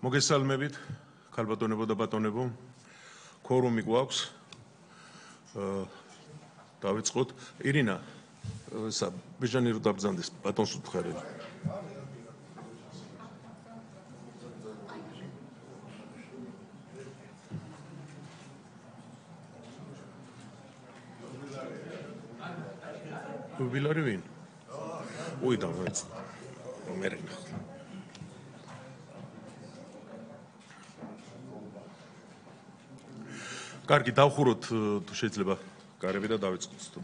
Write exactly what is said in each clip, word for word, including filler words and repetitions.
მოგესალმებით, ქალბატონებო და ბატონებო. Quorumi გვაქვს. დავიწყოთ. ირინა, ბიჟანი რო დაბრძანდეს, ბატონს უთხრე. უბილარი ვინ? უი დავაიც. მერენა. კარგი, დავხუროთ თუ შეიძლება გარები და დავიწყოთ თუ.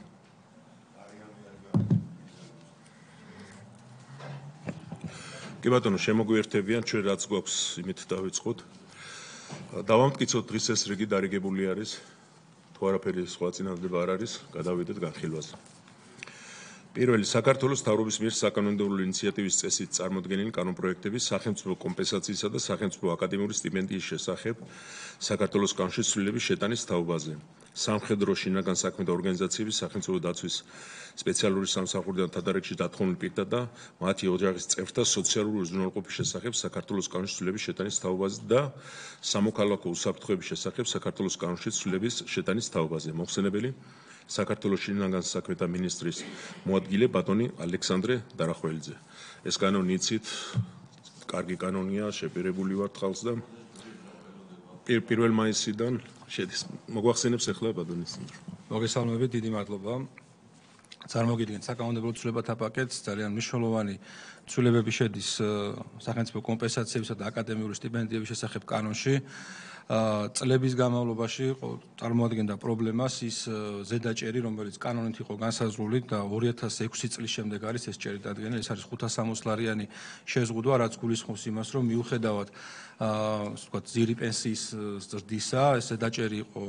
კი ბატონო, შემოგვიერთებიან, ჩვენ რაც გვაქვს, იმით დავიწყოთ. დავამტკიცოთ დღის ეს რიგი დარიგებული არის. თუ არაფერი სხვა წინადადება არ არის, გადავიდეთ განხილვაზე. პირველი საქართველოს მთავრობის მიერ საკანონმდებლო ინიციატივის წესით წარმოდგენილი კანონპროექტების სახელმწიფო კომპენსაციისა და სახელმწიფო აკადემიური სტიპენდიის შესახებ საქართველოს კანონში ცვლილების შეტანის თაობაზე. სამხედრო შინაგან საქმეთა ორგანიზაციების სახელმწიფო დაცვის სპეციალური სამსახურიდან თადარიგში დათხოვნილ პირთა და მათი ოჯახის წევრთა სოციალური უზრუნველყოფის შესახებ საქართველოს კანონში ცვლილების შეტანის თაობაზე და სამოქალაქო უსაფრთხოების შესახებ საქართველოს კანონში ცვლილების შეტანის თაობაზე. მოხსენებელი საქართველოს შინაგან საქმეთა მინისტრის მოადგილე ბატონი ალექსანდრე დარახველიძე. ეს კანონი იცით, კარგი კანონია, შეპირებული ვართ ხალხს და პირველ მაისიდან შედის. მოგვახსენებს ახლა ბატონი ალექსანდრე. მოგესალმებით, დიდი მადლობა. წარმოგიდგენთ საკანონმდებლო ცვლილებათა პაკეტს, ძალიან მნიშვნელოვანი ცვლილებები შედის სახელმწიფო კომპენსაციებისა და აკადემიური სტიპენდიების შესახებ კანონში. წლების განმავლობაში წარმოადგენდა პრობლემას ის ზედაჭერი, რომელიც კანონით იყო განსაზღვრული და ორი ათას ექვსი წლის შემდეგ არის ეს ჭერი დადგენილი, ეს არის ხუთას სამოცლარიანი შეზღუდვა, რაც გულისხმობს იმას, რომ მიუხედავად აა ვთქვათ, ძირი პენსიის ზრდისა, ეს ზედაჭერი იყო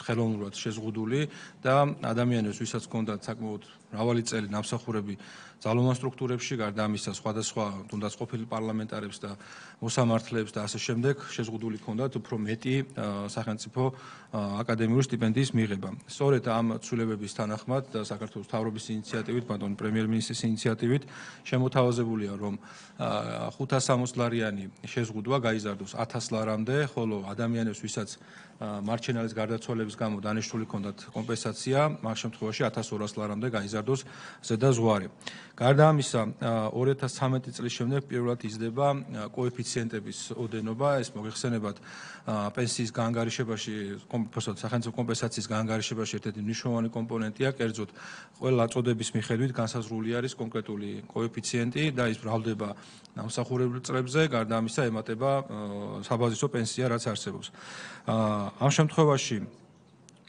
ხელოვნურად შეზღუდული და ადამიანებს, ვისაც ჰქონდათ საკმაოდ მრავალი წელი ნამსახურები ძალოვან სტრუქტურებში, გარდა ამისა სხვადასხვა თუნდაც ყოფილი პარლამენტარებს და მოსამართლეებს და ასე შემდეგ შეზღუდული ჰქონდათ უფრო მეტი სახელმწიფო აკადემიური სტიპენდიის მიღება. სწორედ ამ ცვლილებების თანახმად და საქართველოს მთავრობის ინიციატივით, ბატონ პრემიერ-მინისტრის ინიციატივით შემოთავაზებულია, რომ ხუთას სამოცლარიანი შეზღუდვა გაიზარდოს ათას ლარამდე, ხოლო ადამიანებს, ვისაც მარჩენალის გარდაცვალების გამო დანიშნული ჰქონდათ კომპენსაცია, მაგ შემთხვევაში ათას ორას ლარამდე გაიზარდოს ზედაზღვარი. გარდა ამისა, ორი ათას ცხრამეტი წლის შემდეგ პირველად იზრდება კოეფიციენტების ოდენობა, ეს მოგეხსენებათ პენსიის გაანგარიშებაში, სახელმწიფო კომპენსაციის გაანგარიშებაში ერთ-ერთი მნიშვნელოვანი კომპონენტია, კერძოდ ყველა წოდების მიხედვით განსაზღვრული არის კონკრეტული კოეფიციენტი და ის ბრალდება ნამსახურებელ წლებზე, გარდა ამისა ემატება საბაზისო პენსია, რაც არსებობს. ამ შემთხვევაში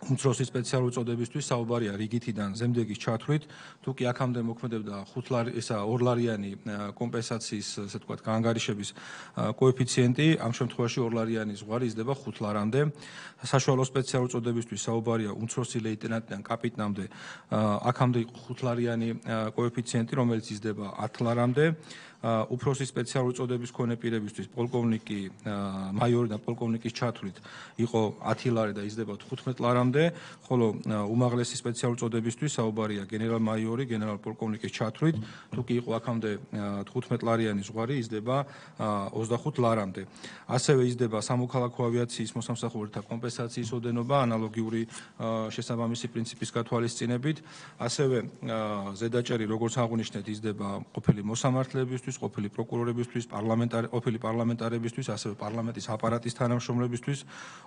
უმცროსი სპეციალური წოდებისთვის საუბარია რიგითიდან ზემდეგის ჩათვლით, თუ კი აქამდე მოქმედებდა ხუთლარი ესა ორლარიანი კომპენსაციის, ასე ვთქვათ, გაანგარიშების კოეფიციენტი, ამ შემთხვევაში ორლარიანი ზღვარი იზრდება ხუთ ლარამდე. საშუალო სპეციალური წოდებისთვის საუბარია უმცროსი ლეიტენანტიდან კაპიტნამდე, აქამდე იყო ხუთლარიანი კოეფიციენტი, რომელიც იზრდება ათ ლარამდე. უფროსი სპეციალური წოდების მქონე პირებისთვის პოლკოვნიკი, მაიორი და პოლკოვნიკის ჩათვლით იყო ათი ლარი და იზრდება თხუთმეტ ლარამდე, ხოლო უმაღლესი სპეციალური წოდებისთვის საუბარია გენერალ-მაიორი, გენერალ-პოლკოვნიკის ჩათვლით, თუ კი იყო აქამდე თხუთმეტ ლარიანი ზღვარი, იზრდება ოცდახუთ ლარამდე. ასევე იზრდება სამოქალაქო ავიაციის მოსამსახურეთა კომპენსაციის ოდენობა, ანალოგიური შესაბამისი პრინციპის გათვალისწინებით, ასევე ზედაჭერი, როგორც აღვნიშნეთ, იზრდება ყოფილი მოსამართლეებისთვის, ყოფილი პროკურორებისთვის, პარლამენტარი, ყოფილი პარლამენტარებისთვის, ასევე პარლამენტის აპარატის თანამშრომლებისთვის,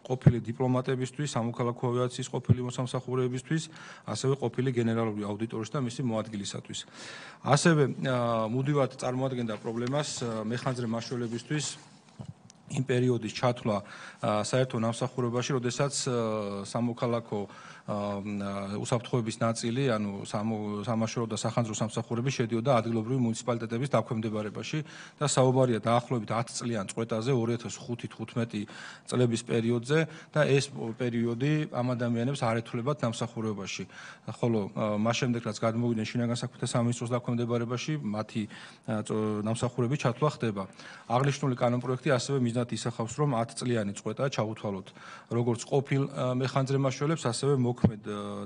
ყოფილი დიპლომატებისთვის, სამოქალაქო ავიაციის ყოფილი მოსამსახურეებისთვის, ასევე ყოფილი გენერალური აუდიტორის და მისი მოადგილისათვის. ასევე მუდმივად წარმოადგენდა პრობლემას მეხანძრე მაშველებისთვის იმ პერიოდის ჩათვლა საერთო ნამსახურებაში, როდესაც სამოქალაქო უსაფრთხოების ნაწილი, ანუ სამაშველო და სახანძრო სამსახურები შედიოდა ადგილობრივი მუნიციპალიტეტების დაქვემდებარებაში და საუბარია დაახლოებით ათ წლიან წყვეტაზე ორი ათას ხუთი თხუთმეტი წლების პერიოდზე და ეს პერიოდი ამ ადამიანებს არ ეთვლებათ ნამსახურებაში. ხოლო მას შემდეგ რაც გადმოვიდნენ შინაგან საქმეთა სამინისტროს დაქვემდებარებაში, მათი ნამსახურების ჩათვლა ხდება. აღნიშნული კანონპროექტი ასევე მიზნად ისახავს, რომ ათ წლიანი წყვეტა ჩაუთვალოთ როგორც ყოფილ მეხანძრე მაშველებს, ასევე მოქმედ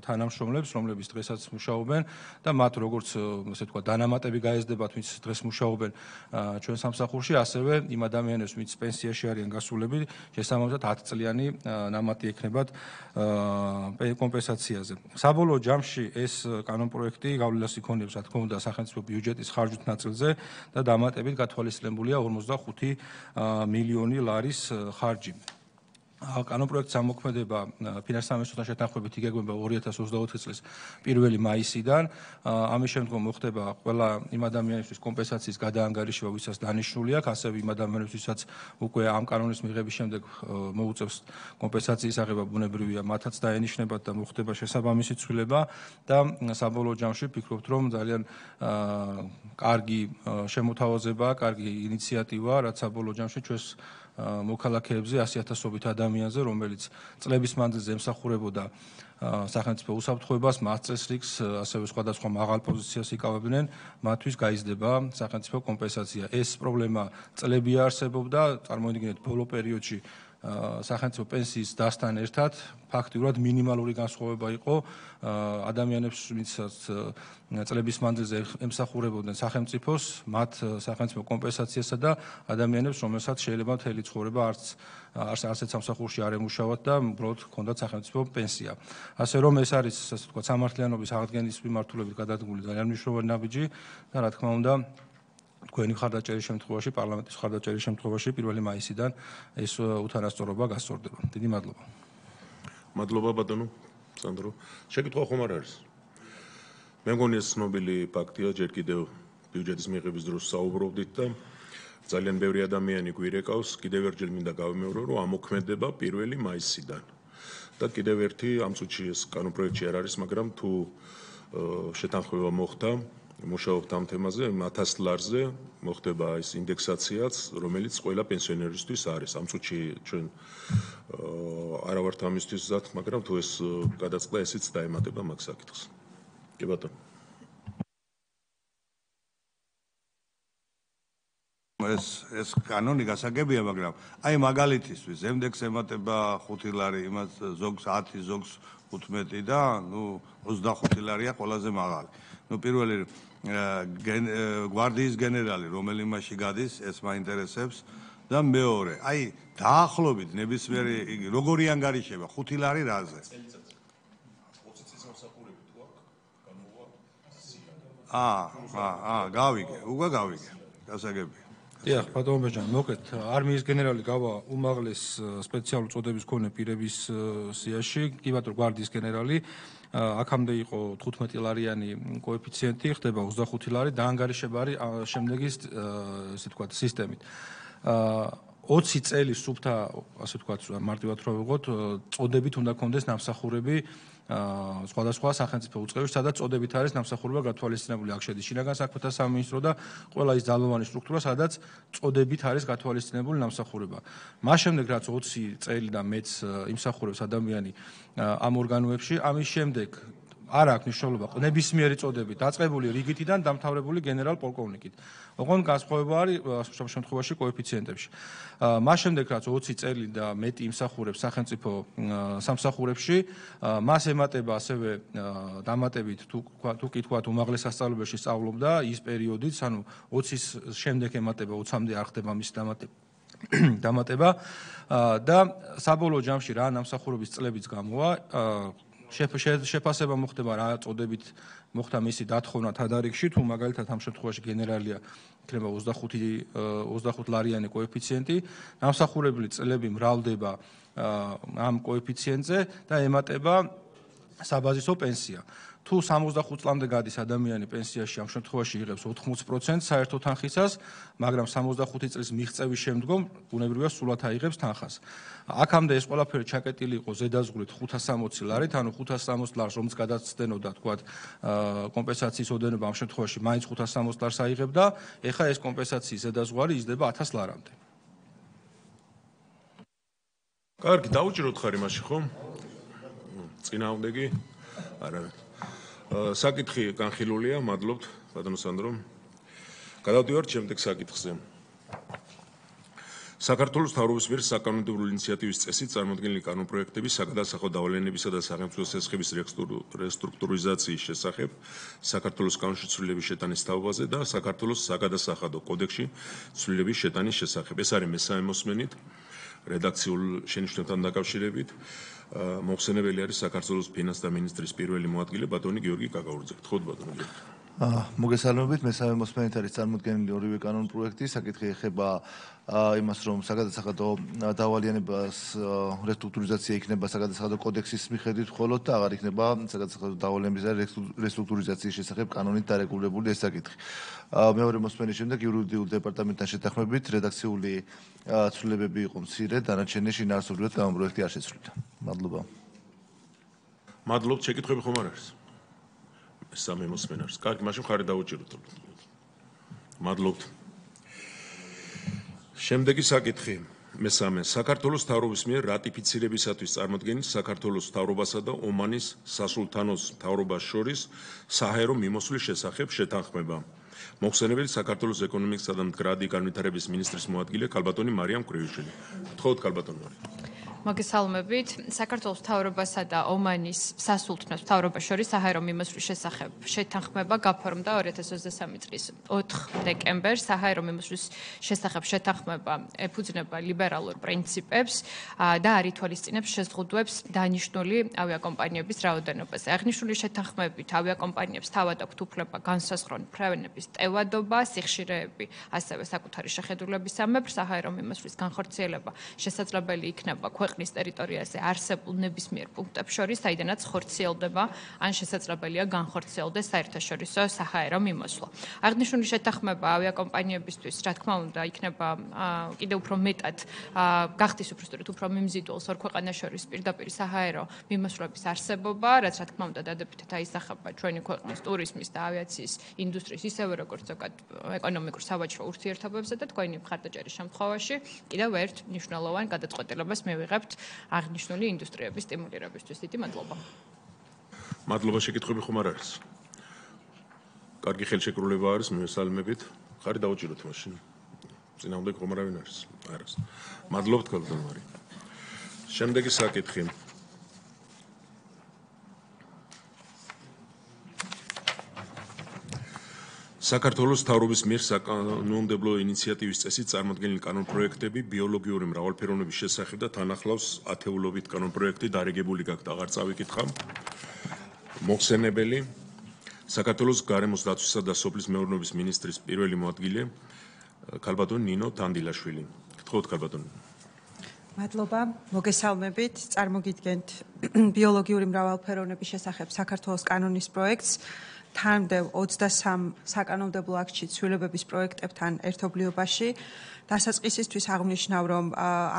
თანამშრომლებს, რომლებიც დღესაც მუშაობენ და მათ როგორც ასე ვთქვათ, დანამატები გაეზრდებათ, ვინც დღეს მუშაობენ ჩვენ სამსახურში, ასევე იმ ადამიანებს, ვინც პენსიაში არიან გასულები, შესაბამისად ათი წლიანი ნამატი ექნებათ კომპენსაციაზე. საბოლოო ჯამში ეს კანონპროექტი გავლენას იქონიებს, რა თქმა უნდა, სახელმწიფო ბიუჯეტის ხარჯვით ნაწილზე და დამატებით გათვალისწინებულია ორმოცდახუთი მილიონი ლარის ხარჯი. კანონპროექტის ამოქმედება ფინანსთა სამინისტროსთან შეთანხმებით იგეგმება ორი ათას ოცდაოთხი წლის პირველი მაისიდან. ამის შემდგომ მოხდება ყველა იმ ადამიანისთვის კომპენსაციის გადაანგარიშება, ვისაც დანიშნული აქვს, ასევე იმ ადამიანებთვისაც უკვე ამ კანონის მიღების შემდეგ მოუწევს კომპენსაციის აღება, ბუნებრივია, მათაც დაენიშნებათ და მოხდება შესაბამისი ცვლილება და საბოლოო ჯამში ვფიქრობთ, რომ ძალიან კარგი შემოთავაზებაა, კარგი ინიციატივაა, რაც საბოლოო ჯამში ჩვენს მოქალაქეებზე ასი ათასობით ადამიანზე, რომელიც წლების მანძილზე ემსახურებოდა სახელმწიფო უსაფრთხოებას, მათ წესრიგს, ასევე სხვადასხვა მაღალ პოზიციას იკავებდნენ, მათთვის გაიზრდება სახელმწიფო კომპენსაცია. ეს პრობლემა წლები არსებობდა, წარმოიდგინეთ, ბოლო პერიოდში სახელმწიფო პენსიის დასთან ერთად ფაქტიურად მინიმალური განსხვავება იყო ადამიანებს, ვინცაც წლების მანძილზე ემსახურებოდნენ სახელმწიფოს, მათ სახელმწიფო კომპენსაციასა და ადამიანებს, რომელსაც შეიძლება მთელი ცხოვრება არც არცეთ სამსახურში არ ემუშავათ და უბრალოდ ჰქონდათ სახელმწიფო პენსია. ასე რომ ეს არის, ასე ვთქვათ, სამართლიანობის აღდგენის მიმართულებით გადადგმული ძალიან მნიშვნელოვანი ნაბიჯი და რა თქმა უნდა თქვენი მხარდაჭერის შემთხვევაში, პარლამენტის მხარდაჭერის შემთხვევაში პირველი მაისიდან ეს უთანასწორობა გასწორდება. დიდი მადლობა. მადლობა ბატონო სანდრო. შეკითხვა ხომ არ არის? მე მგონი ეს ცნობილი ფაქტია, ჯერ კიდევ ბიუჯეტის მიღების დროს საუბრობდით და ძალიან ბევრი ადამიანი გვირეკავს, კიდევ ერთხელ მინდა გავიმეორო, რომ ამოქმედება პირველი მაისიდან. და კიდევ ერთი ამ წუთში ეს კანონპროექტი არ არის, მაგრამ თუ შეთანხმება მოხდა მუშაობთ ამ თემაზე, ათას ლარზე მოხდება ეს ინდექსაციაც, რომელიც ყველა პენსიონერისთვის არის. ამ წუთში ჩვენ არა ვართ ამისთვის მზად, მაგრამ თუ ეს გადაწყდა, ესეც დაემატება მაგ საკითხს. კი ბატონო. ეს ეს კანონი გასაგებია, მაგრამ აი მაგალითისთვის ზემდექს ემატება ხუთი ლარი, იმას ზოგს ათი, ზოგს ութმეტი და ნუ ოცდახუთი ლარია ყველაზე მაღალი. ნუ პირველი გვარდიის გენერალი, რომელი მასში გადის, ეს მაინტერესებს და მეორე, აი დაახლოებით ნებისმიერი იგი როგორი ანგარიშება, ხუთი ლარი რაზე? ოცი წლის მომსახურები თუ აქვს, გამოვა აა, აა, გავიგე, უკვე გავიგე. გასაგებია. დიახ, ბატონო ბეჯან, მოკეთ, არმიის გენერალი გავა უმაღლეს სპეციალურ წოდების მქონე პირების სიაში, კი ბატონო, გვარდიის გენერალი, აქამდე იყო თხუთმეტი ლარიანი კოეფიციენტი, ხდება ოცდახუთი ლარი, დაანგარიშება არის შემდეგი, ესე ვთქვათ, სისტემით. ოცი წელი სუფთა, ასე ვთქვათ, მარტივად რო ვიღოთ, წოდებით უნდა კონდეს ნამსახურები სხვადასხვა სახელმწიფო უწყებაში, სადაც წოდებით არის ნამსახურება გათვალისწინებული. აქ შედის შინაგან საქმეთა სამინისტრო და ყველა ის ძალოვანი სტრუქტურა, სადაც წოდებით არის გათვალისწინებული ნამსახურება. მას შემდეგ, რაც ოცი წელი და მეც იმსახურებს ადამიანი ამ ორგანოებში, ამის შემდეგ არ აქვს მნიშვნელობა ნებისმიერი წოდები დაწყებული რიგითიდან დამთავრებული გენერალ-პოლკოვნიკით. ოღონდ განსხვავება არის ამ შემთხვევაში კოეფიციენტებში. მას შემდეგ რაც ოცი წელი და მეტი იმსახურებს სახელმწიფო სამსახურებში, მას ემატება ასევე დამატებით თუ თუ კი თქვათ უმაღლეს სასწავლებელში სწავლობდა ის პერიოდიც, ანუ ოცის შემდეგ ემატება ოცამდე არ ხდება მის დამატება. დამატება და საბოლოო ჯამში რა ნამსახურების წლებიც გამოვა შეფასება მოხდება რა წოდებით მოხდა მისი დათხოვნა თადარიგში, თუ მაგალითად ამ შემთხვევაში გენერალია იქნება ოცდახუთი ლარიანი კოეფიციენტი, ნამსახურებელი წლები მრავლდება ამ კოეფიციენტზე და ემატება საბაზისო პენსია. თუ სამოცდახუთ წლამდე გადის ადამიანი პენსიაში, ამ შემთხვევაში იღებს ოთხმოცი პროცენტს საერთო თანხისას, მაგრამ სამოცდახუთი წლის მიღწევის შემდგომ ბუნებრივია სულად აიღებს თანხას. აქამდე ეს ყველაფერი ჩაკეტილი იყო ზედაზღვრით ხუთას სამოცი ლარით, ანუ ხუთას სამოცი ლარს რომც გადაცდენოდა, თქვათ, კომპენსაციის ოდენობა ამ შემთხვევაში მაინც ხუთას სამოცი ლარს აიღებდა, ეხლა ეს კომპენსაციის ზედაზღვარი იზრდება ათას ლარამდე. კარგი, დაუჭიროთ ხარ იმაში, ხო? წინააღმდეგი? არა. საკითხი განხილულია, მადლობთ, ბატონო სანდრო. გადავდივართ შემდეგ საკითხზე. საქართველოს მთავრობის მიერ საკანონმდებლო ინიციატივის წესით წარმოქმნილი კანონპროექტები საგადასახადო დავალენებისა და სახელმწიფო სესხების რესტრუქტურიზაციის შესახებ საქართველოს კანონში ცვლილების შეტანის თაობაზე და საქართველოს საგადასახადო კოდექსში ცვლილების შეტანის შესახებ. ეს არის მესამე მოსმენით რედაქციულ შენიშვნებთან დაკავშირებით. მოხსენებელი არის საქართველოს ფინანსთა მინისტრის პირველი მოადგილე ბატონი გიორგი კაკაურძე. გთხოვთ ბატონო გიორგი. მოგესალმებით, მესამე მოსმენით არის წარმოქმნილი ორივე კანონპროექტი. საკითხი ეხება იმას, რომ საგადასახადო დავალიანებას რესტრუქტურიზაცია იქნება საგადასახადო კოდექსის მიხედვით მხოლოდ და აღარ იქნება საგადასახადო დავალიანების და რესტრუქტურიზაციის შესახებ კანონით დარეგულირებული ეს საკითხი. მეორე მოსმენის შემდეგ იურიდიულ დეპარტამენტთან შეთანხმებით რედაქციული ცვლილებები იყო მცირე, დანარჩენი შინაარსობრივად კანონპროექტი არ შეცვლიდა. მადლობა. მადლობთ, შეკითხვები ხომ არ არის? სამე მოსმენა არის. კარგი, მაშინ ხარი დავუჭიროთ. მადლობთ. შემდეგი საკითხი. მესამე. საქართველოს მთავრობის მიერ რატიფიცირებისათვის წარმოქმნილი საქართველოს მთავრობასა და ომანის სასულთნოს მთავრობას შორის საჰაერო მიმოსვლის შესახებ შეთანხმება. მოხსენებელი საქართველოს ეკონომიკისა და მდგრადი განვითარების მინისტრის მოადგილე ქალბატონი მარიამ კრივიშვილი. გთხოვთ ქალბატონი მარიამ. მოგესალმებით. საქართველოს მთავრობასა და ომანის სასულთნოს მთავრობას შორის საჰაერო მიმოსვლის შესახებ შეთანხმება გაფორმდა ორი ათას ოცდასამი წლის ოთხ დეკემბერს. საჰაერო მიმოსვლის შესახებ შეთანხმება ეფუძნება ლიბერალურ პრინციპებს და არ ითვალისწინებს შეზღუდვებს დანიშნული ავიაკომპანიების რაოდენობაზე. აღნიშნული შეთანხმებით ავიაკომპანიებს თავად აქვთ უფლება განსაზღვრონ ფრენების ტევადობა, სიხშირეები, ასევე საკუთარი შეხედულებისამებრ. საჰაერო მიმოსვლის განხორციელება შესაძლებელი იქნება ქვეყნის ტერიტორიაზე არსებულ ნებისმიერ პუნქტებს შორის, საიდანაც ხორციელდება ან შესაძლებელია განხორციელდეს საერთაშორისო საჰაერო მიმოსვლა. აღნიშნული შეთანხმება ავიაკომპანიებისთვის, რა თქმა უნდა, იქნება კიდევ უფრო მეტად გახდის უბრალოდ უფრო მიმზიდველს ორ ქვეყანას შორის პირდაპირ საჰაერო მიმოსვლების არსებობა, რაც რა თქმა უნდა დადებითად აისახება ჩვენი ქვეყნის ტურიზმის და ავიაციის ინდუსტრიის, ისევე როგორც ზოგად ეკონომიკურ სავაჭრო ურთიერთობებზე და თქვენი მხარდაჭერის შემთხვევაში კიდევ ერთ მნიშვნელოვან გადაწყვეტილებას მივიღებთ აღნიშნული ინდუსტრიების სტიმულირებისთვის. დიდი მადლობა. მადლობა, შეკითხვები ხომ არ არის? კარგი ხელშეკრულება არის, მივესალმებით. ხარი დავუჭიროთ მაშინ. წინააღმდეგ ხომ არავინ არის? არის. მადლობთ ქალბატონი მარიამ. შემდეგი საკითხი. საქართველოს მთავრობის მიერ საკანონმდებლო ინიციატივის წესით წარმოქმნილი კანონპროექტები ბიოლოგიური მრავალფეროვნების შესახებ და თანახლავს ათეულობით კანონპროექტი დარეგებული გაქვთ, აღარ წავიკითხა. მოხსენებელი საქართველოს გარემოს დაცვისა და სოფლის მეურნეობის მინისტრის პირველი მოადგილე ქალბატონი ნინო თანდილაშვილი. გთხოვთ ქალბატონი. მადლობა, მოგესალმებით. წარმოგიდგენთ ბიოლოგიური მრავალფეროვნების შესახებ საქართველოს კანონის პროექტს. თანმდევ ოცდასამ საკანონმდებლო აქტში ცვლილებების პროექტებთან ერთობლიობაში. დასაწყისისთვის აღნიშნავ, რომ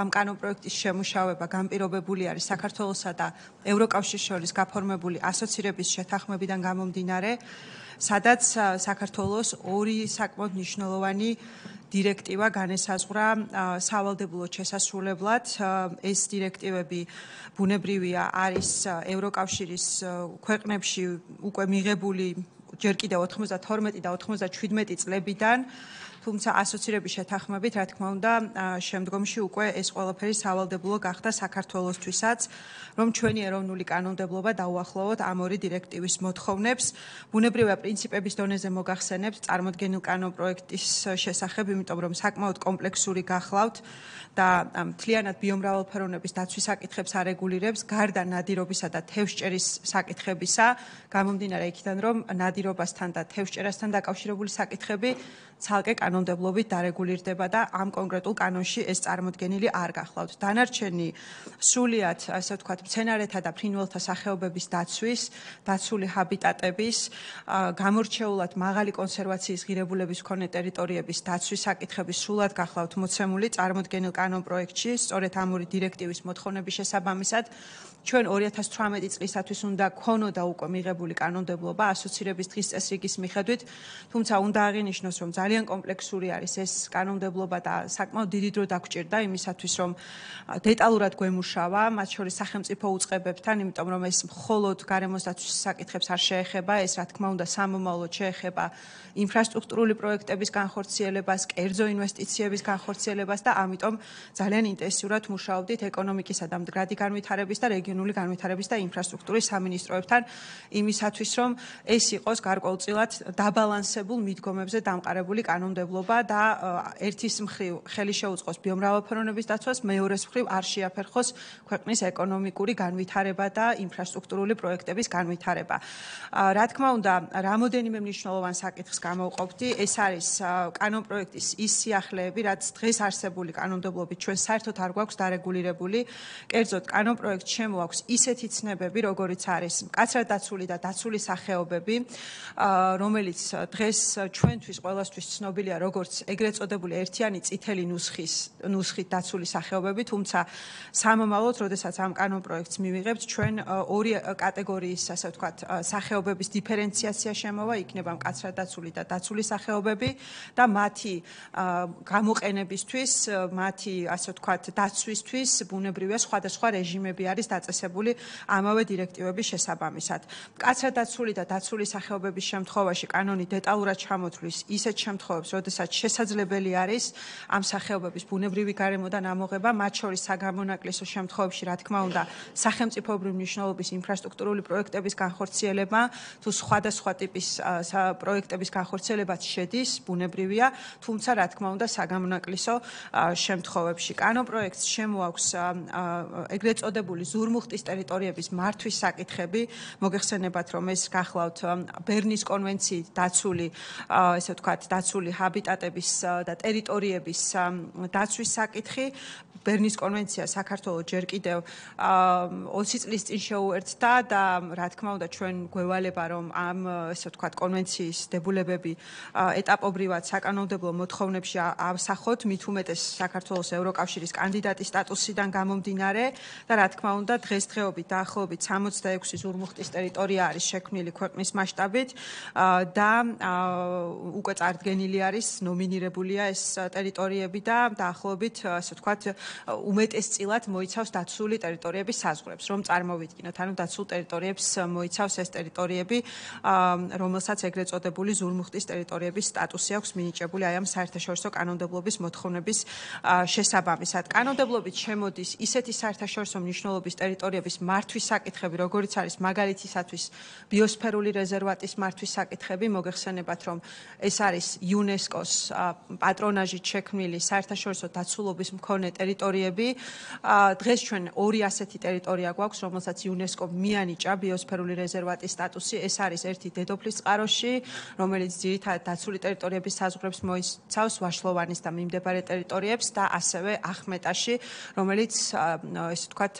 ამ კანონპროექტის შემუშავება განპირობებული არის საქართველოსა და ევროკავშირის შორის გაფორმებული ასოცირების შეთანხმებიდან გამომდინარე, სადაც საქართველოს ორი საკმაოდ მნიშვნელოვანი დირექტივა განესაზღვრა სავალდებულო შესასრულებლად. ეს დირექტივები ბუნებრივია არის ევროკავშირის ქვეყნებში უკვე მიღებული ჯერ კიდევ ოთხმოცდათორმეტი და ოთხმოცდაჩვიდმეტი წლებიდან, თუმცა ასოცირების შეთანხმებით, რა თქმა უნდა, შემდგომში უკვე ეს ყველაფერი სავალდებულო გახდა საქართველოსთვისაც, რომ ჩვენი ეროვნული კანონმდებლობა დაუახლოვოთ ამ ორი დირექტივის მოთხოვნებს. ბუნებრივია პრინციპების დონეზე მოგახსენებთ წარმოქმნილ კანონპროექტის შესახებ, იმიტომ რომ საკმაოდ კომპლექსური გახლავთ და მთლიანად ბიომრავალფეროვნების დაცვის საკითხებს არეგულირებს, გარდა ნადირობისა და თევზჭერის საკითხებისა, გამომდინარე იქიდან, რომ ნადირობასთან და თევზჭერასთან დაკავშირებული საკითხები ცალკე კანონმდებლობით დარეგულირდება და ამ კონკრეტულ კანონში ეს წარმოქმნილი არ გახლავთ. დანარჩენი სრულიად, ასე ვთქვათ, მცენარეთა და ფრინველთა სახეობების დაცვის, დაცული ჰაბიტატების, გამორჩეულად მაღალი კონსერვაციის ღირებულების მქონე ტერიტორიების დაცვის საკითხები სრულად გახლავთ მოცემული წარმოქმნილ კანონპროექტში, სწორედ ამ ორი დირექტივის მოთხოვნების შესაბამისად. ჩვენ ორი ათას თვრამეტი წლისათვის უნდა ქონოდა უკვე მიღებული კანონმდებლობა ასოცირების დღის წესრიგის მიხედვით, თუმცა უნდა აღინიშნოს, რომ ძალიან კომპლექსური არის ეს კანონმდებლობა და საკმაოდ დიდი დრო დაგჭირდა იმისათვის, რომ დეტალურად გვემუშავა, მათ შორის სახელმწიფო უწყებებთან, იმიტომ რომ ეს მხოლოდ გარემოს დაცვის საკითხებს არ შეეხება, ეს რა თქმა უნდა სამომავლოდ შეეხება ინფრასტრუქტურული პროექტების განხორციელებას, კერძო ინვესტიციების განხორციელებას და ამიტომ ძალიან ინტენსიურად მუშაობდით ეკონომიკისა და მდგრადი განვითარების და რეგიონული განვითარების და ინფრასტრუქტურის სამინისტროებთან იმისათვის, რომ ეს იყოს გარკვეულწილად დაბალანსებულ მიდგომებზე დამყარებული კანონმდებლობა და ერთის მხრივ ხელი შეუწყოს ბიომრავალფეროვნების დაცვას, მეორეს მხრივ არ შეაფერხოს ქვეყნის ეკონომიკური განვითარება და ინფრასტრუქტურული პროექტების განვითარება. რა თქმა უნდა, რამოდენიმე მნიშვნელოვან საკითხს გამოვყოფდი, ეს არის კანონპროექტის ის სიახლეები, რაც დღეს არსებული კანონმდებლობით ჩვენ საერთოდ არ გვაქვს დარეგულირებული. კერძოდ, კანონპროექტს შემოაქვს ისეთი ცნებები, როგორიც არის მკაცრად დაცული და დაცული სახეობები, რომელიც დღეს ჩვენთვის ყველასთვის ცნობილია როგორც ეგრეთ წოდებული ერთიანი წითელი ნუსხის ნუსხით დაცული სახეობები, თუმცა სამომავლოდ, როდესაც ამ კანონპროექტს მივიღებთ, ჩვენ ორი კატეგორიის, ასე ვთქვათ, სახეობების დიფერენციაცია შემოვა, იქნება მკაცრად დაცული და დაცული სახეობები და მათი გამოყენებისთვის, მათი, ასე ვთქვათ, დაცვისთვის ბუნებრივია სხვადასხვა რეჟიმები არის დაწესებული ამავე დირექტივების შესაბამისად. მკაცრად დაცული და დაცული სახეობების შემთხვევაში კანონი დეტალურად ჩამოთვლის ისეთ შემთხვევებს, როდესაც შესაძლებელი არის ამ სახეობების ბუნებრივი გარემოდან ამოღება, მათ შორის საგამონაკლისო შემთხვევებში, რა თქმა უნდა, სახელმწიფოებრივი მნიშვნელობის ინფრასტრუქტურული პროექტების განხორციელება, თუ სხვადასხვა ტიპის პროექტების განხორციელებაც შედის, ბუნებრივია, თუმცა რა თქმა უნდა, საგამონაკლისო შემთხვევებში. კანონპროექტს შემოაქვს ეგრეთ წოდებული ზურმუხტის ტერიტორიების მართვის საკითხები, მოგეხსენებათ, რომ ეს გახლავთ ბერნის კონვენციით დაცული, ესე ვთქვათ, დაცული ჰაბიტატების და ტერიტორიების დაცვის საკითხი. ბერნის კონვენცია საქართველოს ჯერ კიდევ ოცი წლის წინ შეუერთდა და რა თქმა უნდა ჩვენ გვევალება რომ ამ ესე ვთქვათ კონვენციის დებულებები ეტაპობრივად საკანონმდებლო მოთხოვნებში ავსახოთ, მით უმეტეს საქართველოს ევროკავშირის კანდიდატის სტატუსიდან გამომდინარე და რა თქმა უნდა დღესდღეობით დაახლოებით სამოცდაექვსი ზურმუხტის ტერიტორია არის შექმნილი ქვეყნის მასშტაბით და უკვე წარდგენილი არის, ნომინირებულია ეს ტერიტორიები და დაახლოებით ასე ვთქვათ უმეტესწილად მოიცავს დაცული ტერიტორიების საზღვრებს, რომ წარმოვიდგინოთ, ანუ დაცულ ტერიტორიებს მოიცავს ეს ტერიტორიები, რომელსაც ეგრეთ წოდებული ზურმუხტის ტერიტორიების სტატუსი აქვს მინიჭებული აი ამ საერთაშორისო კანონმდებლობის მოთხოვნების შესაბამისად. კანონმდებლობით შემოდის ისეთი საერთაშორისო მნიშვნელობის ტერიტორიების მართვის საკითხები, როგორიც არის მაგალითისათვის ბიოსფერული რეზერვატის მართვის საკითხები, მოგეხსენებათ, რომ ეს არის იუნესკოს პატრონაჟით შექმნილი საერთაშორისო დაცულობის მქონე ტერიტორიები. დღეს ჩვენ ორი ასეთი ტერიტორია გვაქვს, რომელსაც იუნესკო მიანიჭა ბიოსფერული რეზერვატის სტატუსი. ეს არის ერთი დედოფლის წყაროში, რომელიც ძირითადად დაცული ტერიტორიების საზღვრებს მოიცავს, ვაშლოვანის და მიმდებარე ტერიტორიებს და ასევე ახმეტაში, რომელიც ესე ვთქვათ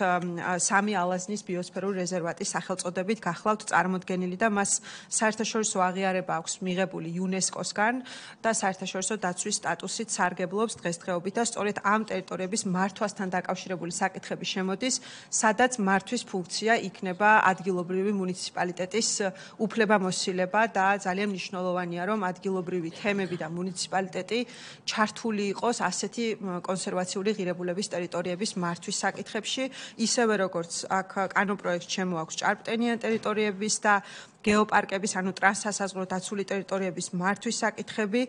სამი ალაზნის ბიოსფერული რეზერვატის სახელწოდებით გახლავთ წარმოდგენილი და მას საერთაშორისო აღიარება აქვს მიღებული იუნესკოსგან და საერთაშორისო დაცვის სტატუსით სარგებლობს დღესდღეობით და სწორედ ამ ტერიტორიების მართვასთან დაკავშირებული საკითხები შემოდის, სადაც მართვის ფუნქცია იქნება ადგილობრივი მუნიციპალიტეტის უფლებამოსილება და ძალიან მნიშვნელოვანია, რომ ადგილობრივი თემები და მუნიციპალიტეტი ჩართული იყოს ასეთი კონსერვაციული ღირებულების ტერიტორიების მართვის საკითხებში, ისევე როგორც აქ კანონპროექტს შემოაქვს ჭარბტენიან ტერიტორიების და გეოპარკების, ანუ ტრანსსასაზღვრო დაცული ტერიტორიების მართვის საკითხები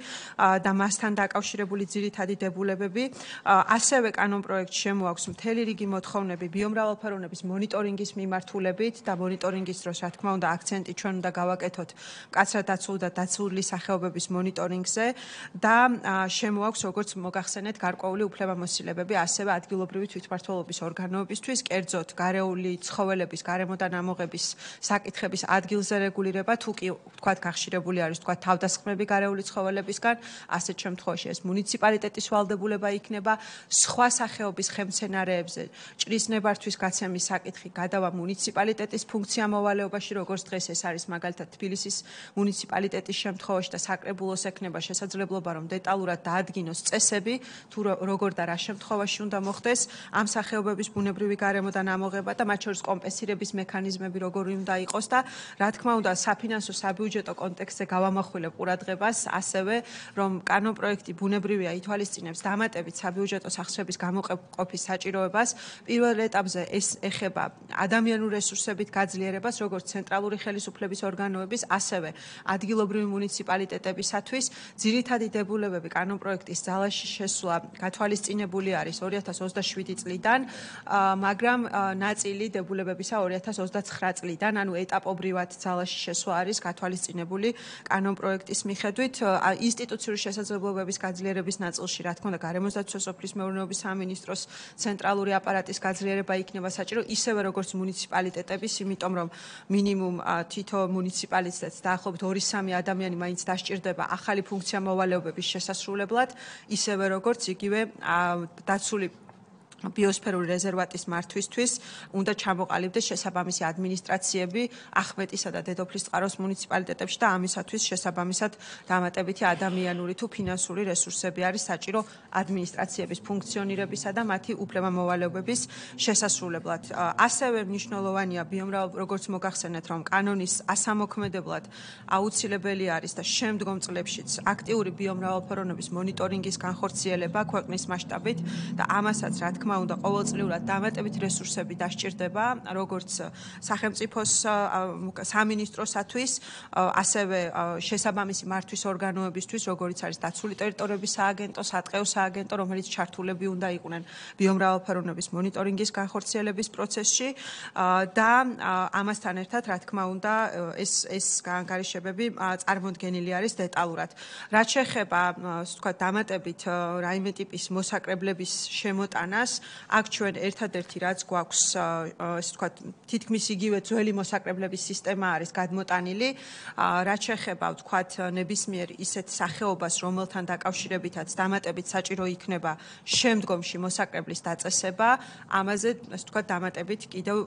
და მასთან დაკავშირებული ძირითადი დებულებები. ასევე კანონპროექტს შემოაქვს მთელი რიგი მოთხოვნები ბიომრავალფეროვნების მონიტორინგის მიმართულებით და მონიტორინგის დროს, რა თქმა უნდა, აქცენტი ჩვენ უნდა გავაკეთოთ მკაცრად დაცული და დაცული სახეობების მონიტორინგზე და შემოაქვს, როგორც მოგახსენეთ, გარკვეული უფლებამოსილებები ასევე ადგილობრივი თვითმმართველობის ორგანოებისთვის, კერძოდ გარეული ცხოველების გარემოდან ამოღების საკითხების ადგილზე რეგულირება, თუ კი თქვათ გახშირებული არის თქვათ თავდასხმები გარეული ცხოველებისგან, ასეთ შემთხვევაში ეს მუნიციპალიტეტის ვალდებულება იქნება, სხვა სახეობის ხემცენარეებზე ჭრის ნებართვის გაცემის საკითხი გადავა მუნიციპალიტეტის ფუნქცია მოვალეობაში, როგორც დღეს ეს არის მაგალითად თბილისის მუნიციპალიტეტის შემთხვევაში და საკრებულოს ექნება შესაძლებლობა რომ დეტალურად დაადგინოს წესები, თუ როგორ და რა შემთხვევაში უნდა მოხდეს ამ სახეობების ბუნებრივი გარემოდან ამოღება და მათ შორის კომპენსირების მექანიზმები როგორი უნდა იყოს და რა თქმა უნდა საფინანსო საბიუჯეტო კონტექსტზე გავამახვილებ ყურადღებას ასევე რომ კანონპროექტი ბუნებრივია ითვალისწინებს დამატებით საბიუჯეტო სახსრების გამოყოფის საჭიროებას პირველ ეტაპზე ეს ეხება ადამიანურ რესურსებით გაძლიერებას როგორც ცენტრალური ხელისუფლების ორგანოების ასევე ადგილობრივი მუნიციპალიტეტებისათვის ძირითადი დებულებები კანონპროექტის ძალაში შესვლა გათვალისწინებული არის ორი ათას ოცდაშვიდი წლიდან მაგრამ ნაწილი დებულებებისა ორი ათას ოცდაცხრა წლიდან ანუ ეტაპობრივად ძალაში შესვლა არის გათვალისწინებული კანონპროექტის მიხედვით ინსტიტუციური შესაძლებლობების გაძლიერების ნაწილში რა თქმა უნდა გარემოსდაცვის სოფლის მეურნეობის სამინისტროს ცენტრალური აპარატის გაძლიერება იქნება საჭირო ისევე როგორც მუნიციპალიტეტების იმიტომ რომ მინიმუმ თითო მუნიციპალიტეტს დაახლოებით ორი სამი ადამიანი მაინც დასჭირდება ახალი ფუნქცია მოვალეობების შესასრულებლად ისევე როგორც იგივე დაცული ბიოსფერული რეზერვატის მართვისთვის უნდა ჩამოყალიბდეს შესაბამისი ადმინისტრაციები ახმეტისა და დედოფლის წყაროს მუნიციპალიტეტებში და ამისათვის შესაბამისად დამატებითი ადამიანური თუ ფინანსური რესურსები არის საჭირო ადმინისტრაციების ფუნქციონირებისა და მათი უფლებამოვალეობების შესასრულებლად. ასევე მნიშვნელოვანია ბიომრავალ როგორც მოგახსენეთ რომ კანონის ასამოქმედებლად აუცილებელი არის და შემდგომ წლებშიც აქტიური ბიომრავალფეროვნების მონიტორინგის განხორციელება ქვეყნის მასშტაბით და ამასაც რა თქმა უნდა ყოველწლიურად დამატებით რესურსები დასჭირდება როგორც სახელმწიფოს სამინისტროსათვის ასევე შესაბამისი მართვის ორგანოებისთვის როგორიც არის დაცული ტერიტორიების სააგენტო, სატყეო სააგენტო რომელიც ჩართულები უნდა იყვნენ ბიომრავალფეროვნების მონიტორინგის განხორციელების პროცესში და ამასთან ერთად რა თქმა უნდა ეს ეს განხორციელებები წარმოდგენილი არის დეტალურად. რაც შეეხება ასე ვთქვათ დამატებით რაიმე ტიპის მოსაკრებლების შემოტანას აქ ჩვენ ერთადერთი რაც გვაქვს ასე ვთქვათ თითქმის იგივე ძველი მოსაკრებლების სისტემა არის გადმოტანილი რაც შეეხება ვთქვათ ნებისმიერ ისეთ სახეობას რომელთან დაკავშირებითაც დამატებით საჭირო იქნება შემდგომში მოსაკრებლის დაწესება ამაზე ასე ვთქვათ დამატებით კიდევ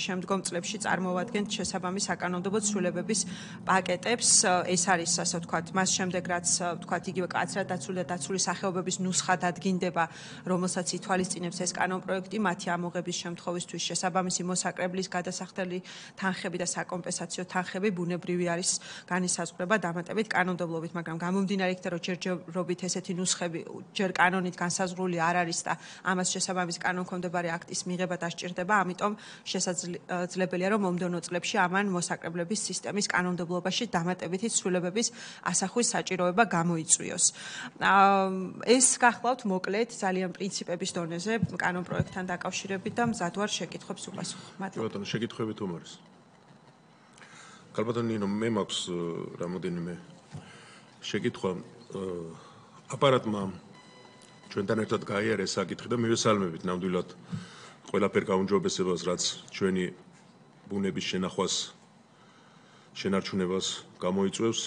შემდგომ წლებში წარმოვადგენთ შესაბამის საკანონმდებლო ცვლილებების პაკეტებს ეს არის ასე ვთქვათ მას შემდეგ რაც ვთქვათ იგივე კაცრად დაცული და დაცული სახეობების ნუსხა დადგინდება რომელსაც ითვალისწინებს ეს კანონპროექტი მათი ამოღების შემთხვევისთვის შესაბამისი მოსაკრებლის გადასახდელი თანხები და საკომპენსაციო თანხები ბუნებრივი არის განისაზღვრება დამატებით კანონმდებლობით, მაგრამ გამომდინარე იქიდან რომ ჯერჯერობით ესეთი ნუსხები ჯერ კანონით განსაზღვრული არ არის და ამას შესაბამის კანონქვემდებარე აქტის მიღება დასჭირდება, ამიტომ შესაძლებელია რომ მომდევნო წლებში ამან მოსაკრებლების სისტემის კანონმდებლობაში დამატებითი ცვლილებების ასახვის საჭიროება გამოიწვიოს. ეს გახლავთ მოკლედ ძალიან პრინციპების დონეზე კანონპროექტთან დაკავშირებით და მზად ვარ შეკითხვებს უპასუხო. მადლობა. ბატონო, შეკითხვები თუ არის? ქალბატონო ნინო, მე მაქვს რამოდენიმე შეკითხვა. აპარატმა ჩვენთან ერთად გაიარეს საკითხი და მივესალმებით ნამდვილად ყველაფერ გაუმჯობესებას, რაც ჩვენი ბუნების შენახვას, შენარჩუნებას გამოიწვევს.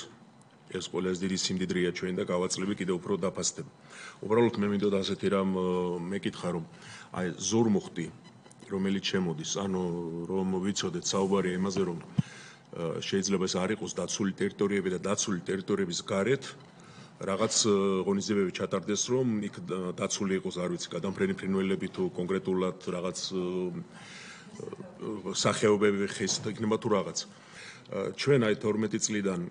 ეს ყველაზე დიდი სიმდიდრეა ჩვენ და გავაწლები კიდევ უფრო დაფასდება. უბრალოდ მე მინდოდა ასეთი რამ მეკითხა რომ აი ზურმუხტი რომელიც შემოდის, ანუ რომ ვიცოდეთ საუბარია იმაზე რომ შეიძლება ეს არ იყოს დაცული ტერიტორიები და დაცული ტერიტორიების გარეთ რაღაც ღონისძიებები ჩატარდეს რომ იქ დაცული იყოს არ ვიცი გადამფრენი ფრინველები თუ კონკრეტულად რაღაც სახეობები ხეს იქნება თუ რაღაც. ჩვენ აი თორმეტი წლიდან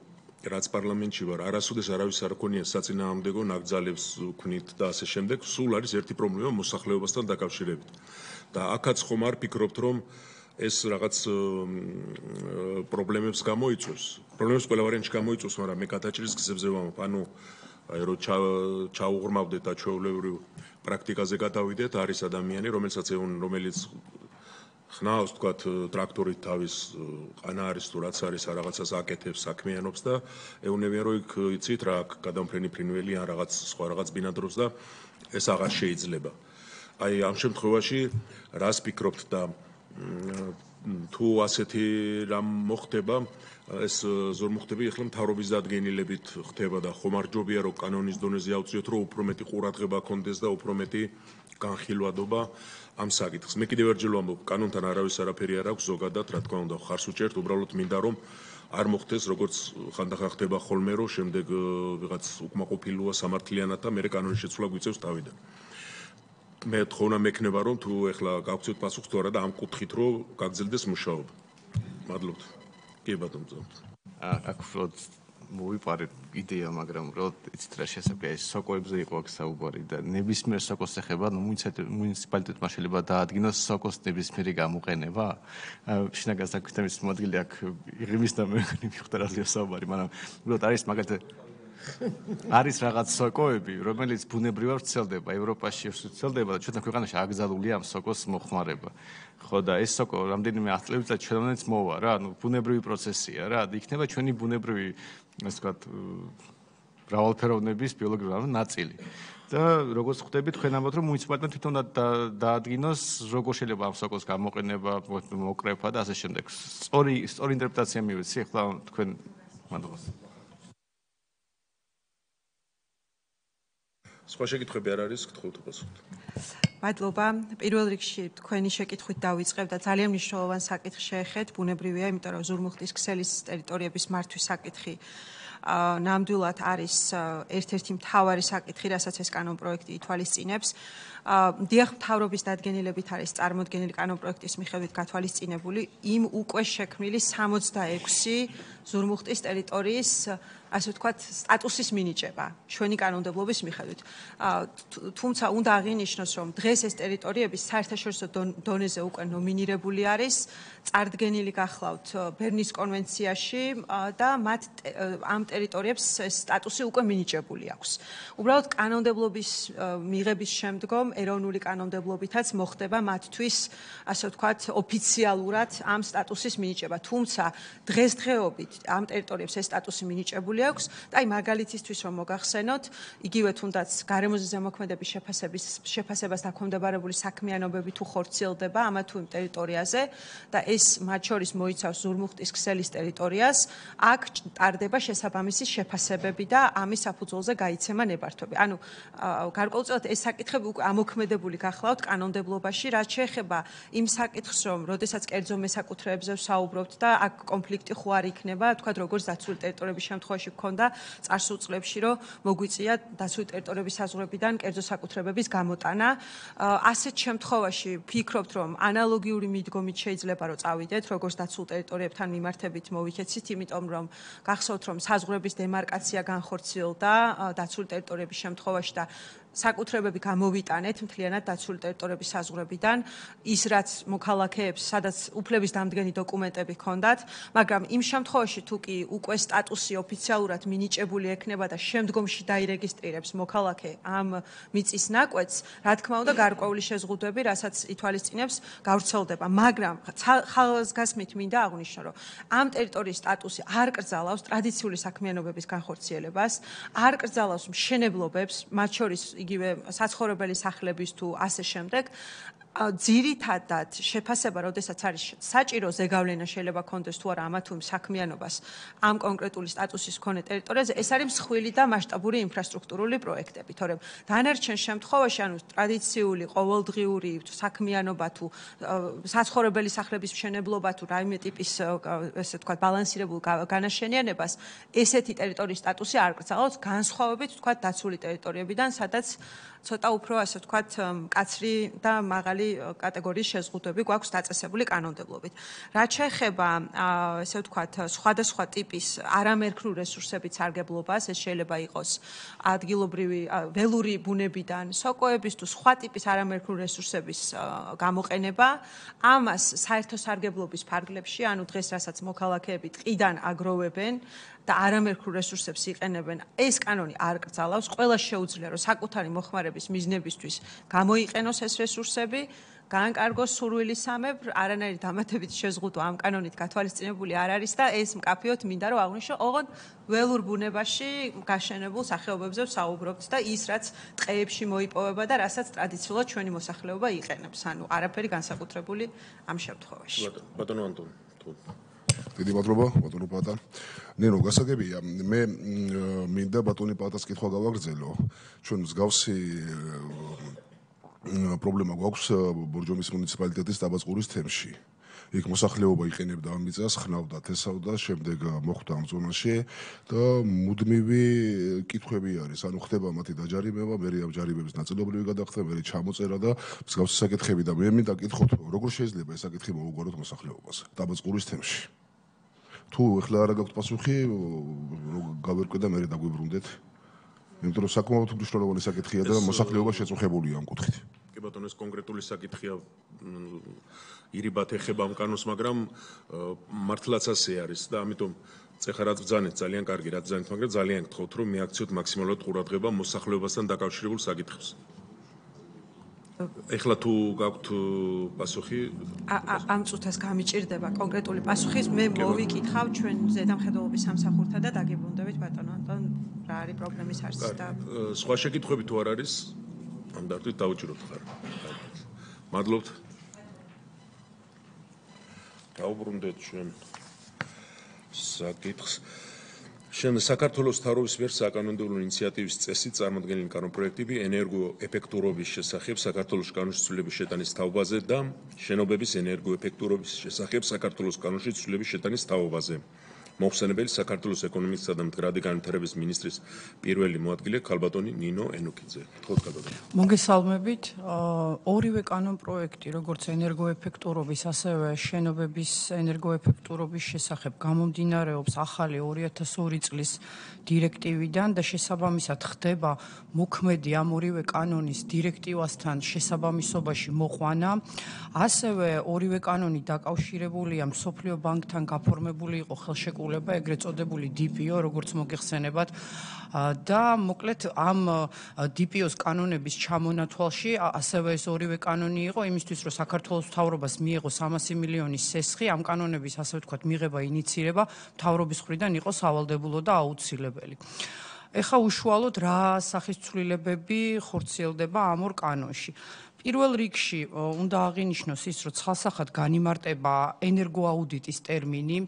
რაც პარლამენტში ვარ, არასოდეს არავის არ ქონია საწინააღმდეგო ნაკრძალებს ვქნით და ასე შემდეგ, სულ არის ერთი პრობლემა მოსახლეობასთან დაკავშირებით. და აქაც ხომ არ ფიქრობთ, რომ ეს რაღაც პრობლემებს გამოიწვევს. პრობლემებს ყველა ვარიანტში გამოიწვევს, მაგრამ მე გადაჭრის გზებზე ვამბობ, ანუ აი რომ ჩაუღრმავდეთ და ჩვეულებრივ პრაქტიკაზე გადავიდეთ, არის ადამიანი, რომელსაც ეუნ რომელიც ხნავს თქვათ ტრაქტორით თავის ყანა არის თუ რაც არის რაღაცას აკეთებს საქმიანობს და ეუნებიან რომ იქ იცით რა გადამფრენი ფრინველი ან რაღაც სხვა რაღაც ბინადრობს და ეს აღარ შეიძლება. აი ამ შემთხვევაში რას ფიქრობთ და თუ ასეთი რამ მოხდება, ეს ზორმუხტები ახლა მთავრობის დადგენილებით ხდება და ხომარჯობია რომ კანონის დონეზე ავწიოთ, რომ უფრო მეტი ყურადღება ქონდეს და უფრო მეტი განხილვადობა ამ საკითხს. მე კიდევ ერთხელ ვამბობ, კანონთან არავის არაფერი არ აქვს, ზოგადად, რა თქმა უნდა, ხარს უჭერთ, უბრალოდ მინდა რომ არ მოხდეს, როგორც ხანდახან ხდება ხოლმე, რომ შემდეგ ვიღაც უკმაყოფილოა სამართლიანად და მე კანონის შეცვლა გვიწევს თავიდან. მე თხოვნა მექნება რომ თუ ეხლა გავქცევთ პასუხს თუ არა და ამ კუთხით რომ გაგრძელდეს მუშაობა. მადლობთ. კი ბატონო მწვავთ. აქ უბრალოდ მოვიპარეთ იდეა, მაგრამ უბრალოდ იცით რა შესაძლოა ეს სოკოებზე იყო აქ საუბარი და ნებისმიერ სოკოს ეხება, ნუ მუნიციპალიტეტმა შეიძლება დაადგინოს სოკოს ნებისმიერი გამოყენება. შინაგან საქმეთა მინისტრის მოადგილე აქ იღიმის და მე მიხვდა რაზეა საუბარი, მაგრამ უბრალოდ არის მაგალითად არის რაღაც სოკოები, რომელიც ბუნებრივად ვრცელდება, ევროპაში ვრცელდება და ჩვენთან ქვეყანაში აკრძალულია ამ სოკოს მოხმარება. ხო და ეს სოკო რამდენიმე ათი წლების წინ ჩვენამდეც მოვა რა, ნუ ბუნებრივი პროცესია რა, იქნება ჩვენი ბუნებრივი, ასე ვთქვათ, მრავალფეროვნების ბიოლოგიური ნაწილი. და როგორც ხვდები, თქვენ ამბობთ, რომ მუნიციპალიტეტმა თვითონ დაადგინოს, როგორ შეიძლება ამ სოკოს გამოყენება, მოკრეფა და ასე შემდეგ. სწორი სწორი ინტერპრეტაცია მივეცი, ახლა თქვენ მადლობა. სხვა შეკითხვები არ არის, გთხოვთ უპასუხოთ. მადლობა. პირველ რიგში თქვენი შეკითხვით დავიწყებ და ძალიან მნიშვნელოვან საკითხს შეეხეთ, ბუნებრივია, იმიტომ რომ ზურმუხტის ქსელის ტერიტორიების მართვის საკითხი ნამდვილად არის ერთ-ერთი მთავარი საკითხი, რასაც ეს კანონპროექტი ითვალისწინებს. დიახ, მთავრობის დადგენილებით არის წარმოდგენილი კანონპროექტის მიხედვით გათვალისწინებული იმ უკვე შექმნილი სამოცდაექვსი ზურმუხტის ტერიტორიის, ასე ვთქვათ, სტატუსის მინიჭება ჩვენი კანონმდებლობის მიხედვით. თუმცა უნდა აღინიშნოს, რომ დღეს ეს ტერიტორიები საერთაშორისო დონეზე უკვე ნომინირებული არის, წარდგენილი გახლავთ ბერნის კონვენციაში და მათ ამ ტერიტორიებს ეს სტატუსი უკვე მინიჭებული აქვს. უბრალოდ კანონმდებლობის მიღების შემდგომ ეროვნული კანონმდებლობითაც მოხდება მათთვის, ასე ვთქვათ, ოფიციალურად ამ სტატუსის მინიჭება. თუმცა დღესდღეობით ამ ტერიტორიებს ეს სტატუსი მინიჭებული აქვს და აი მაგალითისთვის რომ მოგახსენოთ, იგივე თუნდაც გარემოზე ზემოქმედების შეფასების შეფასებას დაქვემდებარებული საქმიანობები თუ ხორციელდება ამა თუ იმ ტერიტორიაზე და ეს მათ შორის მოიცავს ზურმუხტის ქსელის ტერიტორიას, აქ ტარდება შესაბამისი შეფასებები და ამის საფუძველზე გაიცემა ნებართვები. ანუ გარკვეულწილად ეს საკითხები უკვე ამოქმედებული გახლავთ კანონმდებლობაში, რაც შეეხება იმ საკითხს, რომ როდესაც კერძო მესაკუთრეებზე ვსაუბრობთ და აქ კონფლიქტი ხო არ იქნება, თქვათ როგორც დაცული ტერიტორიების შემთხვევაში გქონდა წარსულ წლებში, რომ მოგვიწია დაცული ტერიტორიების საზღვრებიდან კერძო საკუთრებების გამოტანა. ასეთ შემთხვევაში ვფიქრობთ, რომ ანალოგიური მიდგომით შეიძლება რომ წავიდეთ, როგორც დაცულ ტერიტორიებთან მიმართებით მოვიქეცით, იმიტომ რომ გახსოვთ, რომ საზღვრების დემარკაცია განხორციელდა დაცული ტერიტორიების შემთხვევაში და საკუთრებები გამოვიტანეთ მთლიანად დაცული ტერიტორიების საზღვრებიდან, ის რაც მოქალაქეებს, სადაც უფლების დამდგენი დოკუმენტები ჰქონდათ, მაგრამ იმ შემთხვევაში თუ კი უკვე სტატუსი ოფიციალურად მინიჭებული ექნება და შემდგომში დაირეგისტრირებს მოქალაქე ამ მიწის ნაკვეთს, რა თქმა უნდა, გარკვეული შეზღუდვები, რასაც ითვალისწინებს, გავრცელდება, მაგრამ ხალხასგასმით მინდა აღვნიშნო, რომ ამ ტერიტორიის სტატუსი არ კრძალავს ტრადიციული საქმიანობების განხორციელებას, არ კრძალავს მშენებლობებს, მათ შორის იგივე საცხოვრებელი სახლების თუ ასე შემდეგ. ძირითადად შეფასება, როდესაც არის საჭირო ზეგავლენა შეიძლება კონდეს თუ არა ამა თუ იმ საქმიანობას ამ კონკრეტული სტატუსის მქონე ტერიტორიაზე, ეს არის მსხვილი და მასშტაბური ინფრასტრუქტურული პროექტები, თორემ დანარჩენ შემთხვევაში, ანუ ტრადიციული ყოველდღიური საქმიანობა თუ საცხოვრებელი სახლების მშენებლობა თუ რაიმე ტიპის, ესე ვთქვათ, ბალანსირებულ განაშენიანებას, ესეთი ტერიტორიის სტატუსი არ კრძალავს, განსხვავებით, ვთქვათ, დაცული ტერიტორიებიდან, სადაც ცოტა უფრო, ასე ვთქვათ, მკაცრი და მაღალი კატეგორიის შეზღუდვები გვაქვს დაწესებული კანონმდებლობით. რაც შეეხება, ესე ვთქვათ, სხვადასხვა ტიპის არამერქნულ რესურსების სარგებლობას, ეს შეიძლება იყოს ადგილობრივი ველური ბუნებიდან, სოკოების თუ სხვა ტიპის არამერქნულ რესურსების გამოყენება, ამას საერთო სარგებლობის ფარგლებში, ანუ დღეს რასაც მოქალაქეები ტყიდან აგროვებენ და არამერქნულ რესურსებს იყენებენ, ეს კანონი არ კრძალავს, ყველა შეუძლია, რომ საკუთარი მოხმარების მიზნებისთვის გამოიყენოს ეს რესურსები, გაანკარგოს სურვილისამებრ არანაირი დამატებითი შეზღუდვა ამ კანონით გათვალისწინებული არ არის და ეს მკაფიოდ მინდა რომ აღვნიშნო, ოღონდ ველურ ბუნებაში გაშენებულ სახეობებზე ვსაუბრობთ და ის რაც ტყეებში მოიპოვება და რასაც ტრადიციულად ჩვენი მოსახლეობა იყენებს. ანუ არაფერი განსაკუთრებული ამ შემთხვევაში. ბატონო ანტონი, თუ დიდი მადლობა, ბატონო პატა. ნინო, გასაგებია, მე მინდა ბატონი პატას კითხვა გავაგრძელო. ჩვენ მსგავსი პრობლემა გვაქვს ბორჯომის მუნიციპალიტეტის დაბაწყურის თემში. იქ მოსახლეობა იყენებდა ამ მიწას, ხნავდა, თესავდა, შემდეგ მოხვდა ამ ზონაში და მუდმივი კითხვები არის. ანუ ხდება მათი დაჯარიმება, მე ამ ჯარიმების ნაწილობრივი გადახდა, მე ჩამოწერა და მსგავსი საკითხები და მე მინდა კითხოთ, როგორ შეიძლება ეს საკითხი მოუგვაროთ მოსახლეობას დაბაწყურის თემში. თუ ეხლა არა გაქვთ პასუხი, გავერკვე და მე დაგვიბრუნდეთ. იმიტომ რომ საკმაოდ მნიშვნელოვანი საკითხია და მოსახლეობა შეწუხებულია ამ კუთხით. კი ბატონო, ეს კონკრეტული საკითხია ირიბად ეხება ამ კანონს, მაგრამ მართლაც ასე არის და ამიტომ წეხა რაც ბძანეთ ძალიან კარგი რაც ბძანეთ, მაგრამ ძალიან გთხოვთ რომ მიაქციოთ მაქსიმალურად ყურადღება მოსახლეობასთან დაკავშირებულ საკითხებს. ეხლა თუ გაქვთ პასუხი ამ წუთას გამიჭირდება კონკრეტული პასუხი, მე მოვიკითხავ ჩვენ ზედამხედველობის სამსახურთან და დაგიბრუნდებით ბატონო ანტონ, რა არის პრობლემის არსი და სხვა შეკითხვები თუ არ არის, ამ დარტყით დავუჭიროთ ხარ. მადლობთ. დავუბრუნდეთ ჩვენ საკითხს. შენ საქართველოს მთავრობის მიერ საკანონმდებლო ინიციატივის წესით წარმოქმნილი კანონპროექტები ენერგოეფექტურობის შესახებ საქართველოს კანონში ცვლილების შეტანის თაობაზე და შენობების ენერგოეფექტურობის შესახებ საქართველოს კანონში ცვლილების შეტანის თაობაზე. მოხსენებელი საქართველოს ეკონომიკისა და მდგრადი განვითარების მინისტრის პირველი მოადგილე ქალბატონი ნინო ენუქიძე. გთხოვთ ქალბატონი. მოგესალმებით. ორივე კანონპროექტი, როგორც ენერგოეფექტურობის, ასევე შენობების ენერგოეფექტურობის შესახებ გამომდინარეობს ახალი ორი ათას ორი წლის დირექტივიდან და შესაბამისად ხდება მოქმედი ამ ორივე კანონის დირექტივასთან შესაბამისობაში მოყვანა. ასევე ორივე კანონი დაკავშირებულია მსოფლიო ბანკთან გაფორმებული იყო ხელშეკრულება, ეგრეთ წოდებული დი პი ო, როგორც მოგეხსენებათ. და მოკლედ ამ დი პი ოს კანონების ჩამონათვალში ასევე ეს ორივე კანონი იყო იმისთვის, რომ საქართველოს მთავრობას მიეღო სამასი მილიონის სესხი, ამ კანონების ასე ვთქვათ მიღება, ინიცირება მთავრობის მხრიდან იყო სავალდებულო და აუცილებელი. ეხა უშუალოდ რა სახის ცვლილებები ხორციელდება ამ ორ კანონში. პირველ რიგში უნდა აღინიშნოს ის, რომ ცალსახად განიმარტება ენერგოაუდიტის ტერმინი.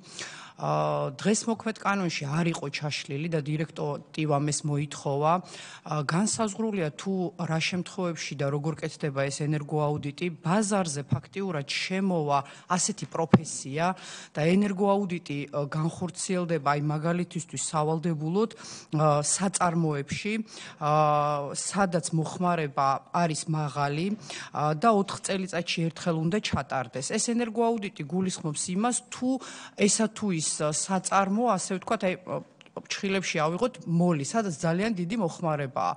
დღეს მოქმედ კანონში არ იყო ჩაშლილი და დირექტივამ ეს მოითხოვა. განსაზღვრულია თუ რა შემთხვევებში და როგორ კეთდება ეს ენერგოაუდიტი. ბაზარზე ფაქტიურად შემოვა ასეთი პროფესია და ენერგოაუდიტი განხორციელდება აი მაგალითისთვის სავალდებულოდ საწარმოებში, სადაც მოხმარება არის მაღალი და ოთხ წელიწადში ერთხელ უნდა ჩატარდეს. ეს ენერგოაუდიტი გულისხმობს იმას, თუ ესა თუ ის საწარმო, ასე ვთქვათ, აი ჩხილებში ავიღოთ მოლი, სადაც ძალიან დიდი მოხმარებაა.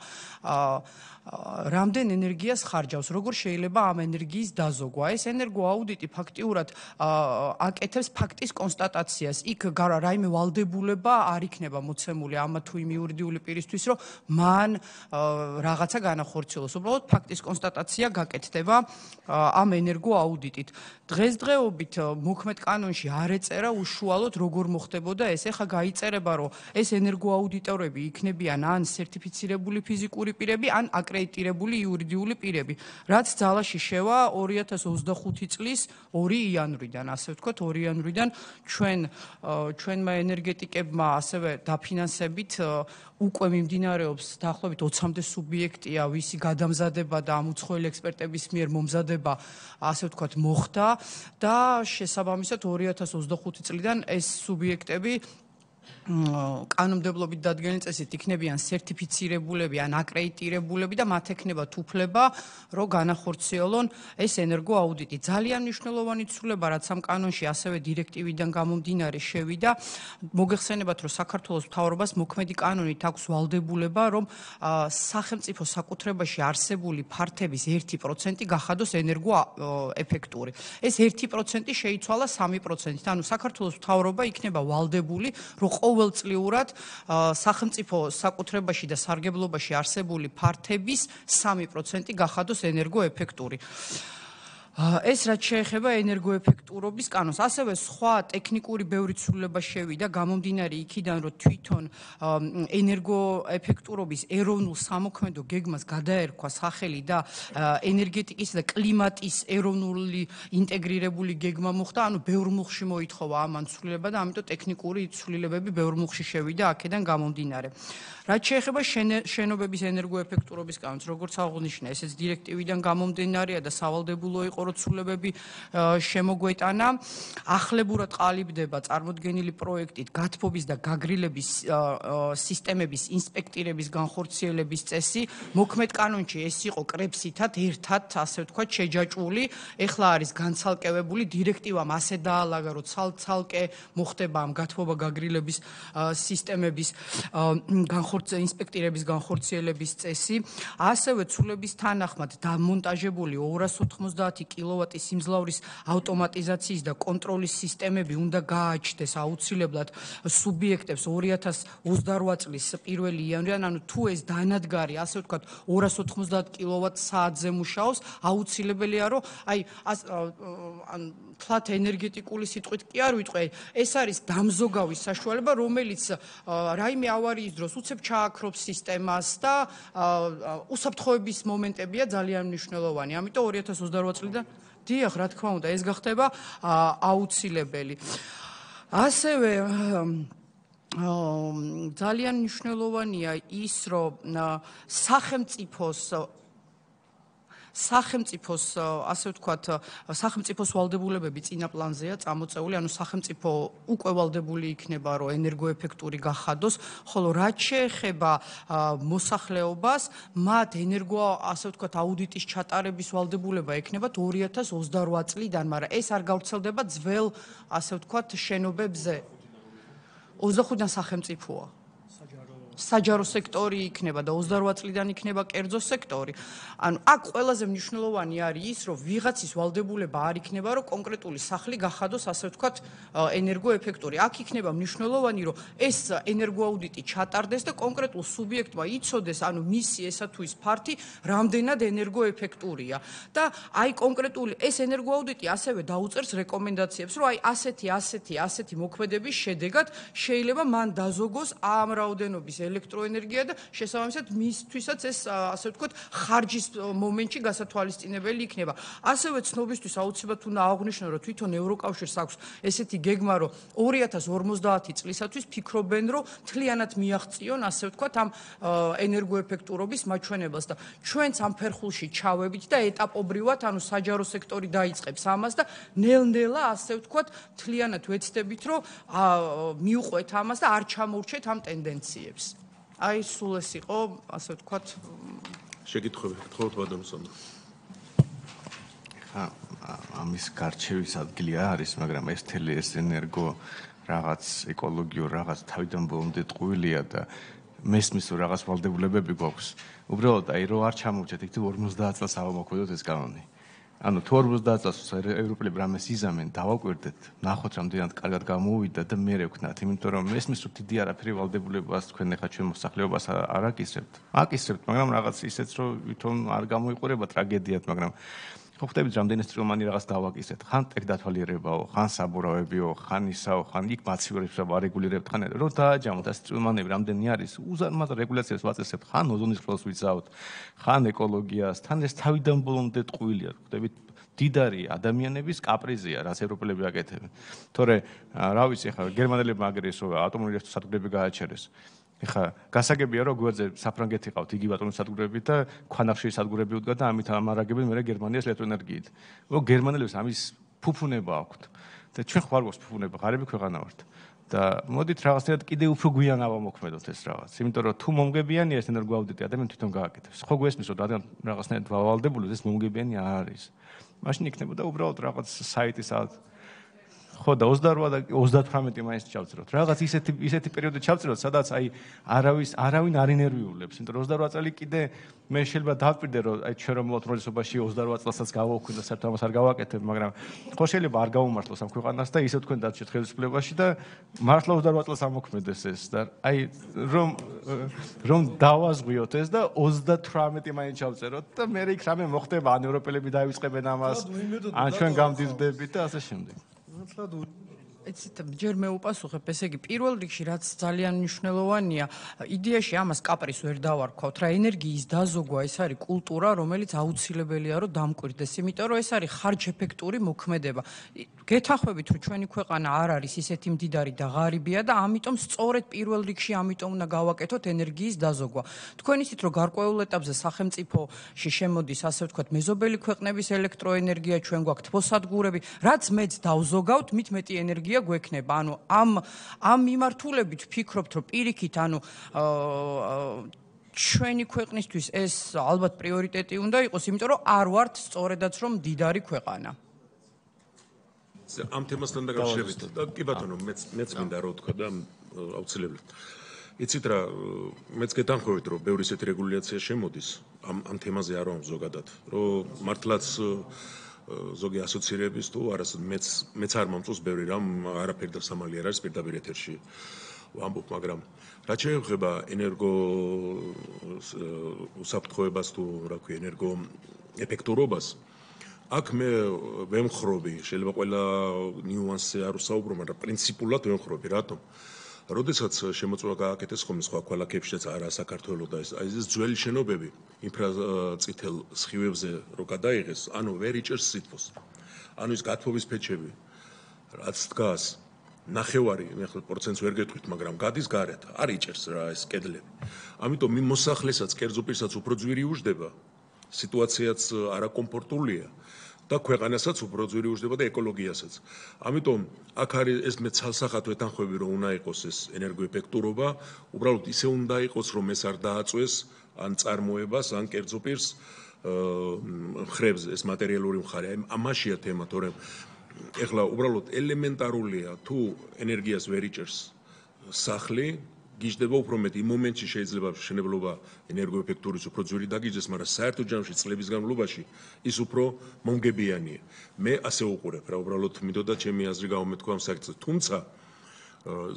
რამდენ ენერგიას ხარჯავს, როგორ შეიძლება ამ ენერგიის დაზოგვა. ეს ენერგოაუდიტი ფაქტიურად აკეთებს ფაქტის კონსტატაციას. იქ რაიმე ვალდებულება არ იქნება მოცემული ამა თუ იმ იურიდიული პირისთვის, რომ მან რაღაცა განახორციელოს. უბრალოდ ფაქტის კონსტატაცია გაკეთდება ამ ენერგოაუდიტით. დღესდღეობით მოქმედ კანონში არ ეწერა უშუალოდ როგორ მოხდებოდა ეს. ეხა გაიწერება, რომ ეს ენერგოაუდიტორები იქნებიან ან სერტიფიცირებული ფიზიკური პირები, ან აკრედიტირებული იურიდიული პირები, რაც ძალაში შევა ორი ათას ოცდახუთი წლის ორი იანვრიდან, ასე ვთქვათ, ორი იანვრიდან ჩვენ ჩვენმა ენერგეტიკებმა ასევე დაფინანსებით უკვე მიმდინარეობს დაახლოებით ოცამდე სუბიექტია, ვისი გადამზადება და ამ უცხოელი ექსპერტების მიერ მომზადება, ასე ვთქვათ, მოხდა და შესაბამისად ორი ათას ოცდახუთი წლიდან ეს სუბიექტები კანონმდებლობით დადგენილი წესით იქნებიან სერტიფიცირებულები ან აკრედიტირებულები და მათ ექნებათ უფლება, რომ განახორციელონ ეს ენერგოაუდიტი. ძალიან მნიშვნელოვანი ცვლილება, რაც ამ კანონში ასევე დირექტივიდან გამომდინარე შევიდა. მოგეხსენებათ, რომ საქართველოს მთავრობას მოქმედი კანონით აქვს ვალდებულება, რომ სახელმწიფო საკუთრებაში არსებული ფართების ერთი პროცენტი გახადოს ენერგოეფექტური. ეს ერთი პროცენტი შეიცვალა სამი პროცენტით. ანუ საქართველოს მთავრობა იქნება ვალდებული, რომ ყოველწლიურად სახელმწიფო საკუთრებაში და სარგებლობაში არსებული ფართების სამი პროცენტი გახადოს ენერგოეფექტური. ეს რაც შეეხება ენერგოეფექტურობის კანონს, ასევე სხვა ტექნიკური ბევრი ცვლილება შევიდა, გამომდინარე იქიდან, რომ თვითონ ენერგოეფექტურობის ეროვნულ სამოქმედო გეგმას გადაერქვა სახელი და ენერგეტიკის და კლიმატის ეროვნული ინტეგრირებული გეგმა მოხდა, ანუ ბევრ მუხში მოითხოვა ამან ცვლილება და ამიტომ ტექნიკური ცვლილებები ბევრ მუხში შევიდა აქედან გამომდინარე. რაც შეეხება შენობების ენერგოეფექტურობის კანონს, როგორც აღნიშნა, ესეც დირექტივიდან გამომდინარეა და სავალდებულო იყო რომ ცვლილებები შემოგვეტანა. ახლებურად ყალიბდება წარმოდგენილი პროექტით გათბობის და გაგრილების სისტემების ინსპექტირების განხორციელების წესი. მოქმედ კანონში ეს იყო კრებსითად ერთად, ასე ვთქვათ, შეჯაჭვული. ეხლა არის განცალკევებული დირექტივამ ასე დაალაგა, რომ ცალ-ცალკე მოხდება ამ გათბობა გაგრილების სისტემების განხორციელება ინსპექტირების განხორციელების წესი, ასევე ცვლილების თანახმად დამონტაჟებული ორას ოთხმოცდაათი კილოვატის სიმძლავრის ავტომატიზაციის და კონტროლის სისტემები უნდა გააჩნდეს აუცილებლად სუბიექტებს ორი ათას ოცდარვა წლის პირველი იანვრიდან, ანუ თუ ეს დანადგარი, ასე ვთქვათ, ორას ოთხმოცდაათ კილოვატ საათზე მუშაობს, აუცილებელია, რომ აი თლათ ენერგეტიკული სიტყვით კი არ ვიტყვი, ეს არის დამზოგავის საშუალება, რომელიც რაიმე ავარიის დროს უცებ ჩააქრობს სისტემას და უსაფრთხოების მომენტებია ძალიან მნიშვნელოვანი. ამიტომ ორი ათას ოცდარვა წლიდან დიახ, რა თქმა უნდა, ეს გახდება აუცილებელი. ასევე ძალიან მნიშვნელოვანია ის, რომ სახელმწიფოს სახელმწიფოს ასე ვთქვათ, სახელმწიფოს ვალდებულებები წინა პლანზეა წამოწეული, ანუ სახელმწიფო უკვე ვალდებული იქნება, რომ ენერგოეფექტური გახადოს, ხოლო რაც შეეხება მოსახლეობას, მათ ენერგო, ასე ვთქვათ, აუდიტის ჩატარების ვალდებულება ექნებათ ორი ათას ოცდარვა წლიდან, მაგრამ ეს არ გავრცელდება ძველ, ასე ვთქვათ, შენობებზე. ოცდახუთიდან სახელმწიფოა. საჯარო სექტორი იქნება და ოცდარვა წლიდან იქნება კერძო სექტორი. ანუ აქ ყველაზე მნიშვნელოვანი არის ის, რომ ვიღაცის ვალდებულება არ იქნება, რომ კონკრეტული სახლი გახადოს, ასე ვთქვათ, ენერგოეფექტური. აქ იქნება მნიშვნელოვანი, რომ ეს ენერგოაუდიტი ჩატარდეს და კონკრეტულ სუბიექტმა იცოდეს, ანუ მისი ესა თუ ის ფართი რამდენად ენერგოეფექტურია. და აი კონკრეტული ეს ენერგოაუდიტი ასევე დაუწერს რეკომენდაციებს, რომ აი ასეთი, ასეთი, ასეთი მოქმედების შედეგად შეიძლება მან დაზოგოს ამ რაოდენობის ელექტროენერგია და შესაბამისად მისთვისაც ეს ასე ვთქვათ ხარჯის მომენტში გასათვალისწინებელი იქნება. ასევე ცნობისთვის აუცილებლად უნდა აღვნიშნო, რომ თვითონ ევროკავშირს აქვს ესეთი გეგმა, რომ ორი ათას ორმოცდაათი წლისათვის ფიქრობენ, რომ მთლიანად მიაღწიონ, ასე ვთქვათ, ამ ენერგოეფექტურობის მაჩვენებელს და ჩვენც ამ ფერხულში ჩავებით და ეტაპობრივად, ანუ საჯარო სექტორი დაიწყებს ამას და ნელ-ნელა, ასე ვთქვათ, მთლიანად ვეცდებით, რომ მიუყვეთ ამას და არ ჩამოვრჩეთ ამ ტენდენციებს. აი სულ ეს იყო, ასე ვთქვათ, შეკითხვები, გთხოვთ ბატონო სანდრო. ხა ამის გარჩევის ადგილი არის, მაგრამ ეს თელი ეს ენერგო რაღაც ეკოლოგიურ რაღაც თავიდან ბოლომდე ტყუილია და მესმის რომ რაღაც ვალდებულებები გვაქვს. უბრალოდ აი რო არ ჩამოვჭეთ, იქ ორმოცდაათ წელს ავამოქმედოთ ეს კანონი. ანუ თუ ორმოცდაათ წელს ევროპელები რამეს იზამენ, დავაკვირდეთ, ნახოთ რამდენად კარგად გამოვიდა და მე ვქნათ, იმიტომ რომ მესმის რომ დიდი არაფერი ვალდებულებას თქვენ ახლა ჩვენ მოსახლეობას არ აკისრებთ. აკისრებთ, მაგრამ რაღაც ისეც რომ ვითომ არ გამოიყურება ტრაგედიად, მაგრამ ხო ხვდებით რამდენი სტრილმანი რაღაც დავაკისრეთ. ხან ტექ დათვალიერებაო, ხან საბურავებიო, ხან ისაო, ხან იქ მაცივერებს ვარეგულირებთ, ხან რომ დააჯამოთ ეს სტრილმანები რამდენი არის, უზარმაზარ რეგულაციას ვაწესებთ, ხან ოზონის ხელს ვიცავთ, ხან ეკოლოგიას, თან ეს თავიდან ბოლომდე ტყუილია, ხვდებით? დიდარი ადამიანების კაპრიზია, რაც ევროპელები აკეთებენ. თორე რა ვიცი, ხა გერმანელებმა აგერეს რომ ატომური სადგურები გააჩერეს. ეხა გასაგებია რომ გვერდზე საფრანგეთი ყავთ იგივე ატომური სადგურები და ქვანახშირის სადგურები უდგა და ამით ამარაგებენ მე გერმანიას ელექტროენერგიით. რომ გერმანელებს ამის ფუფუნება აქვთ და ჩვენ ხარ გვაქვს ფუფუნება, ღარიბი ქვეყანა ვართ. და მოდით რაღაცნაირად კიდე უფრო გვიან ავამოქმედოთ ეს რაღაც. იმიტომ რომ თუ მომგებიანია ეს ენერგოაუდიტი, ადამიანი თვითონ გააკეთებს. ხო გვესმის რომ რადგან რაღაცნაირად ვალდებულებს ეს მომგებიანი არ არის. მაშინ იქნებოდა უბრალოდ რაღაც საიტი სადაც ხო და ოცდაოთხ და ოცდათვრამეტი მაინც ჩავწეროთ. რაღაც ისეთი ისეთი პერიოდი ჩავწეროთ, სადაც აი არავის არავინ არ ინერვიულებს. იმიტომ რომ ოცდარვა წელი კიდე მე შეიძლება დავპირდე რომ აი ჩვენ რომ მოთმრობისობაში ოცდარვა წელსაც გავაუქმე და საერთოდ ამას არ გავაკეთებ, მაგრამ ხო შეიძლება არ გავუმართლოს ამ ქვეყანას და ისე თქვენ დარჩეთ ხელისუფლებაში და მართლა ოცდარვა წელს ამოქმედეს ეს და აი რომ რომ დავაზღვიოთ ეს და ოცდათვრამეტი მაინც ჩავწეროთ და მე იქ რამე მოხდება, ან ევროპელები დაივიწყებენ ამას, ან ჩვენ გამდიდრდებით და ასე შემდეგ. ეცით ჯერ მე უპასუხებ, ესე იგი პირველ რიგში რაც ძალიან მნიშვნელოვანია, იდეაში ამას კაპრის ვერ დავარქვათ, რა ენერგიის დაზოგვა ეს არის კულტურა, რომელიც აუცილებელია რომ დამკვირდეს, იმიტომ რომ ეს არის ხარჯეფექტური მოქმედება. გეთახმებით რომ ჩვენი ქვეყანა არ არის ისეთი მდიდარი და ღარიბია და ამიტომ სწორედ პირველ რიგში ამიტომ უნდა გავაკეთოთ ენერგიის დაზოგვა. თქვენ ისიც რომ გარკვეულ ეტაპზე სახელმწიფოში შემოდის, ასე ვთქვათ, მეზობელი ქვეყნების ელექტროენერგია, ჩვენ გვაქვს თბოსადგურები, რაც მეც დავზოგავთ, მით მეტი ენერგია გვექნება. ანუ ამ ამ მიმართულებით ვფიქრობთ, რომ პირიქით, ანუ ჩვენი ქვეყნისთვის ეს ალბათ პრიორიტეტი უნდა იყოს, იმიტომ რომ არ ვართ სწორედაც რომ მდიდარი ქვეყანა. ამ თემასთან დაკავშირებით და კი ბატონო, მეც მეც მინდა რა ვთქვა და აუცილებლად. იცით რა, მეც გეთანხმებით, რომ ბევრი ისეთი რეგულაცია შემოდის ამ ამ თემაზე არ ვამ ზოგადად, რომ მართლაც ზოგი ასოცირების თუ არასდროს მეც მეც არ მომწონს ბევრი რამ, არაფერი და სამალი არ არის პირდაპირ ეთერში ვამბობ, მაგრამ რაც შეეხება ენერგო უსაფრთხოებას თუ რა ქვია ენერგო ეფექტურობას, აქ მე ვემხრობი, შეიძლება ყველა ნიუანსზე არ ვსაუბრო, მაგრამ პრინციპულად ვემხრობი, რატომ? როდესაც შემოწმება გააკეთეს ხოლმე სხვა ქალაქებშიც არა საქართველოს და ეს აი ეს ძველი შენობები ინფრაწითელ სხივებზე რო გადაიღეს, ანუ ვერ იჭერს სითბოს. ანუ ის გათბობის ფეჩები, რაც დგას, ნახევარი, მე ხო პროცენტს ვერ გეტყვით, მაგრამ გადის გარეთ, არ იჭერს რა ეს კედლები. ამიტომ იმ მოსახლესაც, კერძო პირსაც უფრო ძვირი უждდება, სიტუაციაც არაკომფორტულია. და ქვეყანასაც უფრო ძვირი უждდება და ეკოლოგიასაც. ამიტომ აქ არის ეს მე ცალსახად ვეთანხმები, რომ უნდა იყოს ეს ენერგოეფექტურობა, უბრალოდ ისე უნდა იყოს, რომ ეს არ დააწვეს ან წარმოებას, ან კერძო პირს ხრებს ეს მატერიალური მხარე. აი ამაშია თემა, თორემ ეხლა უბრალოდ ელემენტარულია, თუ ენერგიას ვერ იჭერს სახლი, გიждდება უფრო მეტი. იმ მომენტში შეიძლება შენებლობა ენერგოეფექტურის უფრო ძვირი დაგიჯდეს, მაგრამ საერთო ჯამში წლების განმავლობაში ის უფრო მომგებიანია. მე ასე უყურებ რა, უბრალოდ მინდოდა ჩემი აზრი გავუმეთქვა ამ საკითხზე. თუმცა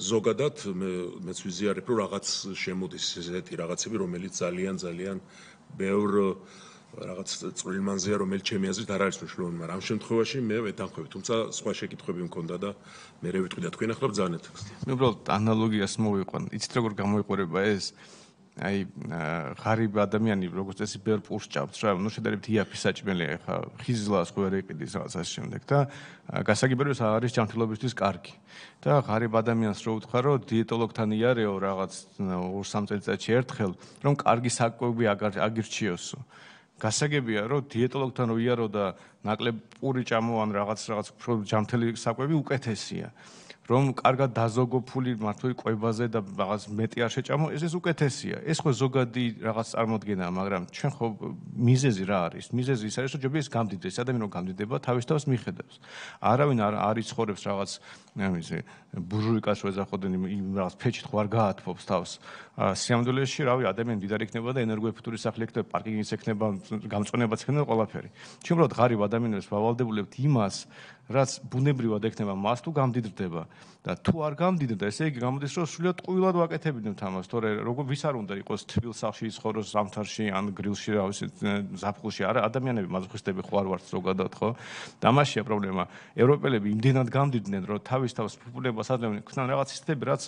ზოგადად მე მეც ვიზიარებ, რომ რაღაც შემოდის ესეთი რაღაცები, რომელიც ძალიან ძალიან ბევრ რაღაც წვრილმანზეა, რომელიც ჩემი აზრით არ არის მნიშვნელოვანი, მაგრამ ამ შემთხვევაში მე ვეთანხმები, თუმცა სხვა შეკითხვები მქონდა და მე რევიტყვი და თქვენ ახლა ბრძანეთ. მე უბრალოდ ანალოგიას მოვიყვან. იცით როგორ გამოიყურება ეს? აი ღარიბ ადამიანი როგორც წესი ბევრ პურს ჭამს რა, ნუ შედარებით იაფი საჭმელია, ხა ხიზლას ხო ვერ იყიდის რაღაც ამ შემდეგ და გასაგებია ეს არის ჯანმრთელობისთვის კარგი. და ღარიბ ადამიანს რო უთხრა, რომ დიეტოლოგთან იარეო რაღაც ორ სამ წელიწადში ერთხელ, რომ კარგი საკვები აგირჩიოსო. გასაგებია, რომ დიეტოლოგთან რო იარო და ნაკლებ პური ჭამო ან რაღაც რაღაც ჯანმრთელი საკვები უკეთესია. რომ კარგად დაზოგო ფული მართლი კვებაზე და რაღაც მეტი არ შეჭამო, ეს ეს უკეთესია. ეს ხო ზოგადი რაღაც წარმოდგენაა, მაგრამ ჩვენ ხო მიზეზი რა არის? მიზეზი ის არის, რომ ჯობია ეს გამდიდრდეს, ადამიანი რომ გამდიდება, თავის თავს მიხედავს. არავინ არ არ იცხოვრებს რაღაც ამაზე ბურჟუიკას რო ეძახოდნენ იმ რაღაც ფეჩით ხო არ გაათბობს თავს. სიამდვილეში, რავი, ადამიანი მდიდარი იქნება და ენერგოეფექტური სახლი იქნება, პარკინგიც იქნება, გამწვანებაც იქნება ყველაფერი. ჩვენ უბრალოდ ღარიბ ადამიანებს ვავალდებულებთ იმას, რაც ბუნებრივად ექნება მას თუ გამდიდრდება და თუ არ გამდიდრდა, ესე იგი გამოდის, რომ სრულიად ტყუილად ვაკეთებინებთ ამას, თორე როგორ ვის არ უნდა იყოს თბილ სახლში იცხოვროს, ზამთარში ან გრილში, რა ვიცი, ზაფხულში, არა, ადამიანები მაზოხისტები ხო არ ვართ ზოგადად, ხო? და ამაშია პრობლემა. ევროპელები იმდენად გამდიდნენ, რომ თავის თავს ფუფუნებას აძლევდნენ, ხსნან რაღაც სისტემები, რაც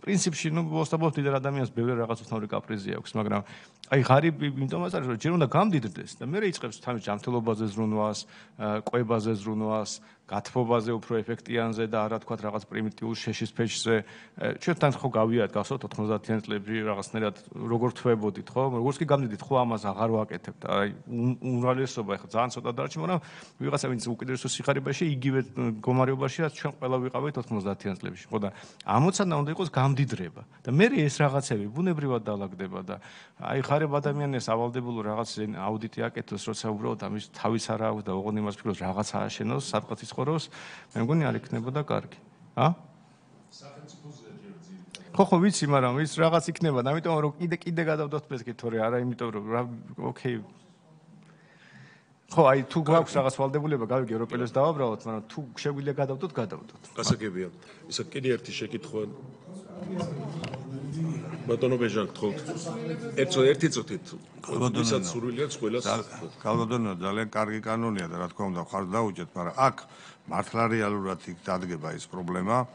პრინციპში, ნუ მოსთაბობთ დიდ ადამიანს ბევრი რაღაც უცნაური კაპრიზი აქვს, მაგრამ აი ღარიბი იმიტომაც არის, რომ ჯერ უნდა გამდიდრდეს და მე იწყებს თავის ჯანმრთელობაზე ზრუნვას, კვებაზე ზრუნვას, გათბობაზე უფრო ეფექტიანზე და არა თქვა რაღაც პრიმიტიულ შეშის ფეჩზე. ჩვენთან ხო გავიარეთ გახსოვთ ოთხმოცდაათიან წლებში რაღაცნაირად როგორ თვებოდით, ხო? როგორც კი გამდიდით, ხო ამას აღარ ვაკეთებთ. აი უმრავლესობა ახლა ძალიან ცოტა დარჩი, მაგრამ ვიღაცა ვინც უკიდურესო სიხარებაში იგივე მდგომარეობაში, რაც ჩვენ ყველა ვიყავით ოთხმოცდაათიან წლებში, ხო და ამოცანა უნდა იყოს გამდიდრება. და მე ეს რაღაცები ბუნებრივად დაალაგდება და აი ღარიბ ადამიანებს ავალდებულო რაღაც აუდიტი აკეთოს, როცა უბრალოდ ამის თავის არა აქვს და ოღონდ იმას ფიქრობს რაღაც ააშენოს, სადღაც ის ცხოვრობს, მე მგონი არ იქნებოდა კარგი. ა? ხო ხო ვიცი, მაგრამ ის რაღაც იქნება, ამიტომ რომ კიდე კიდე გადავდოთ მესკი თორე არა, იმიტომ რომ ოკეი. ხო, აი თუ გვაქვს რაღაც ვალდებულება, გავიგე ევროპელებს დავაბრალოთ, მაგრამ თუ შეგვიძლია გადავდოთ, გადავდოთ. გასაგებია. ისა კიდე ერთი შეკითხვა. ბატონო ბეჟან გთხოვთ. ერთო ერთი წუთით. ვისაც სურვილია ყველას. კალბატონო ძალიან კარგი კანონია და რა თქმა უნდა ხარ დაუჭეთ, მაგრამ აქ მართლა რეალურად იქ დადგება ის პრობლემა.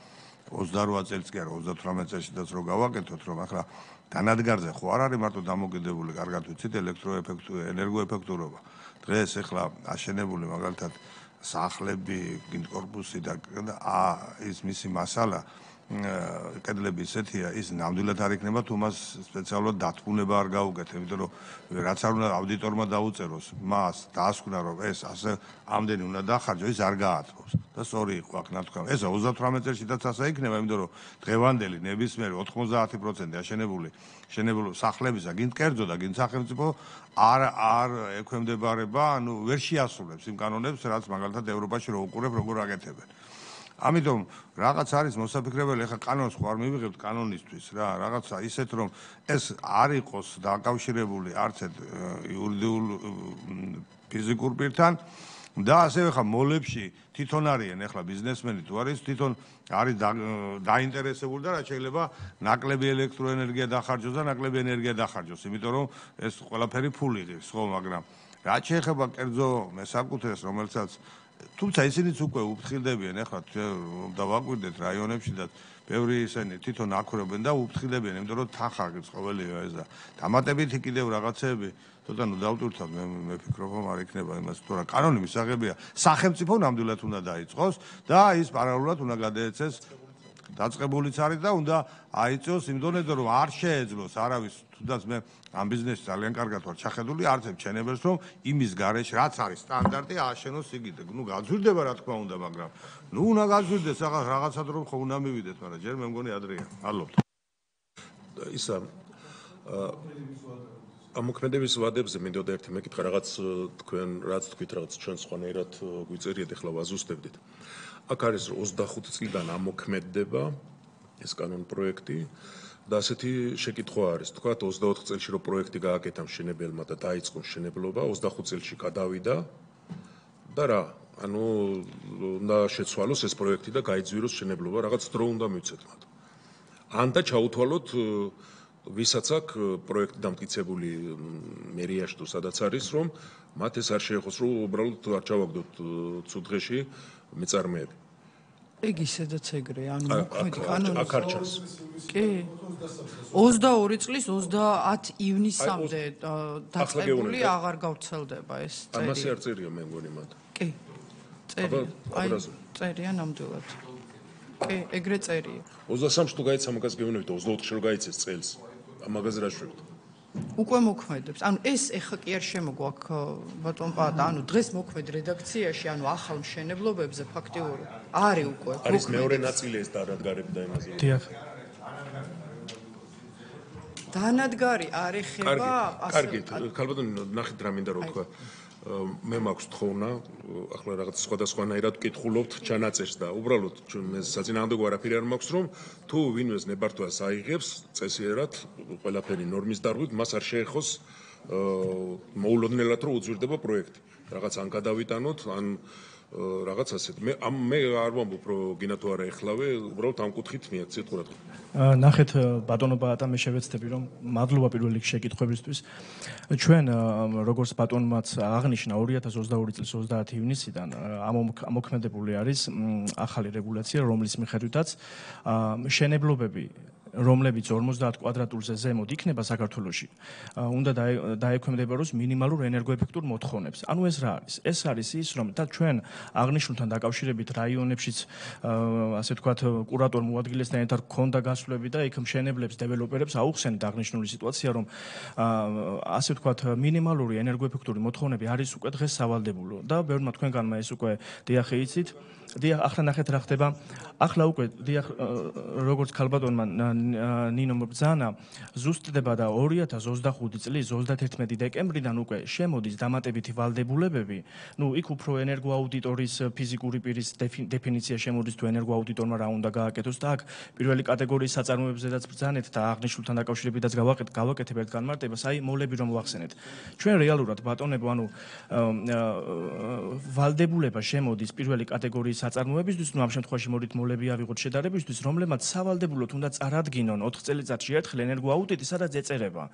ოცდარვა წელს კი არა, ოცდათვრამეტ წელშიც რო გავაკეთოთ, რომ ახლა განადგარზე ხო არ არის მარტო დამოკიდებული, კარგად ვიცით, ელექტროეფექტუ, ენერგოეფექტურობა. დღეს ახლა აშენებული მაგალითად სახლები, კორპუსი და ის მისი მასალა კედლები ისეთია, ის ნამდვილად არ იქნება თუ მას სპეციალურად დათბუნება არ გაუკეთე, იმიტომ რომ რაც არ უნდა აუდიტორმა დაუწეროს, მას დაასკვნა რომ ეს ასე ამდენი უნდა დახარჯო, ის არ გაათბობს. და სწორი იყო აქ ნათქვა. ეს ოცდათვრამეტ წელშიც ასე იქნება, იმიტომ რომ დღევანდელი ნებისმიერი ოთხმოცდაათი პროცენტი აშენებული შენებული სახლებისა, გინ კერძო და გინ სახელმწიფო არ არ ექვემდებარება, ანუ ვერ შეასრულებს იმ კანონებს, რაც მაგალითად ევროპაში რო უყურებ, როგორ აკეთებენ. ამიტომ რაღაც არის მოსაფიქრებელი, ახლა კანონს ხო არ მივიღებთ კანონისთვის რა, რაღაცა ისეთ რომ ეს არ იყოს დაკავშირებული არც ერთ იურიდიულ ფიზიკურ პირთან და ასევე ხა მოლებში თვითონ არიან ახლა ბიზნესმენი თუ არის თვითონ არის დაინტერესებული და რა შეიძლება ნაკლები ელექტროენერგია დახარჯოს და ნაკლები ენერგია დახარჯოს, იმიტომ რომ ეს ყველაფერი ფული ღირს ხო, მაგრამ რაც შეეხება კერძო მესაკუთრეს, რომელსაც თუმცა ისინიც უკვე უფრთხილდებიან, ახლა დავაკვირდეთ რაიონებში და ბევრი ისინი თვითონ აქვრობენ და უფრთხილდებიან, იმიტომ რომ თანხარგებს ყოველია ეს და დამატებითი კიდევ რაღაცეები ცოტა ნუ დავტვირთოთ, მე მე ვფიქრობ, რომ არ იქნება იმას, თუ რა კანონი მისაღებია, სახელმწიფო ნამდვილად უნდა დაიწყოს და ის პარალელურად უნდა გადაეცეს დაწყებულიც არის და უნდა აიწოს იმ დონეზე, რომ არ შეეძლოს არავის, თუნდაც მე ამ ბიზნესში ძალიან კარგად ვარ ჩახედული, არც ერთ შენებელს, რომ იმის გარეშე რაც არის სტანდარტი ააშენოს იგივე. ნუ გაძვირდება რა თქმა უნდა, მაგრამ ნუ უნდა გაძვირდეს რაღაც რაღაცად რომ ხო უნდა მივიდეს, მაგრამ ჯერ მე მგონი ადრეა. მადლობთ. ისა ამ მოქმედების ვადებზე მინდოდა ერთი მეკითხა, რაღაც თქვენ რაც თქვით, რაღაც ჩვენ სხვანაირად გვიწერიეთ, ახლა ვაზუსტებდით. აქ არის ოცდახუთი წლიდან ამოქმედდება ეს კანონ პროექტი და ასეთი შეკითხვა არის, თქვათ ოცდაოთხ წელში რო პროექტი გააკეთა მშენებელმა და დაიწყო მშენებლობა, ოცდახუთ წელში გადავიდა და რა, ანუ უნდა შეცვალოს ეს პროექტი და გაიძვიროს მშენებლობა, რაღაც დრო უნდა მივცეთ მათ. ან და ჩაუთვალოთ ვისაც აქ პროექტი დამტკიცებული მერიაში თუ სადაც არის, რომ მათ ეს არ შეეხოს, რომ უბრალოდ არ ჩავაგდოთ ცუდ დღეში მეწარმეები. ეგ ისედაც ეგრეა, ანუ მოქმედი კანონის აქ არ ჩანს. კი. ოცდაორი წლის ოცდაათი ივნისამდე დაწყებული აღარ გავრცელდება ეს წერი. ამას არ წერია მე მგონი მათ. კი. წერია. აი წერია ნამდვილად. კი, ეგრე წერია. ოცდასამში თუ გაიცა მაგას გეუბნებით, ოცდაოთხში რო გაიცეს წელს. ამაგაზე რა შვებთ? უკვე მოქმედებს. ანუ ეს ეხა კი არ შემოგვაქვს ბატონ პატა, ანუ დღეს მოქმედ რედაქციაში, ანუ ახალ მშენებლობებზე ფაქტიურად არის უკვე. არის მეორე ნაწილი ეს დანადგარები და იმაზე. დიახ. დანადგარი არ ეხება ასე. კარგით, ქალბატონო, ნახეთ რა მინდა რომ თქვა. მე მაქვს თხოვნა, ახლა რაღაც სხვადასხვანაირად ვკითხულობთ ჩანაწერს და უბრალოდ მე საწინააღმდეგო არაფერი არ მაქვს, რომ თუ ვინმეს ნებართვას აიღებს წესიერად ყველაფერი ნორმის დარღვით, მას არ შეეხოს მოულოდნელად რომ უძვირდება პროექტი. რაღაც ან გადავიტანოთ, ან რაღაც ასეთ. მე ამ მე არ ვამბობ რომ გინა თუ არა ეხლავე, უბრალოდ ამ კუთხით მიაქციეთ ყურადღება. ნახეთ ბატონო ბატა, მე შევეცდები რომ მადლობა პირველ რიგში შეკითხვებისთვის. ჩვენ როგორც ბატონმაც აღნიშნა ორი ათას ოცდაორი წლის ოცდაათი ივნისიდან ამოქმედებული არის ახალი რეგულაცია, რომლის მიხედვითაც მშენებლობები რომლებიც ორმოცდაათ კვადრატულზე ზემოთ იქნება საქართველოში, უნდა დაექვემდებაროს მინიმალურ ენერგოეფექტურ მოთხოვნებს. ანუ ეს რა არის? ეს არის ის, რომ და ჩვენ აღნიშნულთან დაკავშირებით რაიონებშიც, ასე ვთქვათ, კურატორ მოადგილესთან ერთად გქონდა გასვლები და იქ მშენებლებს, დეველოპერებს აუხსენთ აღნიშნული სიტუაცია, რომ ასე ვთქვათ, მინიმალური ენერგოეფექტური მოთხოვნები არის უკვე დღეს სავალდებულო და ბევრმა თქვენგანმა ეს უკვე დიახ იცით. დიახ, ახლა ნახეთ რა ხდება. ახლა უკვე დიახ, როგორც ქალბატონმა ნინო მბრძანა, ზუსტდება და ორი ათას ოცდახუთი წლის ოცდაათერთმეტი დეკემბრიდან უკვე შემოდის დამატებითი ვალდებულებები. ნუ იქ უფრო ენერგოაუდიტორის ფიზიკური პირის დეფინიცია შემოდის თუ ენერგოაუდიტორმა რა უნდა გააკეთოს და აქ პირველი კატეგორიის საწარმოებებზედაც ბრძანეთ და აღნიშნულთან დაკავშირებითაც გავაკეთებ ერთ განმარტებას, აი მოლები რომ ვახსენეთ. ჩვენ რეალურად ბატონებო, ანუ ვალდებულება შემოდის პირველი კატეგორიის საწარმოებისთვის, ნუ ამ შემთხვევაში მოდით მოლები ავიღოთ შედარებისთვის, რომლებმაც სავალდებულოდ უნდა წარადგინონ ოთხ წელიწადში ერთხელ ენერგოაუდიტი, სადაც ეწერება.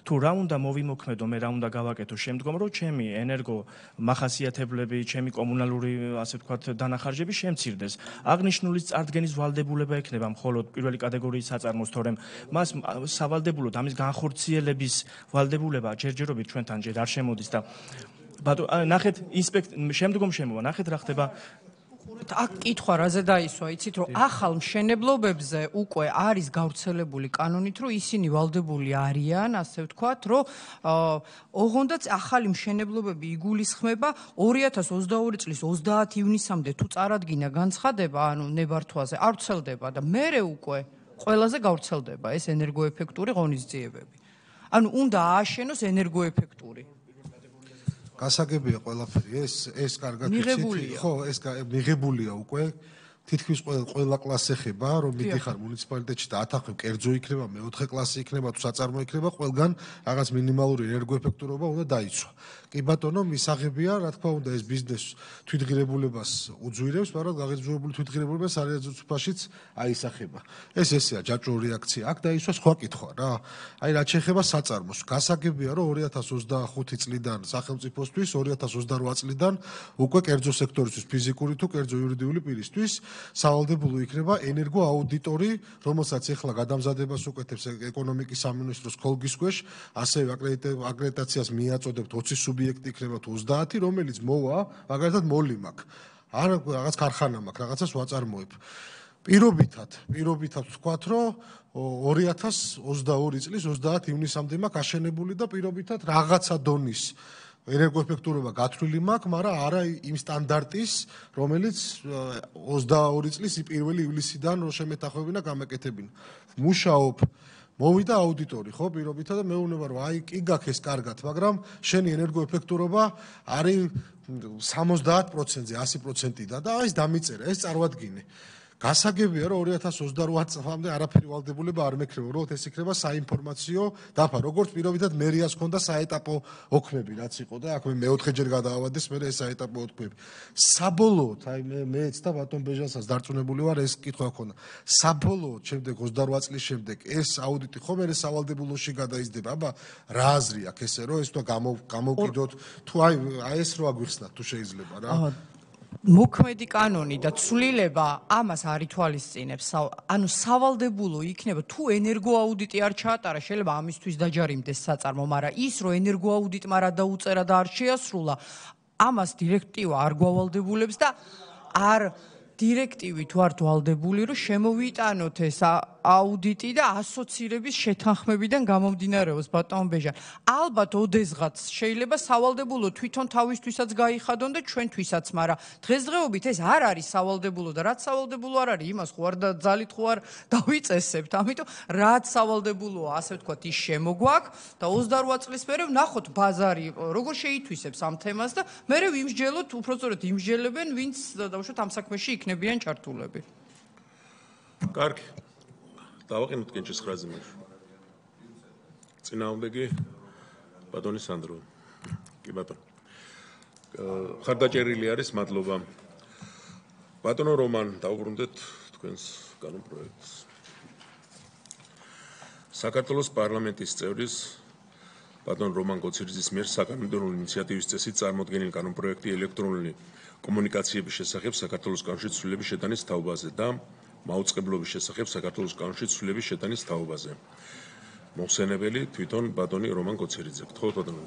თუ რა უნდა მოვიმოქმედო, მე რა უნდა გავაკეთო შემდგომ, რომ ჩემი ენერგო მახასიათებლები, ჩემი კომუნალური, ასე ვთქვათ, დანახარჯები შემცირდეს. აღნიშნულის წარდგენის ვალდებულება ექნება მხოლოდ პირველი კატეგორიის საწარმოს, თორემ მას სავალდებულოდ ამის განხორციელების ვალდებულება ჯერჯერობით ჩვენთან ჯერ არ შემოდის და ბატონო, ნახეთ ინსპექტ შემდგომ შემოვა, ნახეთ რა ხდება. აქ კითხვა რაზე დაისვა, იცით რომ ახალ მშენებლობებზე უკვე არის გავრცელებული კანონით, რომ ისინი ვალდებული არიან, ასე ვთქვათ, რომ ოღონდაც ახალი მშენებლობები იგულისხმება ორი ათას ოცდაორი წლის ოცდაათი ივნისამდე თუ წარადგინა განცხადება, ანუ ნებართვაზე არ ვრცელდება და მერე უკვე ყველაზე გავრცელდება ეს ენერგოეფექტური ღონისძიებები. ანუ უნდა ააშენოს ენერგოეფექტური. გასაგებია ყველაფერი ეს ეს კარგად მიღებულია. ხო, ეს მიღებულია უკვე თითქმის ყველა კლასი ეხება, რომ მიდიხარ მუნიციპალიტეტში და ათახევ კერძო იქნება, მეოთხე კლასი იქნება, თუ საწარმო იქნება, ყველგან რაღაც მინიმალური ენერგოეფექტურობა უნდა დაიცვა. კი ბატონო, მისაღებია, რა თქმა უნდა, ეს ბიზნეს თვითღირებულებას უძვირებს, მაგრამ გაღიზვებული თვითღირებულება სარეალიზაციაშიც აისახება. ეს ესეა ჯაჭვური რეაქცია. აქ დაისვა სხვა კითხვა რა. აი რაც შეეხება საწარმოს, გასაგებია, რომ ორი ათას ოცდახუთი წლიდან სახელმწიფოსთვის, ორი ათას ოცდარვა წლიდან უკვე კერძო სექტორისთვის, ფიზიკური თუ კერძო იურიდიული პირისთვის სავალდებულო იქნება ენერგოაუდიტორი, რომელსაც ახლა გადამზადებას უკეთებს ეკონომიკის სამინისტროს ხოლგის ქვეშ, ასევე აკრედიტაციას მიაწოდებთ ოცი სუბიექტი იქნება თუ ოცდაათი, რომელიც მოვა, მაგალითად მოლი მაქვს. არ რაღაც ქარხანა მაქვს, რაღაცას ვაწარმოებ. პირობითად, პირობითად ვთქვათ, რომ ორი ათას ოცდაორი წლის ოცდაათი ივნისამდე მაქვს აშენებული და პირობითად რაღაცა დონის ენერგოეფექტურობა გათვლილი მაქვს, მაგრამ არა იმ სტანდარტის, რომელიც ოცდაორი წლის პირველი ივლისიდან რო შემეთახმებინა გამეკეთებინა. მუშაობ მოვიდა აუდიტორი, ხო, პირობითად და მეუბნება რომ აი კი გაქვს ეს კარგად, მაგრამ შენი ენერგოეფექტურობა არის სამოცდაათ პროცენტზე, ასი პროცენტიდან და აი ეს დამიწერა, ეს წარმოადგინე. გასაგებია, რომ ორი ათას ოცდარვა წლამდე არაფერი ვალდებულება არ მექნება, რომ ეს იქნება საინფორმაციო დაფა, როგორც პირობითად მერიას ჰქონდა საეტაპო ოქმები, რაც იყო და აქ მე მეოთხეჯერ გადაავადეს, მე ეს საეტაპო ოქმები. საბოლოოდ, აი მე მეც და ბატონ ბეჟანსაც დარწმუნებული ვარ, ეს კითხვა ჰქონდა. საბოლოოდ, შემდეგ ოცდარვა წლის შემდეგ ეს აუდიტი ხომ მე სავალდებულოში გადაიზრდება, აბა რა აზრი აქვს ესე, რომ ეს თუ გამოვკიდოთ, თუ აი აი ეს რო აგვიხსნათ, თუ შეიძლება რა. მოქმედი კანონი და ცვლილება ამას არ ითვალისწინებს. ანუ სავალდებულო იქნება თუ ენერგოაუდიტი არ ჩაატარა, შეიძლება ამისთვის დაჯარიმდეს საწარმო, მაგრამ ის რომ ენერგოაუდიტმა რა დაუწერა და არ შეასრულა, ამას დირექტივა არ გვავალდებულებს და არ დირექტივით ვართ ვალდებული, რომ შემოვიტანოთ ეს აუდიტი და ასოცირების შეთანხმებიდან გამომდინარეობს, ბატონ ბეჟან. ალბათ ოდესღაც შეიძლება სავალდებულო თვითონ თავისთვისაც გაიხადონ და ჩვენთვისაც, მაგრამ დღესდღეობით ეს არ არის სავალდებულო და რაც სავალდებულო არ არის, იმას ხო არ და ძალით ხო არ დავიწესებთ. ამიტომ რაც სავალდებულოა, ასე ვთქვათ, ის შემოგვაქვს და ოცდარვა წლის მერე ვნახოთ ბაზარი როგორ შეითვისებს ამ თემას და მერე ვიმსჯელოთ, უпростоრეთ იმსჯელებენ, ვინც დავუშვათ ამ საქმეში იქნებიან ჩართულები. კარგი. დავაყენოთ კენჭის ხრაზე მაშინ. წინააღმდეგი ბატონი სანდრო. კი ბატონო. ხარდაჭერილი არის, მადლობა. ბატონო რომან, დავუბრუნდეთ თქვენს კანონ პროექტს. საქართველოს პარლამენტის წევრის ბატონ რომან გოცირიძის მიერ საკანონმდებლო ინიციატივის წესით წარმოდგენილი კანონ პროექტი ელექტრონული კომუნიკაციების შესახებ საქართველოს კანონში ცვლილების შეტანის თაობაზე და მაუწყებლობის შესახებ საქართველოს კანონში ცვლილების შეტანის თაობაზე. მოხსენებელი თვითონ ბატონი რომან გოცირიძე. გთხოვთ ბატონო.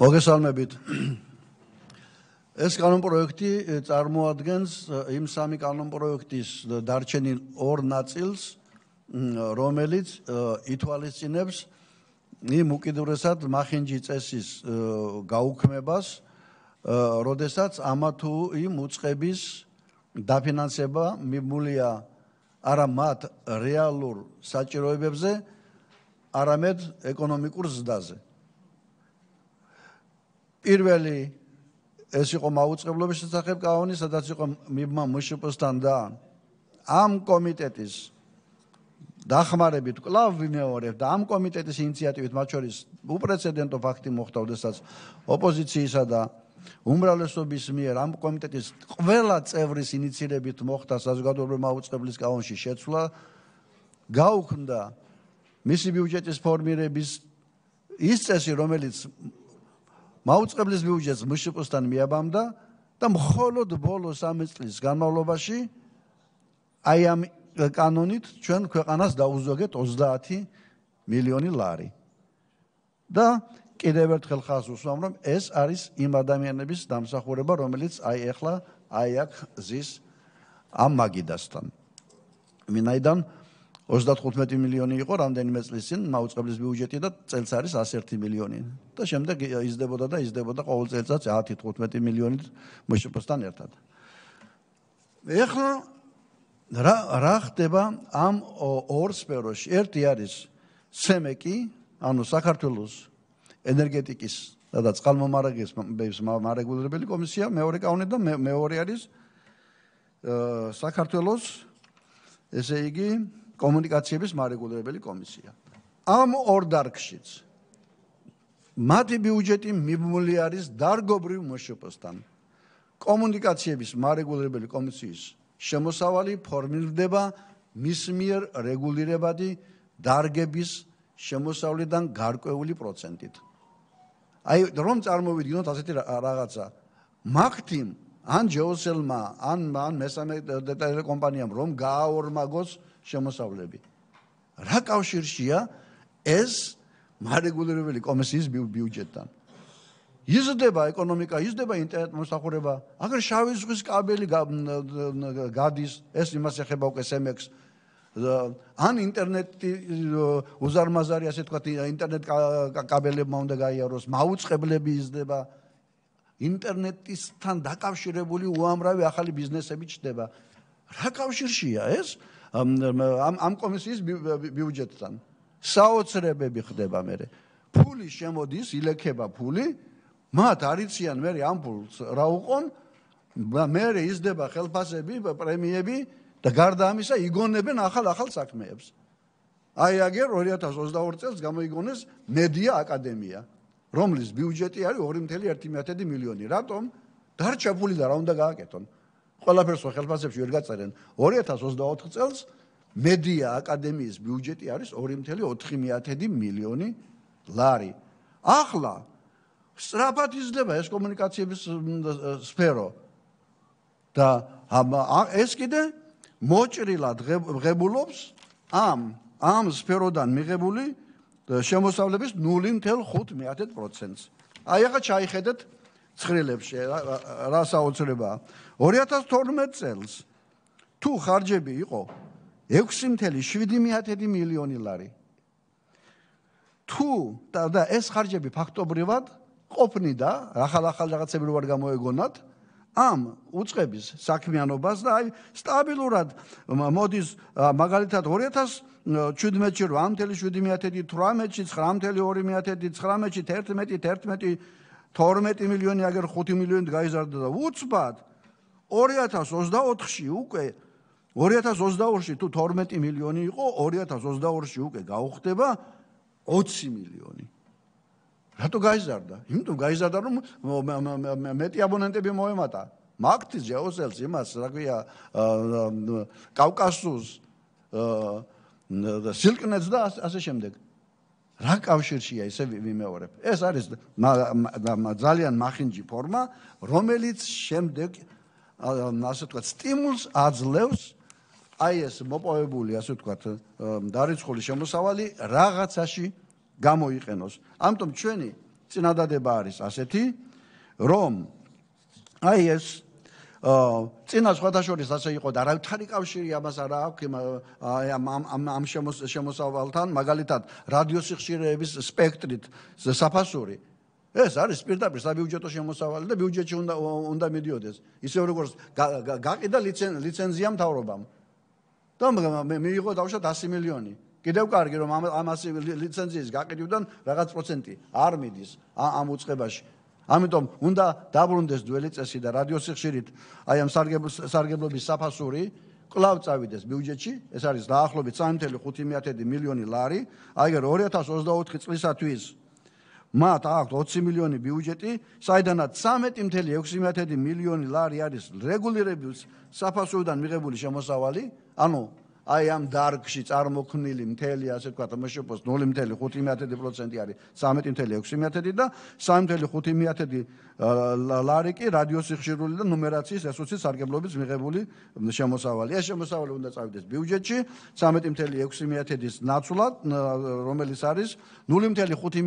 მოგესალმებით. ეს კანონპროექტი წარმოადგენს იმ სამი კანონპროექტის დარჩენილ ორ ნაწილს, რომელიც ითვალისწინებს იმ უკიდურესად მახინჯი წესის გაუქმებას როდესაც ამა თუ იმ უწყების დაფინანსება მიბმულია არა მათ რეალურ საჭიროებებზე, არამედ ეკონომიკურ ზრდაზე. პირველი ეს იყო მაუწყებლობის შესახებ კანონი, სადაც იყო მიბმა მშპ-სთან და ამ კომიტეტის დახმარებით კვლავ ვიმეორებ და ამ კომიტეტის ინიციატივით მათ შორის უპრეცედენტო ფაქტი მოხდა, როდესაც ოპოზიციისა და უმრავლესობის მიერ ამ კომიტეტის ყველა წევრის ინიციირებით მოხდა საზოგადოებრივი მაუწყებლის კანონში შეცვლა, გაუქმდა მისი ბიუჯეტის ფორმირების ის წესი, რომელიც მაუწყებლის ბიუჯეტს მშპ-სთან მიაბამდა და მხოლოდ ბოლო სამი წლის განმავლობაში აი ამ კანონით ჩვენ ქვეყანას დაუზოგეთ ოცდაათი მილიონი ლარი. და კიდევ ერთხელ ხაზს უსვამ, რომ ეს არის იმ ადამიანების დამსახურება, რომელიც აი ახლა აი აქ ზის ამ მაგიდასთან. ვინაიდან ოცდათხუთმეტი მილიონი იყო რამდენიმე წლის წინ მაუწყებლის ბიუჯეტი და წელს არის εκατი ერთი მილიონი. და შემდეგ იზრდებოდა და იზრდებოდა ყოველ წელიწადს ათი თხუთმეტი მილიონით მშპ-სთან ერთად. ეხლა რა რა ხდება ამ ორ სფეროში? ერთი არის სემეკი, ანუ საქართველოს ენერგეტიკის და წყალმომარაგების მარეგულირებელი კომისია, მეორე კანონი და მეორე არის საქართველოს ესე იგი კომუნიკაციების მარეგულირებელი კომისია. ამ ორ დარგშიც მათი ბიუჯეტი მიბმული არის დარგობრივ მშპ-სთან. კომუნიკაციების მარეგულირებელი კომისიის შემოსავალი ფორმირდება მის მიერ რეგულირებადი დარგების შემოსავლიდან გარკვეული პროცენტით. აი რომ წარმოვიდგინოთ ასეთი რაღაცა, მაგთიმ ან ჯეოსელმა, ან ან მესამე ტელეკომპანიამ რომ გააორმაგოს შემოსავლები. რა კავშირშია ეს მარეგულირებელი კომისიის ბიუჯეტთან? იზრდება ეკონომიკა, იზრდება ინტერნეტ მოსახურება, აგერ შავი ზღვის კაბელი გადის, ეს იმას ეხება უკვე სემექს. ან ინტერნეტი უზარმაზარი, ასე თქვა, ინტერნეტ კაბელებმა უნდა გაიაროს, მაუწყებლები იზრდება, ინტერნეტისთან დაკავშირებული უამრავი ახალი ბიზნესები ჩნდება. რა კავშირშია ეს ამ ამ კომისიის ბიუჯეტთან? საოცრებები ხდება მერე. ფული შემოდის, ილექება ფული, მათ არიციან მერე ამ ფულს რა უყონ, მერე იზრდება ხელფასები, პრემიები და გარდა ამისა იგონებენ ახალ-ახალ საქმეებს. აი აგერ ორი ათას ოცდაორი წელს გამოიგონეს მედია აკადემია, რომლის ბიუჯეტი არის ორი წუთი ერთი მილიონი. რატომ? დარჩა ფული და რა უნდა გააკეთონ? ყველაფერს ხელფასებში ვერ გაწერენ. ორი ათას ოცდაოთხ წელს მედია აკადემიის ბიუჯეტი არის ორი წუთი ოთხი მილიონი ლარი. ახლა სწრაფად იზრდება ეს კომუნიკაციების სფერო და ეს კიდე მოჭრილად ღებულობს ამ ამ სფეროდან მიღებული შემოსავლების ნული წუთი ხუთი პროცენტს. აი ახლა ჩაიხედეთ ცხრილებში რა საოცრებაა. ორი ათას თორმეტ წელს თუ ხარჯები იყო ექვსი წუთი შვიდი მილიონი ლარი. თუ და ეს ხარჯები ფაქტობრივად ყოფნიდა, ახალ-ახალ რაღაცები რო არ გამოეგონათ, ამ უწყების საქმიანობას და აი სტაბილურად მოდის მაგალითად ორი ათას შვიდმეტში რვა წუთი შვიდი თვრამეტში ცხრა წუთი ორი ცხრამეტში თერთმეტი თერთმეტი თორმეტი მილიონი აგერ ხუთი მილიონით გაიზარდა და უცბად ორი ათას ოცდაოთხში უკვე ორი ათას ოცდაორში თუ თორმეტი მილიონი იყო, ორი ათას ოცდაორში უკვე გაუხდება ოცი მილიონი. რატო გაიზარდა? იმიტომ გაიზარდა, რომ მეტი აბონენტები მოემატა. მაგთის ჯეოსელს იმას, რა ქვია, კავკასუს, სილკნეტს და ასე შემდეგ. რა კავშირშია ესე ვიმეორებ? ეს არის ძალიან მახინჯი ფორმა, რომელიც შემდეგ ასე ვთქვათ, სტიმულს აძლევს აი ეს მოპოვებული, ასე ვთქვათ, დარიცხული შემოსავალი რაღაცაში გამოიყენოს. ამიტომ ჩვენი წინადადება არის ასეთი, რომ აი ეს წინა სხვადასხვა ასე იყო და არავითარი კავშირი ამას არ აქვს ამ ამ შემოსავალთან, მაგალითად რადიოსიხშირეების სპექტრით საფასური ეს არის პირდაპირ საბიუჯეტო შემოსავალი და ბიუჯეტში უნდა უნდა მიდიოდეს. ისევ როგორც გაყიდა ლიცენზია მთავრობამ. და მიიღო დავშოთ ასი მილიონი. კიდევ კარგი რომ ამ ასი ლიცენზიის გაყიდვიდან რაღაც პროცენტი არ მიდის ამ უწყებაში. ამიტომ უნდა დაბრუნდეს ძველი წესი და რადიოსიხშირით აი ამ სარგებლობის საფასური კვლავ წავიდეს ბიუჯეტში, ეს არის დაახლოებით სამი ათეული ხუთი მილიონი ლარი, აიგერ ორი ათას ოცდაოთხი წლისათვის მათ აქვთ ოცი მილიონი ბიუჯეტი, საიდანაც ცამეტი ათეული ექვსი მილიონი ლარი არის რეგულირების საფასურიდან მიღებული შემოსავალი, ანუ აი ამ დარგში წარმოქმნილი მთელი ასე ვთქვათ მშპ-ს ნული ათეული ხუთი პროცენტი არის ცამეტი ათეული ექვსი და სამი ათეული ხუთი ლარი კი რადიოსიხშირული და ნუმერაციის რესურსის სარგებლობის მიღებული შემოსავალი. ეს შემოსავალი უნდა წავიდეს ბიუჯეტში ცამეტი ათეული ექვსი ნაცვლად, რომელიც არის ნული ათეული ხუთი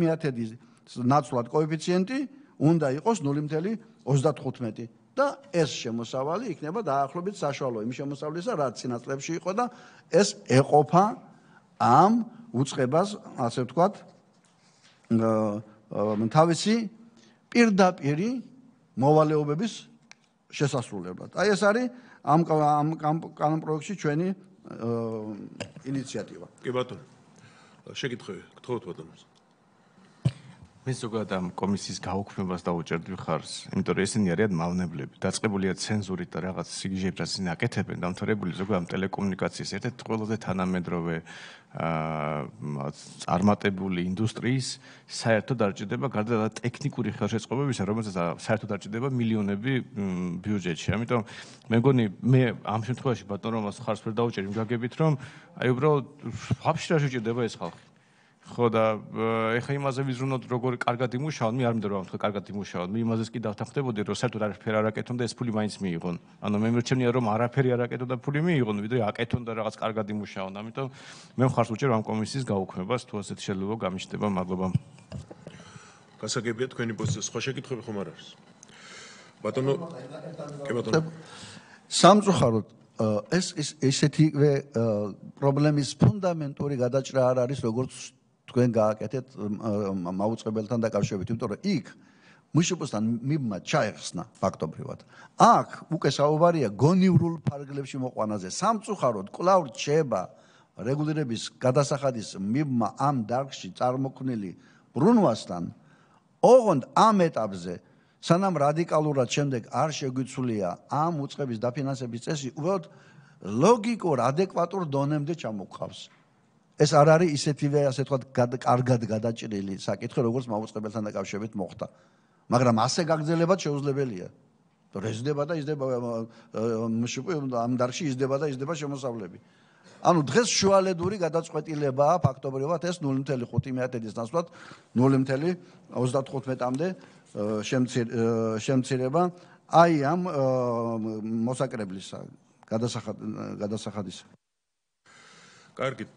ნაცვლად კოეფიციენტი უნდა იყოს ნული ათეული ოცდათხუთმეტი. და ეს შემოსავალი იქნება დაახლოებით საშუალო იმ შემოსავლისა, რაც წინა წლებში იყო და ეს ეყოფა ამ უწყებას, ასე ვთქვათ, თავისი პირდაპირი მოვალეობების შესასრულებლად. აი ეს არის ამ კანონ პროექტში ჩვენი ინიციატივა. კი ბატონო. შეკითხვები, გთხოვთ ბატონოს. მე ზოგადად ამ კომისიის გაუქმებას დაუჭერდი მხარს, იმიტომ რომ ესენი არიან მავნებლები, დაწყებულია ცენზურით და რაღაც სიგიჟეებს რაც ისინი აკეთებენ, დამთავრებული ზოგადად ტელეკომუნიკაციის ერთ-ერთი ყველაზე თანამედროვე წარმატებული ინდუსტრიის საერთოდ არ ჭირდება გარდა ტექნიკური ხელშეწყობებისა, რომელსაც საერთოდ არ ჭირდება მილიონები ბიუჯეტში. ამიტომ მე მგონი მე ამ შემთხვევაში ბატონ რომას ხარს ვერ დაუჭერი გაგებით, რომ აი უბრალოდ ვაფშე რა შეჭირდება ეს ხალხი. ხო და ეხა იმაზე ვიზრუნოთ როგორ კარგად იმუშაონ, მე არ მინდა რომ თქვა კარგად იმუშაონ, მე იმაზეც კი დავთანხმდებოდი რომ საერთოდ არაფერი არ აკეთონ და ეს ფული მაინც მიიღონ. ანუ მე მერჩენია რომ არაფერი არ აკეთონ და ფული მიიღონ, ვიდრე აკეთონ და რაღაც კარგად იმუშაონ. ამიტომ მე მხარს ვუჭერ ამ კომისიის გაუქმებას, თუ ასეთი შეიძლება გამიშტება, მადლობა. გასაგებია თქვენი პოზიცია, სხვა შეკითხვები ხომ არ არის? ბატონო, კი ბატონო. სამწუხაროდ ეს ესეთივე პრობლემის ფუნდამენტური გადაჭრა არ არის, როგორც თქვენ გააკეთეთ მაუწყებელთან დაკავშირებით, იმიტომ რომ იქ მშპ-სთან მიბმა ჩაეხსნა ფაქტობრივად. აქ უკვე საუბარია გონივრულ ფარგლებში მოყვანაზე. სამწუხაროდ კვლავ რჩება რეგულირების გადასახადის მიბმა ამ დარგში წარმოქმნილი ბრუნვასთან. ოღონდ ამ ეტაპზე სანამ რადიკალურად შემდეგ არ შეგვიცვლია ამ უწყების დაფინანსების წესი, უბრალოდ ლოგიკურ ადეკვატურ დონემდე ჩამოგვყავს. ეს არ არის ისეთივე, ასე ვთქვათ, კარგად გადაჭრილი საკითხი, როგორც მაუწყებელთან დაკავშირებით მოხდა. მაგრამ ასე გაგრძელებად შეუძლებელია. რეზდება და იზრდება მშპ ამ დარგში იზრდება და იზრდება შემოსავლები. ანუ დღეს შუალედური გადაწყვეტილებაა ფაქტობრივად ეს ნული ათეული ხუთი ნაცვლად ნული ათეული ოცდათხუთმეტამდე შემცირება აი ამ მოსაკრებლისა გადასახადის. კარგით,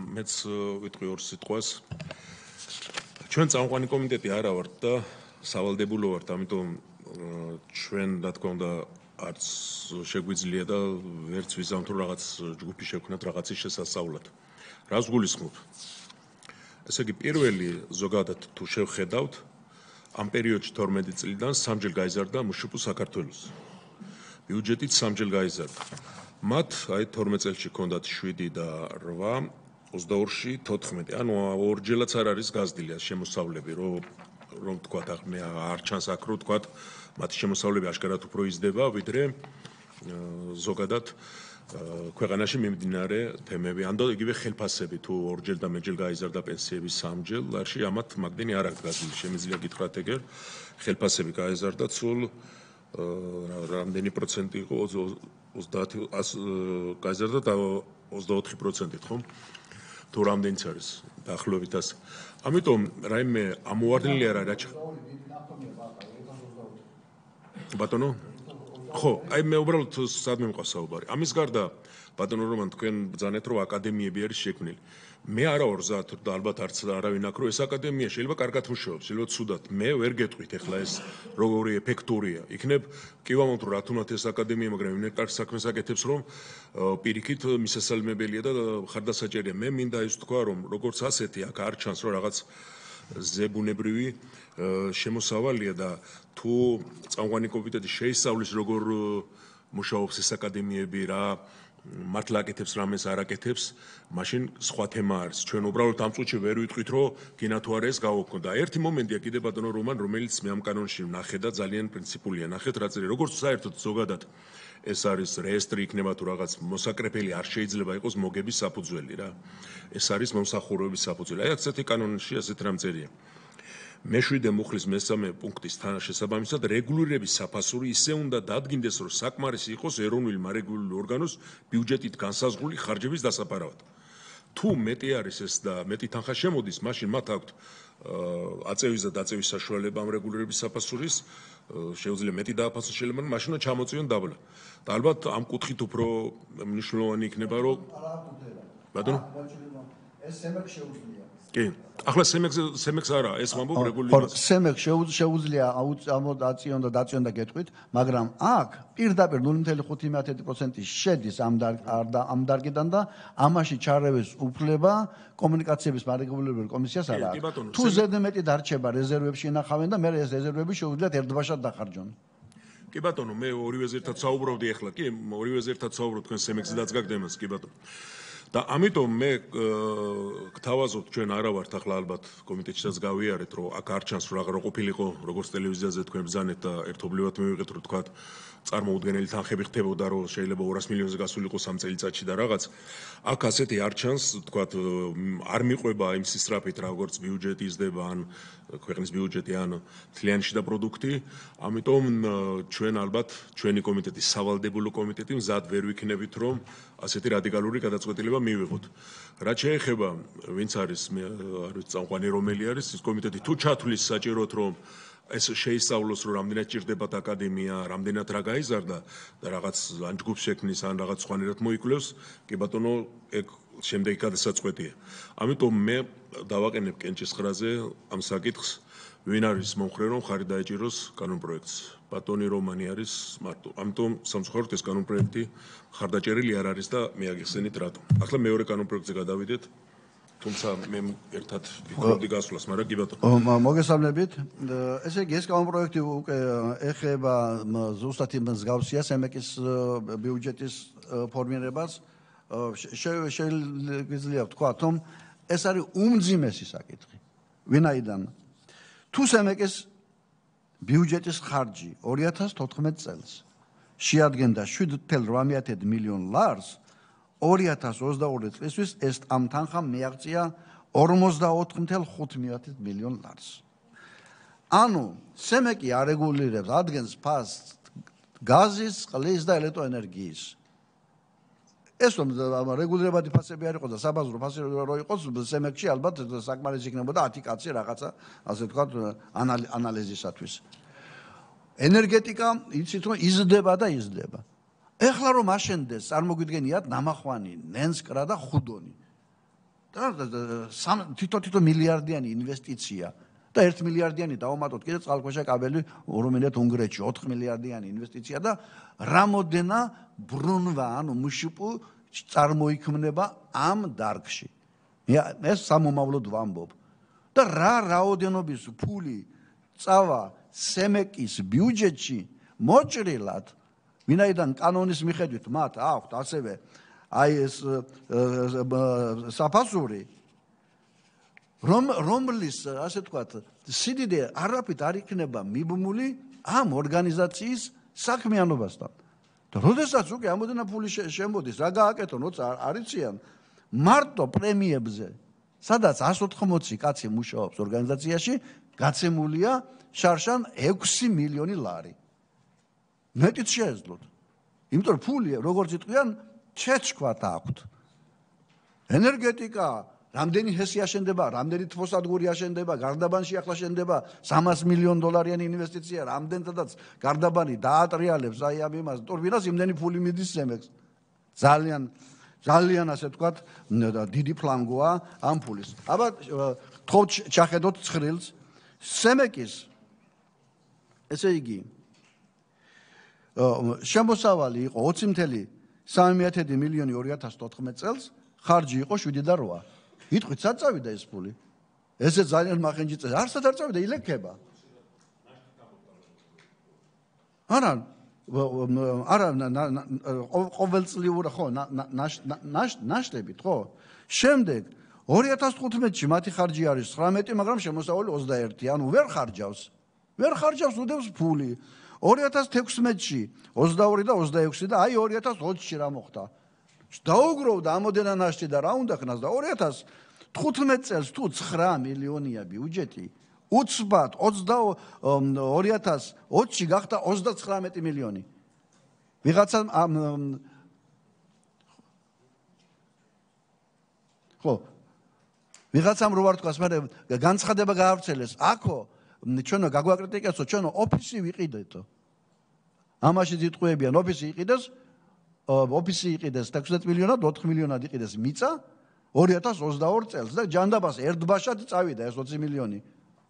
მეც ვიტყვი ორ სიტყვას. ჩვენ წამყვანი კომიტეტი არა ვართ და სავალდებულო ვართ, ამიტომ ჩვენ რა თქმა უნდა არც შეგვიძლია და ვერც ვიზამთ რომ რაღაც ჯგუფი შევქნათ რაღაცის შესასწავლად. რას გულისხმობ? ესე იგი, პირველი ზოგადად თუ შევხედავთ, ამ პერიოდში თორმეტი წლიდან სამჯერ გაიზარდა მშპ საქართველოს. ბიუჯეტით სამჯერ გაიზარდა. მათ აი თორმეტ წელში ჰქონდათ შვიდი და რვა, ოცდაორში თოთხმეტი. ანუ ორჯერაც არ არის გაზრდილი შემოსავლები, რომ რომ თქვათ, მე არ ჩანს აქ რომ თქვათ, მათი შემოსავლები აშკარად უფრო იზრდება, ვიდრე ზოგადად ქვეყანაში მიმდინარე თემები. ან იგივე ხელფასები, თუ ორჯერ და მეჯერ გაიზარდა პენსიები სამჯერ, ლარში ამათ მაგდენი არ აქვს გაზრდილი. შემიძლია გითხრათ ეგერ, ხელფასები გაიზარდა ცულ რამდენი პროცენტი იყო? ოცდაათი გაიზარდა და ოცდაოთხი პროცენტით, ხო? თუ რამდენიც არის დაახლოებით ასე. ამიტომ რაიმე ამოვარდნილი არ არის. ბატონო? ხო, აი მე უბრალოდ სადმე მყავს საუბარი. ამის გარდა ბატონო რომან თქვენ ბრძანეთ რომ აკადემიები არის შექმნილი. მე არა ვარ ზათ და ალბათ არც არავინ აქ რომ ეს აკადემია შეიძლება კარგად მუშაობს, შეიძლება ცუდად. მე ვერ გეტყვით ახლა ეს როგორი ეფექტურია. იქნებ კი ვამბობთ რა თუნდაც ეს აკადემია, მაგრამ იმ კარგ საქმეს აკეთებს რომ პირიქით მისასალმებელია და ხარდასაჭერია. მე მინდა ის თქვა რომ როგორც ასეთი აქ არ ჩანს რომ რაღაც ზებუნებრივი შემოსავალია და თუ წამყვანი კომიტეტი შეისწავლის როგორ მუშაობს ეს აკადემიები რა მართლა აკეთებს რამეს არ აკეთებს, მაშინ სხვა თემა არის. ჩვენ უბრალოდ ამ წუთში ვერ ვიტყვით, რომ გინა თუ არა ეს გავუქმო და ერთი მომენტია კიდე ბატონო რომან, რომელიც მე ამ კანონში ვნახე და ძალიან პრინციპულია. ნახეთ რა წერია, როგორც საერთოდ ზოგადად ეს არის რეესტრი იქნება თუ რაღაც მოსაკრეფელი არ შეიძლება იყოს მოგების საფუძველი რა. ეს არის მომსახურების საფუძველი. აი ასეთი კანონში ასეთ რამ წერია. მეშვიდე მუხლის მესამე პუნქტის თანაშესაბამისად რეგულირების საფასური ისე უნდა დადგინდეს, რომ საკმარისი იყოს ეროვნული მარეგულირებული ორგანოს ბიუჯეტით განსაზღვრული ხარჯების დასაფარავად. თუ მეტი არის ეს და მეტი თანხა შემოდის, მაშინ მათ აქვთ აწევის და დაწევის საშუალება ამ რეგულირების საფასურის, შეუძლია მეტი დააფასოს შეიძლება, მაშინ ჩამოწიონ დაბლა. და ალბათ ამ კუთხით უფრო მნიშვნელოვანი იქნება, რომ ბატონო ეს სემექ შეუძლია. კი. ახლა სემექ სემექს არა, ეს ვამბობ რეგულირებას. სემექ შეუძლია ამოდაციონ და დაციონ და გეტყვით, მაგრამ აქ პირდაპირ ნული კომა ხუთი პროცენტი შედის ამ ამ დარგიდან და ამაში ჩარევის უფლება კომუნიკაციების მარეგულირებელ კომისიას არა. თუ ზედმეტი დარჩება რეზერვებში ინახავენ და მე ეს რეზერვები შეუძლიათ ერთბაშად დახარჯონ. კი ბატონო, მე ორივეზე ერთად საუბრობდი ახლა, კი, ორივეზე ერთად საუბრობ თქვენ სემექსიდაც გაგდემას, კი ბატონო. და ამიტომ მე გთავაზობ ჩვენ არა ვართ ახლა ალბათ კომიტეტშიც გავიარეთ რომ აქ არ ჩანს რომ აღარ ყოფილიყო როგორც ტელევიზიაზე თქვენ ბზანეთ და ერთობლივად მივიღეთ რომ თქვა წარმოუდგენელი თანხები ხდებოდა რომ შეიძლება ორას მილიონზე გასულიყო სამ წელიწადში და რაღაც აქ ასეთი არ ჩანს თქვა არ მიყვება იმ სისწრაფით როგორც ბიუჯეტი იზრდება ან ქვეყნის ბიუჯეტი ან თლიანში და პროდუქტი ამიტომ ჩვენ ალბათ ჩვენი კომიტეტი სავალდებულო კომიტეტი მზად ვერ ვიქნებით რომ ასეთი რადიკალური გადაწყვეტილება მივიღოთ. რაც შეეხება ვინც არის მე არ ვიცი წამყვანი რომელი არის ის კომიტეტი თუ ჩათვლის საჭიროდ რომ ეს შეისწავლოს რომ რამდენად ჭირდებათ აკადემია, რამდენად რა გაიზარდა და რაღაც ან ჯგუფს შექმნის ან რაღაც სხვანაირად მოიკვლევს, კი ბატონო, ეგ შემდეგი გადასაწყვეტია. ამიტომ მე დავაყენებ კენჭის ხრაზე ამ საკითხს, ვინ არის მომხრე რომ ხარი დაეჭიროს კანონპროექტს. ბატონი რომანი არის მარტო. ამიტომ სამწუხაროდ ეს კანონპროექტი ხარდაჭერილი არ არის და მე აგიხსენით რატომ. ახლა მეორე კანონპროექტზე გადავიდეთ. თუმცა მე ერთად ვიქნები გასვლას, მაგრამ კი ბატონო. მოგესალმებით. ესე იგი ეს კანონპროექტი უკვე ეხება ზუსტად იმ მსგავსია სემეკის ბიუჯეტის ფორმირებას. შეიძლება ვთქვა, რომ ეს არის უმძიმესი საკითხი. ვინაიდან თუ სემეკის ბიუჯეტის ხარჯი ორი ათას თოთხმეტ წელს შეადგენდა შვიდ ათას რვამეათე მილიონ ლარს, ორი ათას ოცდაორი წლისთვის ეს ამ თანხამ მიაღწია ორმოცდაოთხ ათას ხუთმეათე მილიონ ლარს. ანუ სემეკი არეგულირებს, ადგენს ფასს გაზის, წყლის და ელექტროენერგიის. ეს რომ რეგულირებადი ფასები არ იყოს და საბაზრო ფასები რო იყოს, სემეკში ალბათ საკმარისი იქნებოდა ათი კაცი რაღაცა, ასე ვთქვათ, ანალიზისათვის. ენერგეტიკა იცით რომ იზრდება და იზრდება. ეხლა რომ აშენდეს, წარმოგვიდგენიათ ნამახვანი, ნენსკრა და ხუდონი. და თითო-თითო მილიარდიანი ინვესტიცია და ერთ მილიარდიანი დავამატოთ კიდე წყალქვეშა კაბელი რომელთ უნგრეთში ოთხ მილიარდიანი ინვესტიცია და რამოდენა ბრუნვა ანუ მშპ წარმოიქმნება ამ დარგში. ეს სამომავლოდ ვამბობ. და რა რაოდენობის ფული წავა სემეკის ბიუჯეტში მოჭრილად ვინაიდან კანონის მიხედვით მათ აქვთ ასევე აი ეს საფასური რომ რომლის ასე ვთქვათ სიდიდე არაფრით არ იქნება მიბმული ამ ორგანიზაციის საქმიანობასთან. და როდესაც უკვე ამოდენა ფული შემოდის, რა გააკეთონ, როცა არიციან მარტო პრემიებზე, სადაც εκατს ოთხმოცი კაცი მუშაობს ორგანიზაციაში, გაცემულია შარშან ექვსი მილიონი ლარი. მეტიც შეეძლოთ. იმიტომ რომ ფული, როგორც იტყვიან, ჩეჩქვათ აქვთ. ენერგეტიკა რამდენი ჰესი აშენდება, რამდენი თბოსადგური აშენდება, გარდაბანში ახლა შენდება სამას მილიონ დოლარიანი ინვესტიცია, რამდენადაც გარდაბანი დაატრიალებს აი ამ იმას, ტურბინას იმდენი ფული მიდის სემექს. ძალიან ძალიან ასე ვთქვათ, დიდი ფლანგოა ამ ფულის. აბა თხოვთ ჩახედოთ ცხრილს. სემეკის ესე იგი შემოსავალი იყო ოცი ათას სამეათე მილიონი ორი ათას თოთხმეტ წელს, ხარჯი იყო შვიდი და რვა. იტყვით სად წავიდა ეს ფული? ესე ძალიან მახინჯი წეს. არსად არ წავიდა ილექება. არა არა ყოველწლიურად ხო ნაშტებით ხო? შემდეგ ორი ათას თხუთმეტში მათი ხარჯი არის ცხრამეტი, მაგრამ შემოსავალი ოცდაერთი, ანუ ვერ ხარჯავს. ვერ ხარჯავს, უდევს ფული. ორი ათას თექვსმეტში ოცდაორი და ოცდაექვსი და აი ორი ათას ოცში რა მოხდა? დაუგროვდა ამოდენა ნაშტი და რა უნდა ხნას და ორი ათას თხუთმეტ წელს თუ ცხრა მილიონია ბიუჯეტი, უცბად ორი ათას ოცში გახდა ოცდაცხრამეტი მილიონი. ვიღაცა ხო ვიღაცამ რო არ თქვას, მაგრამ განცხადება გაავრცელეს. აქო ჩვენო გაგვაკრიტიკებსო, ჩვენო ოფისი ვიყიდეთო. ამაში ძიტყვებიან, ოფისი იყიდეს, ოფისი იყიდეს ექვსმეტ მილიონად, ოთხ მილიონად იყიდეს მიწა ორი ათას ოცდაორ წელს და ჯანდაბას ერთბაშად წავიდა ეს ოცი მილიონი.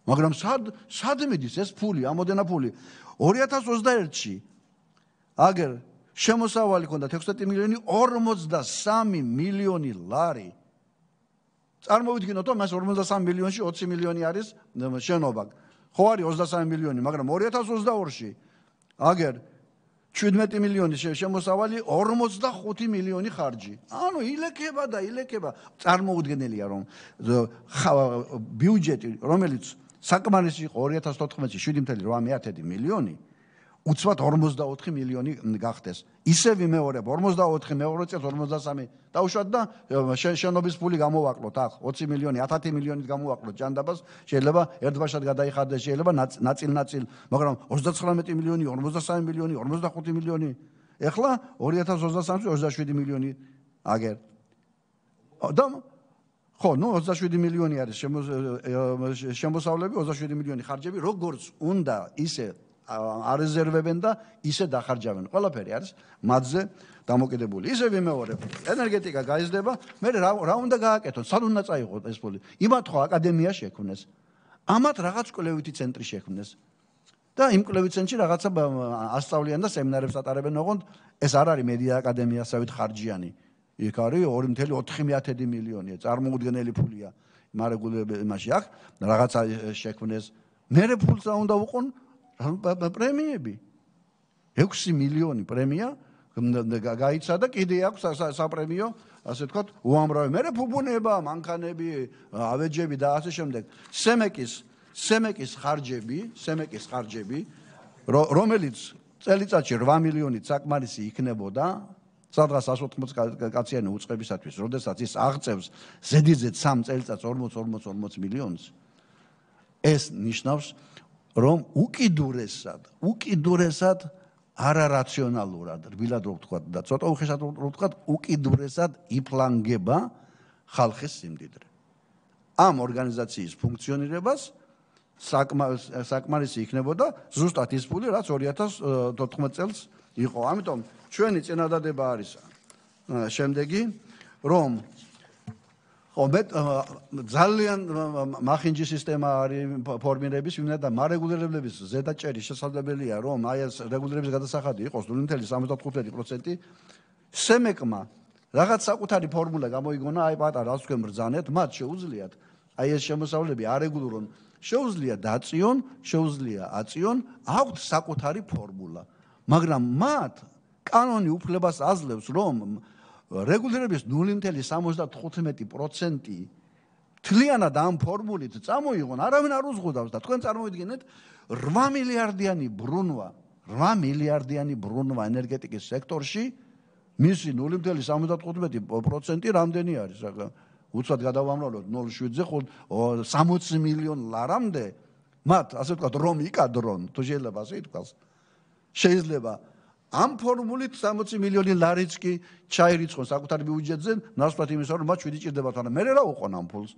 მაგრამ სად სად მიდის ეს ფული, ამოდენა ფული? ორი ათას ოცდაერთში აგერ შემოსავალი ქონდა ექვსმეტი მილიონი, ორმოცდასამი მილიონი ლარი. წარმოვიდგინოთ, რომ მას ორმოცდასამი მილიონში ოცი მილიონი არის შენობა. ხო არის ოცდასამი მილიონი, მაგრამ ორი ათას ოცდაორში აგერ შვიდმეტი მილიონი შემოსავალი, ორმოცდახუთი მილიონი ხარჯი. ანუ ილექება და ილექება. წარმოუდგენელია, რომ ბიუჯეტი, რომელიც საკმარისი იყო ორი ათას თოთხმეტში შვიდი წელი რვა მილიონი, უცბად ორმოცდაოთხი მილიონი გახდეს. ისე ვიმეორებ, ორმოცდაოთხი მეორე წელს ორმოცდასამი დაუშვათ და შენობის ფული გამოვაკლოთ აქ ოცი მილიონი, ათი მილიონით გამოვაკლოთ ჯანდაბას, შეიძლება ერთბაშად გადაიხადდეს, შეიძლება ნაწილ-ნაწილ, მაგრამ ოცდაცხრამეტი მილიონი, ორმოცდასამი მილიონი, ორმოცდახუთი მილიონი. ეხლა ორი ათას ოცდასამში ოცდაშვიდი მილიონი აგერ. და ხო, ნუ ოცდაშვიდი მილიონი არის შემოსავლები, ოცდაშვიდი მილიონი ხარჯები, როგორც უნდა ისე არეზერვებენ და ისე დახარჯავენ. ყველაფერი არის მათზე დამოკიდებული. ისე ვიმეორებ, ენერგეტიკა გაიზრდება, მე რა უნდა გააკეთოთ? სად უნდა წაიღოთ ეს ფული? იმათ ხო აკადემია შექმნეს. ამათ რაღაც კვლევითი ცენტრი შექმნეს. და იმ კვლევით ცენტრში რაღაცა ასწავლიან და სემინარებს ატარებენ, ოღონდ ეს არ არის მედია აკადემიასავით ხარჯიანი. იქ არის ორი წელი ოთხი მილიონია, წარმოუდგენელი ფულია. მარეგულირებაში აქ რაღაცა შექმნეს. მერე ფულს რა უნდა უყონ? პრემიები. ექვსი მილიონი პრემია გაიცა და კიდე აქვს საპრემიო, ასე ვთქვათ, უამრავი. მერე ფუფუნება, მანქანები, ავეჯები და ასე შემდეგ. სემეკის, სემეკის ხარჯები, სემეკის ხარჯები, რომელიც წელიწადში რვა მილიონით საკმარისი იქნებოდა, სადღაც εκατს ოთხმოცი კაციანი უწყებისათვის, როდესაც ის აღწევს ზედიზედ სამ წელიწადს ორმოც ორმოც ორმოც მილიონს. ეს ნიშნავს, რომ უკიდურესად, უკიდურესად არარაციონალურად, რბილად რო ვთქვათ და ცოტა უხეშად რო ვთქვათ, უკიდურესად იფლანგება ხალხის სიმდიდრე. ამ ორგანიზაციის ფუნქციონირებას საკმარისი იქნებოდა ზუსტად ის ფული, რაც ორი ათას თოთხმეტ წელს იყო. ამიტომ ჩვენი წინადადება არის შემდეგი, რომ ხო მე ძალიან მახინჯი სისტემა არის ფორმირების, ვინმე და მარეგულირებლების ზედაჭერი შესაძლებელია, რომ აი ეს რეგულირების გადასახადი იყოს ნული წელი სამოცდათხუთმეტი პროცენტი. სემეკმა რაღაც საკუთარი ფორმულა გამოიგონა, აი პატარა რაც თქვენ ბრძანეთ, მათ შეუძლიათ აი ეს შემოსავლები არეგულირონ, შეუძლია დაწიონ, შეუძლია აწიონ, აქვთ საკუთარი ფორმულა. მაგრამ მათ კანონი უფლებას აძლევს, რომ რეგულირების ნული წელი სამოცდათხუთმეტი პროცენტი თლიანად ამ ფორმულით წამოიღონ, არავინ არ უზღუდავს და თქვენ წარმოვიდგინეთ რვა მილიარდიანი ბრუნვა, რვა მილიარდიანი ბრუნვა ენერგეტიკის სექტორში, მისი ნული წელი სამოცდათხუთმეტი პროცენტი რამდენი არის? უცბად გადავამრავლოთ ნული შვიდზე სამოცი მილიონ ლარამდე, მათ ასე ვთქვათ, რომ იკადრონ, თუ შეიძლება ასე ითქვას. შეიძლება ამ ფორმულით სამოცი მილიონი ლარიც კი ჩაირიცხონ საკუთარ ბიუჯეტზე, ნაცვლად იმისა, რომ მათ შვიდი ჭირდებათ, მაგრამ მე რა უყონ ამ ფულს?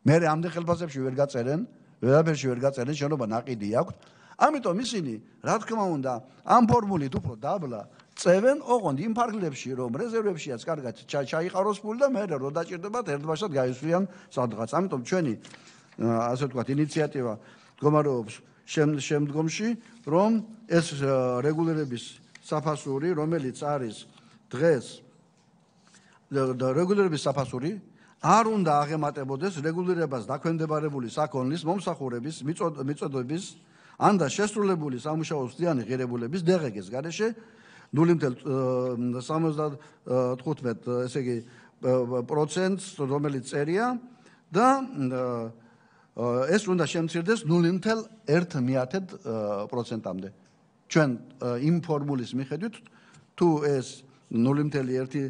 მე ამდენ ხელფასებში ვერ გაწერენ, ვერაფერში ვერ გაწერენ, შენობა ნაყიდი აქვს. ამიტომ ისინი, რა თქმა უნდა, ამ ფორმულით უფრო დაბლა წევენ, ოღონდ იმ ფარგლებში, რომ რეზერვებშიაც კარგად ჩაიყაროს ფული და მე რო დაჭირდებათ, ერთბაშად გაისვლიან სადღაც. ამიტომ ჩვენი ასე ვთქვათ, ინიციატივა მდგომარეობს შემდგომში, რომ ეს რეგულირების საფასური, რომელიც არის დღეს რეგულირების საფასური არ უნდა აღემატებოდეს რეგულირებას დაქვემდებარებული საქონლის მომსახურების მიწოდების ან და შესრულებული სამუშაო სდიანი ღირებულების დე ღე გეს გარეშე ნული ათეულს სამოცდათხუთმეტ ესე იგი პროცენტს რომელიც წერია და ეს უნდა შემცირდეს ნული ათეულ ერთ პროცენტამდე. ჩვენ იმ ფორმულის მიხედვით თუ ეს ნული ათეულ ერთი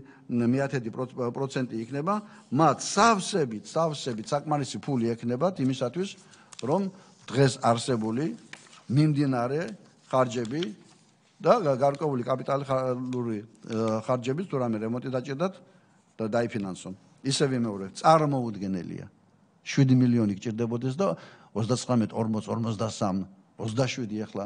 პროცენტი იქნება, მათ სავსებით, სავსებით საკმარისი ფული ექნებათ იმისათვის, რომ დღეს არსებული მიმდინარე ხარჯები და გარკვეული კაპიტალური ხარჯები თუ რამე რემონტი დაჭირდათ და დაიფინანსონ. ისე ვიმეორებ, წარმოუდგენელია. შვიდი მილიონი გჭირდებოდეს და ოცდაცხრამეტ ორმოც ორმოცდასამ ოცდაშვიდი ახლა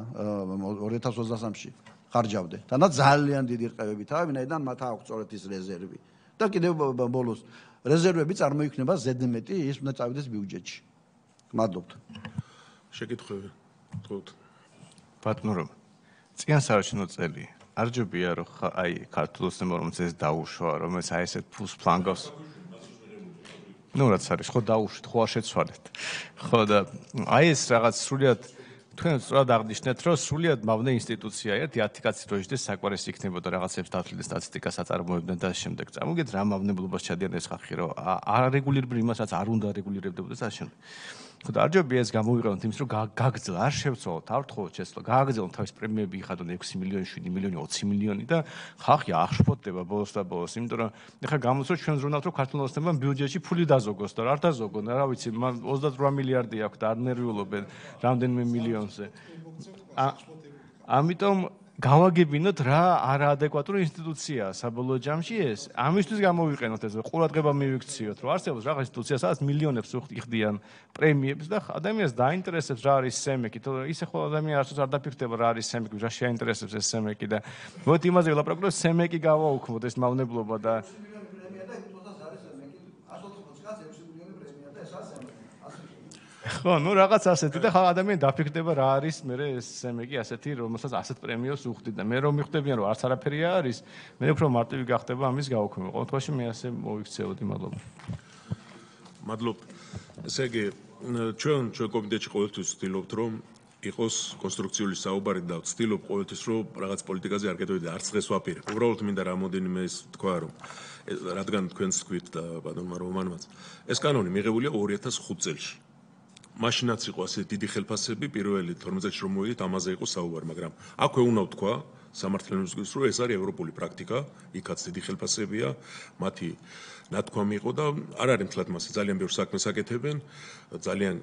ორი ათას ოცდასამში ხარჯავდე. თანაც ძალიან დიდი რყევები თავი, ვინაიდან მათ აქვს სწორედ ის რეზერვი. და კიდევ ბოლოს რეზერვები წარმოიქმნება ზედმეტი, ის უნდა წავიდეს ბიუჯეტში. მადლობთ. შეკითხვები. თქოთ. ბატონო, წიან საარჩევნო წელი არ ჯობია რომ აი ქართულოს თემორმაც ეს დაუშვა, რომელიც აი ესეთ ფულს ფლანგავს. ნუ რაც არის, ხო დაუშვით, ხო არ შეცვალეთ. ხო და აი ეს რაღაც სრულიად თქვენ სწორად აღნიშნეთ, რომ სრულიად მავნე ინსტიტუცია ერთი ათი კაცი როჟდეს საკვარეს იქნებოდა რაღაცებს დათვლილი სტატისტიკას აწარმოებდნენ და შემდეგ წამოგეთ რა მავნებლობას ჩადიან ეს ხალხი, რომ არეგულირებულ იმას რაც არ უნდა რეგულირებდეს და ამავდროულად. ხოდა არ ჯობია ეს გამოვიყენოთ იმის რომ გაგძლა, არ შევცვალოთ, არ ვთხოვოთ შეცვლა, გააგრძელოთ თავის პრემიები იხადონ ექვსი მილიონი, შვიდი მილიონი, ოცი მილიონი და ხალხი აღშფოთდება ბოლოს და ბოლოს, იმიტომ რომ ეხლა გამოსწორ ჩვენ ზრუნავთ რომ ქართულ ოცნებამ ბიუჯეტში ფული დაზოგოს და არ დაზოგონ, რა ვიცი, ოცდაოთხ მილიარდი აქვს და არ ნერვიულობენ რამდენიმე მილიონზე. ამიტომ გავაგებინოთ რა არაადეკვატური ინსტიტუციაა საბოლოო ჯამში ეს. ამისთვის გამოვიყენოთ ეს ყურადღება მივიქციოთ, რომ არსებობს რაღაც ინსტიტუცია, სადაც მილიონებს უხდიან პრემიებს და ადამიანს დაინტერესებს რა არის სემეკი, თორე ისე ხოლმე ადამიანი არც არ დაფიქრდება რა არის სემეკი, რა შეაინტერესებს ეს სემეკი და მოდი იმაზე ვილაპარაკოთ, რომ სემეკი გავაუქმოთ ეს მავნებლობა და ხო, ну რაღაც ასეთი და ხალხ ადამიანი დაფიქრდება რა არის მე ეს სემეკი ასეთი, რომელსაც ასეთ პრემიოს უხდით და მე რომ მიხვდებიან რომ არც არაფერია არის, მე უფრო მარტივი გახდება ამის გაუქმება. ყოველ შემთხვევაში მე ასე მოვიქცეოდი, მადლობა. მადლობ. ესე იგი, ჩვენ ჩვენ კომიტეტში ყოველთვის ვცდილობთ რომ იყოს კონსტრუქციული საუბარი და ვცდილობ ყოველთვის რომ რაღაც პოლიტიკაზე არ გადავიდე, არც დღეს ვაპირებ. უბრალოდ მინდა რამოდენიმე ის თქვა რომ რადგან თქვენს თქვით და ბატონმა რომანმაც ეს კანონი მიღებულია ორი ათას ხუთ წელს. მაშინაც იყო ასე დიდი ხელფასები, პირველი თორმეტ წელს რომ მოვიდით, ამაზე იყო საუბარი, მაგრამ აქვე უნდა ვთქვა სამართლიანობის რომ ეს არის ევროპული პრაქტიკა, იქაც დიდი ხელფასებია, მათი ნათქვამი იყო და არ არის მთლად მასე ძალიან ბევრ საქმეს აკეთებენ, ძალიან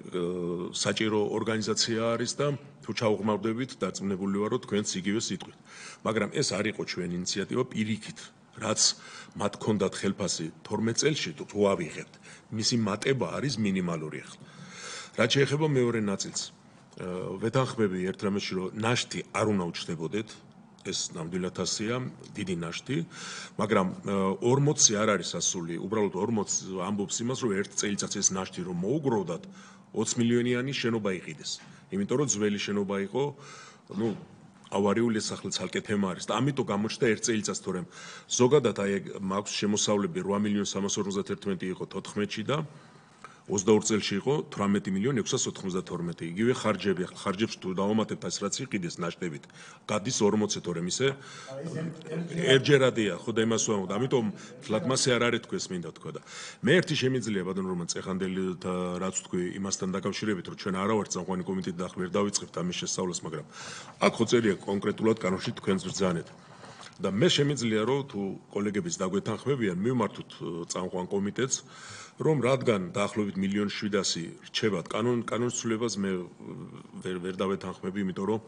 საჭირო ორგანიზაცია არის და თუ ჩაუღმავდებით, დარწმუნებული ვარ, რომ თქვენც იგივე სიტყვით. მაგრამ ეს არ იყო ჩვენი ინიციატივა პირიქით, რაც მათ ჰქონდათ ხელფასი თორმეტ წელში თუ ავიღებთ, მისი მატება არის მინიმალური ახლა. რაც შეეხება მეორე ნაწილს, ვეთანხმები ერთ რამეში, რომ ნაშთი არ უნდა უჩნდებოდეთ, ეს ნამდვილად ასეა, დიდი ნაშთი, მაგრამ ორმოცი არ არის ასული, უბრალოდ ორმოცი ამბობს იმას, რომ ერთ წელიწადს ეს ნაშთი რომ მოუგროვდათ, ოცი მილიონიანი შენობა იყიდეს. იმიტომ რომ ძველი შენობა იყო, ну, ავარიული ახლა ცალკე თემა არის და ამიტომ გამოჩნდა ერთ წელიწადს, თორემ ზოგადად აი მაქვს შემოსავლები რვა მილიონი სამას ორმოცდათერთმეტი იყო თოთხმეტში და ოცდაორ წელში იყო თვრამეტი მილიონი ექვსას ოთხმოცდათორმეტი. იგივე ხარჯები, ახლა ხარჯებს თუ დავამატებთ ეს რაც იყიდეს ნაშთებით, გადის ორმოცი თორემ ისე ერთჯერადია, ხო და იმას ვამბობ. ამიტომ თლად მასე არ არის თქვენს მინდა თქვა და მე ერთი შემიძლია ბატონო რომან წეხანდელი რაც თქვი იმასთან დაკავშირებით, რომ ჩვენ არა ვართ წამყვანი კომიტეტი და ახლა ვერ დავიწყებთ ამის შესწავლას, მაგრამ აქ ხო წერია კონკრეტულად კანონში თქვენს ბრძანეთ. და მე შემიძლია რომ თუ კოლეგების დაგვეთანხმებიან, მივმართოთ წამყვან კომიტეტს რომ რადგან დაახლოებით მილიონ შვიდასი რჩებათ კანონ კანონის ცვლილებას მე ვერ ვერ დავეთანხმები, იმიტომ რომ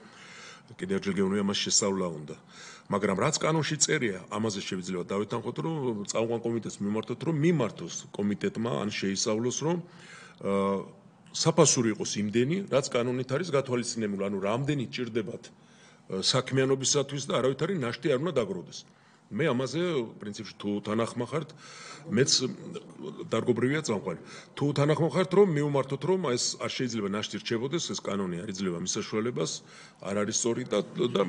კიდევ ერთხელ გეუბნები ამას შესწავლა უნდა. მაგრამ რაც კანონში წერია, ამაზე შეიძლება დავეთანხმოთ, რომ წამყვან კომიტეტს მივმართოთ, რომ მიმართოს კომიტეტმა ან შეისწავლოს, რომ საფასური იყოს იმდენი, რაც კანონით არის გათვალისწინებული, ანუ რამდენი ჭირდებათ საქმიანობისათვის და არავითარი ნაშთი არ უნდა დაგროვდეს. მე ამაზე პრინციპში თუ თანახმახართ, მეც დარგობრივია წამყვანი. თუ თანახმახართ, რომ მივმართოთ, რომ ეს არ შეიძლება ნაშთი რჩებოდეს, ეს კანონი არ იძლევა მის საშუალებას, არ არის სწორი და და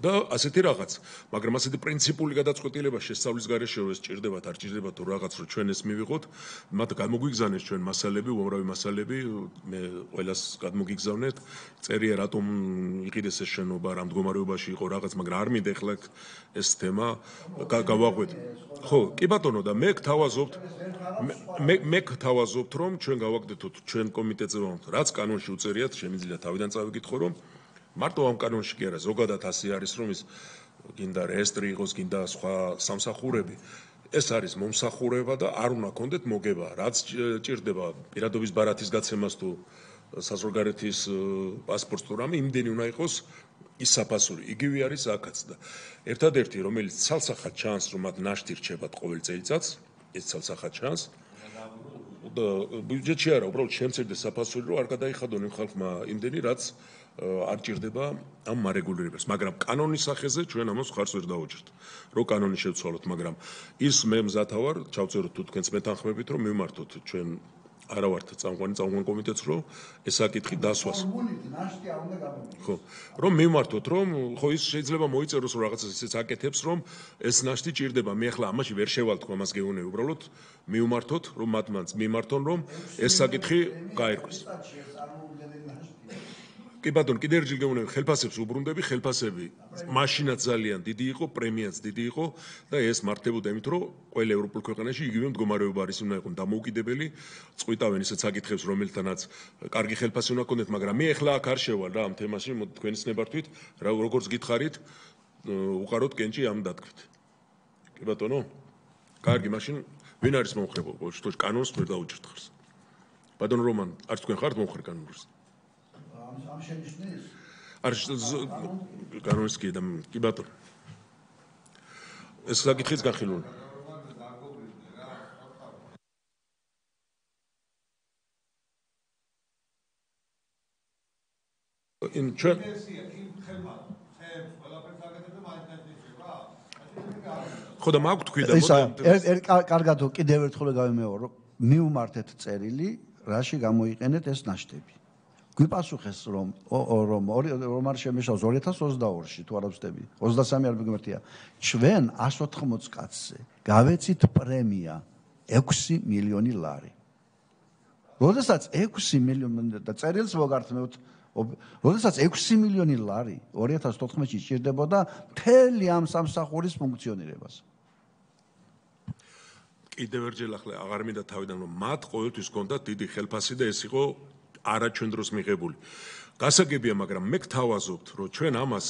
და ასეთი რაღაც. მაგრამ ასეთი პრინციპული გადაწყვეტილება შესწავლის გარეშე რომ ეს ჭირდებათ, არ ჭირდებათ თუ რაღაც რომ ჩვენ ეს მივიღოთ, მათ გამოგვიგზავნეს ჩვენ მასალები, უამრავი მასალები, მე ყველას გადმოგიგზავნეთ. წერია რატომ იყიდეს ეს შენობა, რა მდგომარეობაში იყო რაღაც, მაგრამ არ მინდა ეხლა ეს თემა გავაღვეთ. ხო, კი ბატონო და მე გთავაზობთ მე მე გთავაზობთ რომ ჩვენ გავაკეთოთ ჩვენ კომიტეტზე ვამბობთ, რაც კანონში უწერიათ, შემიძლია თავიდან წავიკითხო რომ მარტო ამ კანონში კი არა, ზოგადად ასე არის რომ ის გინდა რეესტრი იყოს, გინდა სხვა სამსახურები. ეს არის მომსახურება და არ უნდა გქონდეთ მოგება, რაც ჭირდება პირადობის ბარათის გაცემას თუ საზღვარგარეთის პასპორტს თუ რამე, იმდენი უნდა იყოს ის საფასური. იგივე არის აქაც და ერთადერთი რომელიც ცალსახად ჩანს რომ მათ ნაშთი რჩებათ ყოველ წელიწადს, ეს ცალსახად ჩანს. და ბიუჯეტში არა, უბრალოდ შემცირდეს საფასური რომ არ გადაიხადონ იმ ხალხმა იმდენი რაც არ ჭირდება ამ მარეგულირებას, მაგრამ კანონის სახეზე ჩვენ ამას ხარს ვერ დავუჭერთ. რო კანონი შევცვალოთ, მაგრამ ის მე მზათა ვარ, ჩავწეროთ თუ თქვენს მეთანხმებით რომ მივმართოთ ჩვენ არა ვართ წამყვანი წამყვან კომიტეტს რომ ეს საკითხი დასვას. ხო, რომ მივმართოთ რომ ხო ის შეიძლება მოიწეროს რომ რაღაცას ისეც აკეთებს რომ ეს ნაშთი ჭირდება. მე ახლა ამაში ვერ შევალ თქვა მას გეუბნები, უბრალოდ მივმართოთ რომ მათ მანც მიმართონ რომ ეს საკითხი გაერკვეს. კი ბატონო, კიდევ ერთხელ გეუბნები, ხელფასებს უბრუნდები, ხელფასები მაშინაც ძალიან დიდი იყო, პრემიაც დიდი იყო და ეს მართებოდა იმით, რომ ყველა ევროპულ ქვეყანაში იგივე მდგომარეობა არის, უნდა იყოს დამოუკიდებელი, წყვიტავენ ისეთ საკითხებს, რომელთანაც კარგი ხელფასი უნდა გქონდეთ, მაგრამ მე ახლა აქ არ შევალ რა ამ თემაში, თქვენის ნებართვით, როგორც გითხარით, უყაროთ კენჭი ამ დათქვით. კი ბატონო? კარგი, მაშინ ვინ არის მომხრე ყოველ შემთხვევაში კანონს ვერ დაუჭერთ ხარს. ბატონო რომან, არც თქვენ ხართ მომხრე კანონს? ამ შენიშნის? არ კანონის კი და კი ბატონო. ეს საკითხიც განხილული. იმ ჩვენ ხო და მაგ თქვი და მოდი კარგად კიდევ ერთხელ გავიმეორო, მივმართეთ წერილი, რაში გამოიყენეთ ეს ნაშთები. გვიპასუხეს რომ რომ რომ არ შემეშავს ორი ათას ოცდაორში თუ არ ვწდები ოცდასამი არ მიგმართია ჩვენ εκατს ოთხმოცი კაცზე გავეცით პრემია ექვსი მილიონი ლარი. როდესაც ექვსი მილიონი და წერილს მოგართმევთ, როდესაც ექვსი მილიონი ლარი ორი ათას თოთხმეტში ჭირდებოდა მთელი ამ სამსახურის ფუნქციონირებას. კიდევ ერთხელ ახლა აღარ მინდა თავიდან რომ მათ ყოველთვის ჰქონდათ დიდი ხელფასი და ეს იყო არა ჩვენ დროს მიღებული. გასაგებია, მაგრამ მე გთავაზობთ, რომ ჩვენ ამას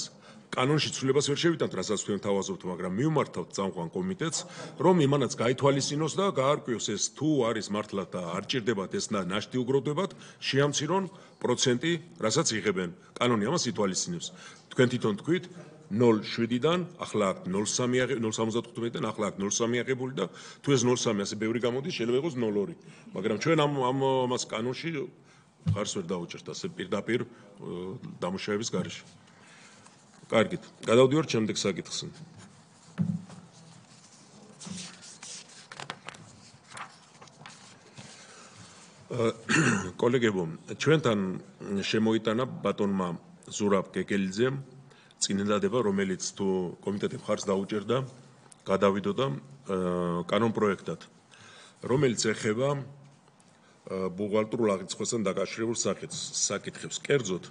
კანონში ცვლილებას ვერ შევიტანთ, რასაც თქვენ თავაზობთ, მაგრამ მივმართავთ წამყვან კომიტეტს, რომ იმანაც გაითვალისწინოს და გაარკვიოს ეს თუ არის მართლა და არ ჭირდებათ ეს ნაშთი უგროვდებათ, შეამცირონ პროცენტი, რასაც იღებენ. კანონი ამას ითვალისწინებს. თქვენ თვითონ თქვით ნულ შვიდიდან ახლა აქ ნულ სამი ნულ სამოცდათხუთმეტიდან ახლა აქ ნულ სამი აღებული და თუ ეს ნულ სამი ასე ბევრი გამოდის, შეიძლება იყოს ნულ ორი. მაგრამ ჩვენ ამ ამ ამას კანონში ხარს ვერ დაუჭერთ ასე პირდაპირ დამუშავების გარეშე. კარგით, გადავდივართ შემდეგ საკითხზე. კოლეგებო, ჩვენთან შემოიტანა ბატონმა ზურაბ კეკელიძემ წინადადება, რომელიც თუ კომიტეტი ხარს დაუჭერდა, გადავიდოდა კანონ პროექტად, რომელიც ეხება ბუღალტრულ აღრიცხვასთან დაკავშირებულ საკითხებს. კერძოდ,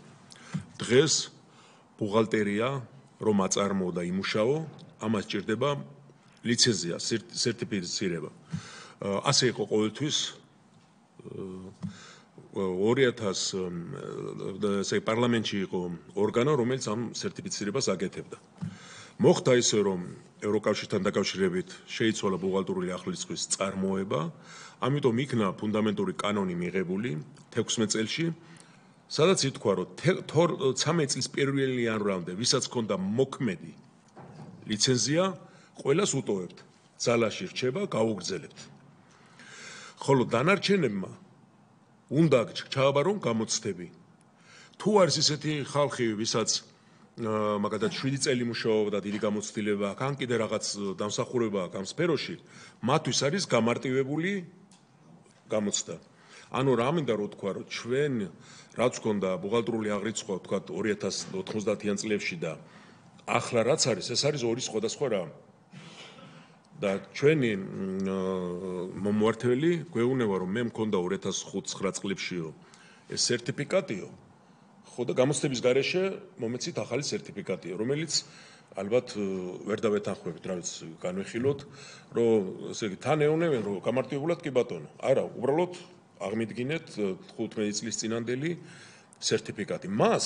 დღეს ბუღალტერია რომ აწარმოო და იმუშაო, ამას ჭირდება ლიცენზია, სერტიფიცირება. ასე იყო ყოველთვის ორი ათას ესე პარლამენტში იყო ორგანო, რომელიც ამ სერტიფიცირებას აკეთებდა. მოხდა ისე, რომ ევროკავშირთან დაკავშირებით შეიცვალა ბუღალტრული აღრიცხვის წარმოება, ამიტომ იქნა ფუნდამენტური კანონი მიღებული თექვსმეტ წელში, სადაც ითქვა, რომ ცამეტ წლის პირველი იანვრამდე, ვისაც ჰქონდა მოქმედი ლიცენზია, ყველას უტოვებთ. ძალაში რჩება, გაუგრძელებთ. ხოლო დანარჩენებმა უნდა ჩააბარონ გამოცდები. თუ არის ისეთი ხალხი, ვისაც მაგალითად შვიდი წელი მუშაობა და დიდი გამოცდილება აქვს, ან კიდე რაღაც დამსახურება აქვს ამ სფეროში, მათთვის არის გამარტივებული გამოცდა. ანუ რა მინდა რომ თქვა, რომ ჩვენ რაც გქონდა ბუღალტრული აღრიცხვა, თქვა ორი ათას ოთხმოცდაათიან წლებში და ახლა რაც არის, ეს არის ორი სხვადასხვა რამ. და ჩვენი მომმართველი გვეუბნება, რომ მე მქონდა ორი ათას ხუთი-ცხრა წლებშიო ეს სერტიფიკატიო, ხო და გამოცდების გარეშე მომეცით ახალი სერტიფიკატიო, რომელიც ალბათ ვერ დავეთანხმებით, რა ვიცი, განვიხილოთ, რომ ესე იგი თან ეუბნებიან, რომ გამარტივებულად კი ბატონო. არა, უბრალოდ აღმიდგინეთ თხუთმეტი წლის წინანდელი სერტიფიკატი. მას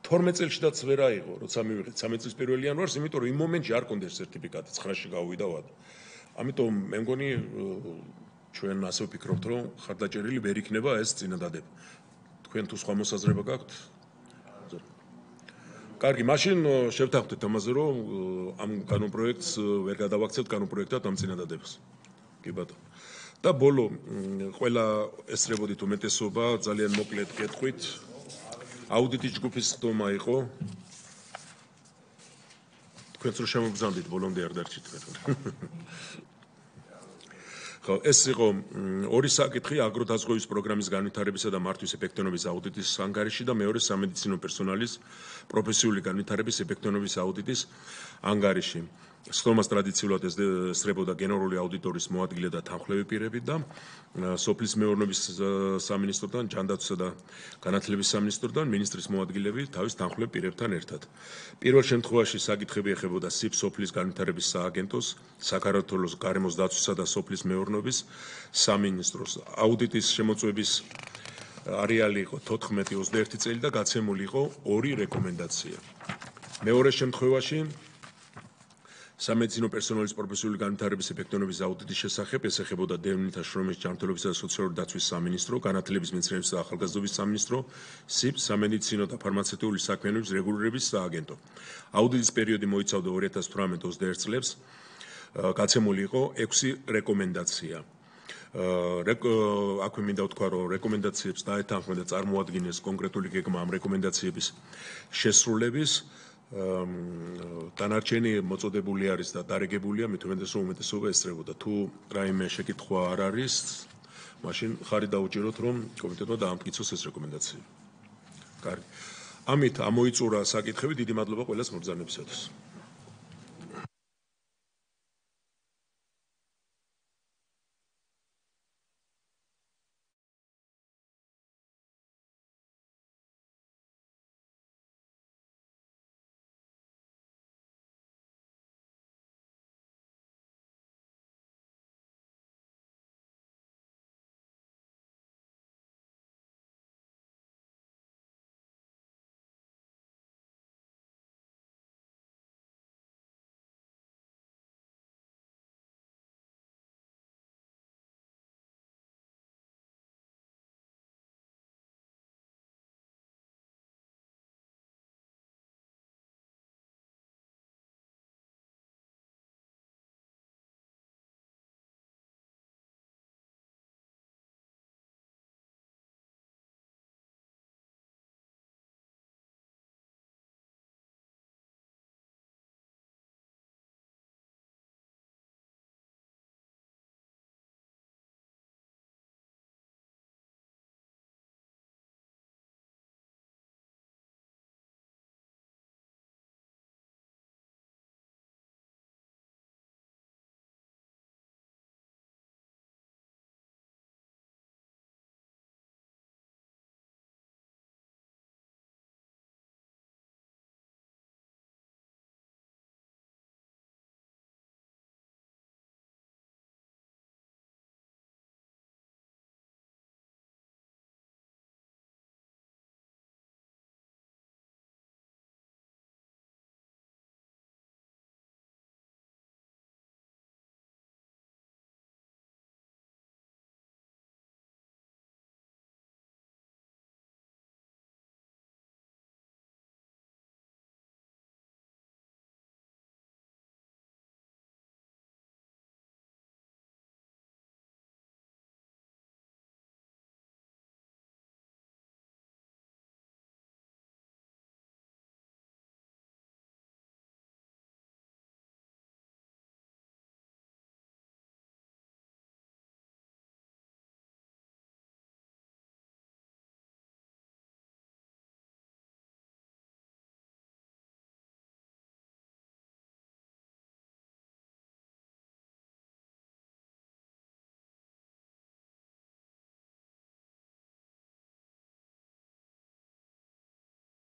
თორმეტ წელშიდაც ვერ აიღო, როცა მივიღეთ სამი წლის პირველი იანვარს, იმიტომ რომ იმ მომენტში არ კონდეს სერტიფიკატი, ცხრაში გავუვიდა ვადა. ამიტომ მე მგონი ჩვენ ასე ვფიქრობთ, რომ ხარდაჭერილი ვერ იქნება ეს წინადადება. თქვენ თუ სხვა მოსაზრება გაქვთ? კარგი, მაშინ შევთანხმდეთ ამაზე, რომ ამ კანონპროექტს ვერ გადავაქცევთ კანონპროექტად ამ წინადადებას. კი ბატონო. და ბოლო ყველა ესწრებოდით უმეტესობა ძალიან მოკლედ კეთხვით. აუდიტის ჯგუფის ხდომა იყო. თქვენც რო შემოგზავნით ბოლომდე არ დარჩით მე. ხო, ეს იყო ორი საკითხი აგროდაზღვევის პროგრამის განვითარებისა და მართვის ეფექტიანობის აუდიტის ანგარიში და მეორე სამედიცინო პერსონალის პროფესიული განვითარების ეფექტიანობის აუდიტის ანგარიში. სხდომას ტრადიციულად ესწრებოდა გენერალური აუდიტორის მოადგილე და თანხლები პირები და სოფლის მეურნეობის სამინისტროდან, ჯანდაცვისა და განათლების სამინისტროდან მინისტრის მოადგილეები თავის თანხლებ პირებთან ერთად. პირველ შემთხვევაში საკითხები ეხებოდა სიფ სოფლის განვითარების სააგენტოს, საქართველოს გარემოს დაცვისა და სოფლის მეურნეობის სამინისტროს. აუდიტის შემოწმების არეალი იყო თოთხმეტი ოცდაერთი წელი და გაცემული იყო ორი რეკომენდაცია. მეორე შემთხვევაში სამედიცინო პერსონალის პროფესიული განვითარების ეფექტიანობის აუდიტის შესახებ ეს ეხებოდა დევნილთა შრომის ჯანმრთელობისა და სოციალური დაცვის სამინისტრო, განათლების მეცნიერებისა და ახალგაზრდობის სამინისტრო, სიფ სამედიცინო და ფარმაცევტული საქმიანობის რეგულირების სააგენტო. აუდიტის პერიოდი მოიცავდა ორი ათას თვრამეტ ოცდაერთ წლებს, გაცემული იყო ექვსი რეკომენდაცია. აქვე მინდა ვთქვა, რომ რეკომენდაციებს დაეთანხმება და წარმოადგენეს კონკრეტული გეგმა ამ რეკომენდაციების შესრულების. დანარჩენი მოწოდებული არის და დარეგებულია, მით უმეტეს რომ უმეტესობა ესწრებოდა. თუ რაიმე შეკითხვა არ არის, მაშინ ხარი დაუჭიროთ, რომ კომიტეტმა დაამტკიცოს ეს რეკომენდაციები. კარგი. ამით ამოიწურა საკითხები, დიდი მადლობა ყველას მობრძანებისათვის.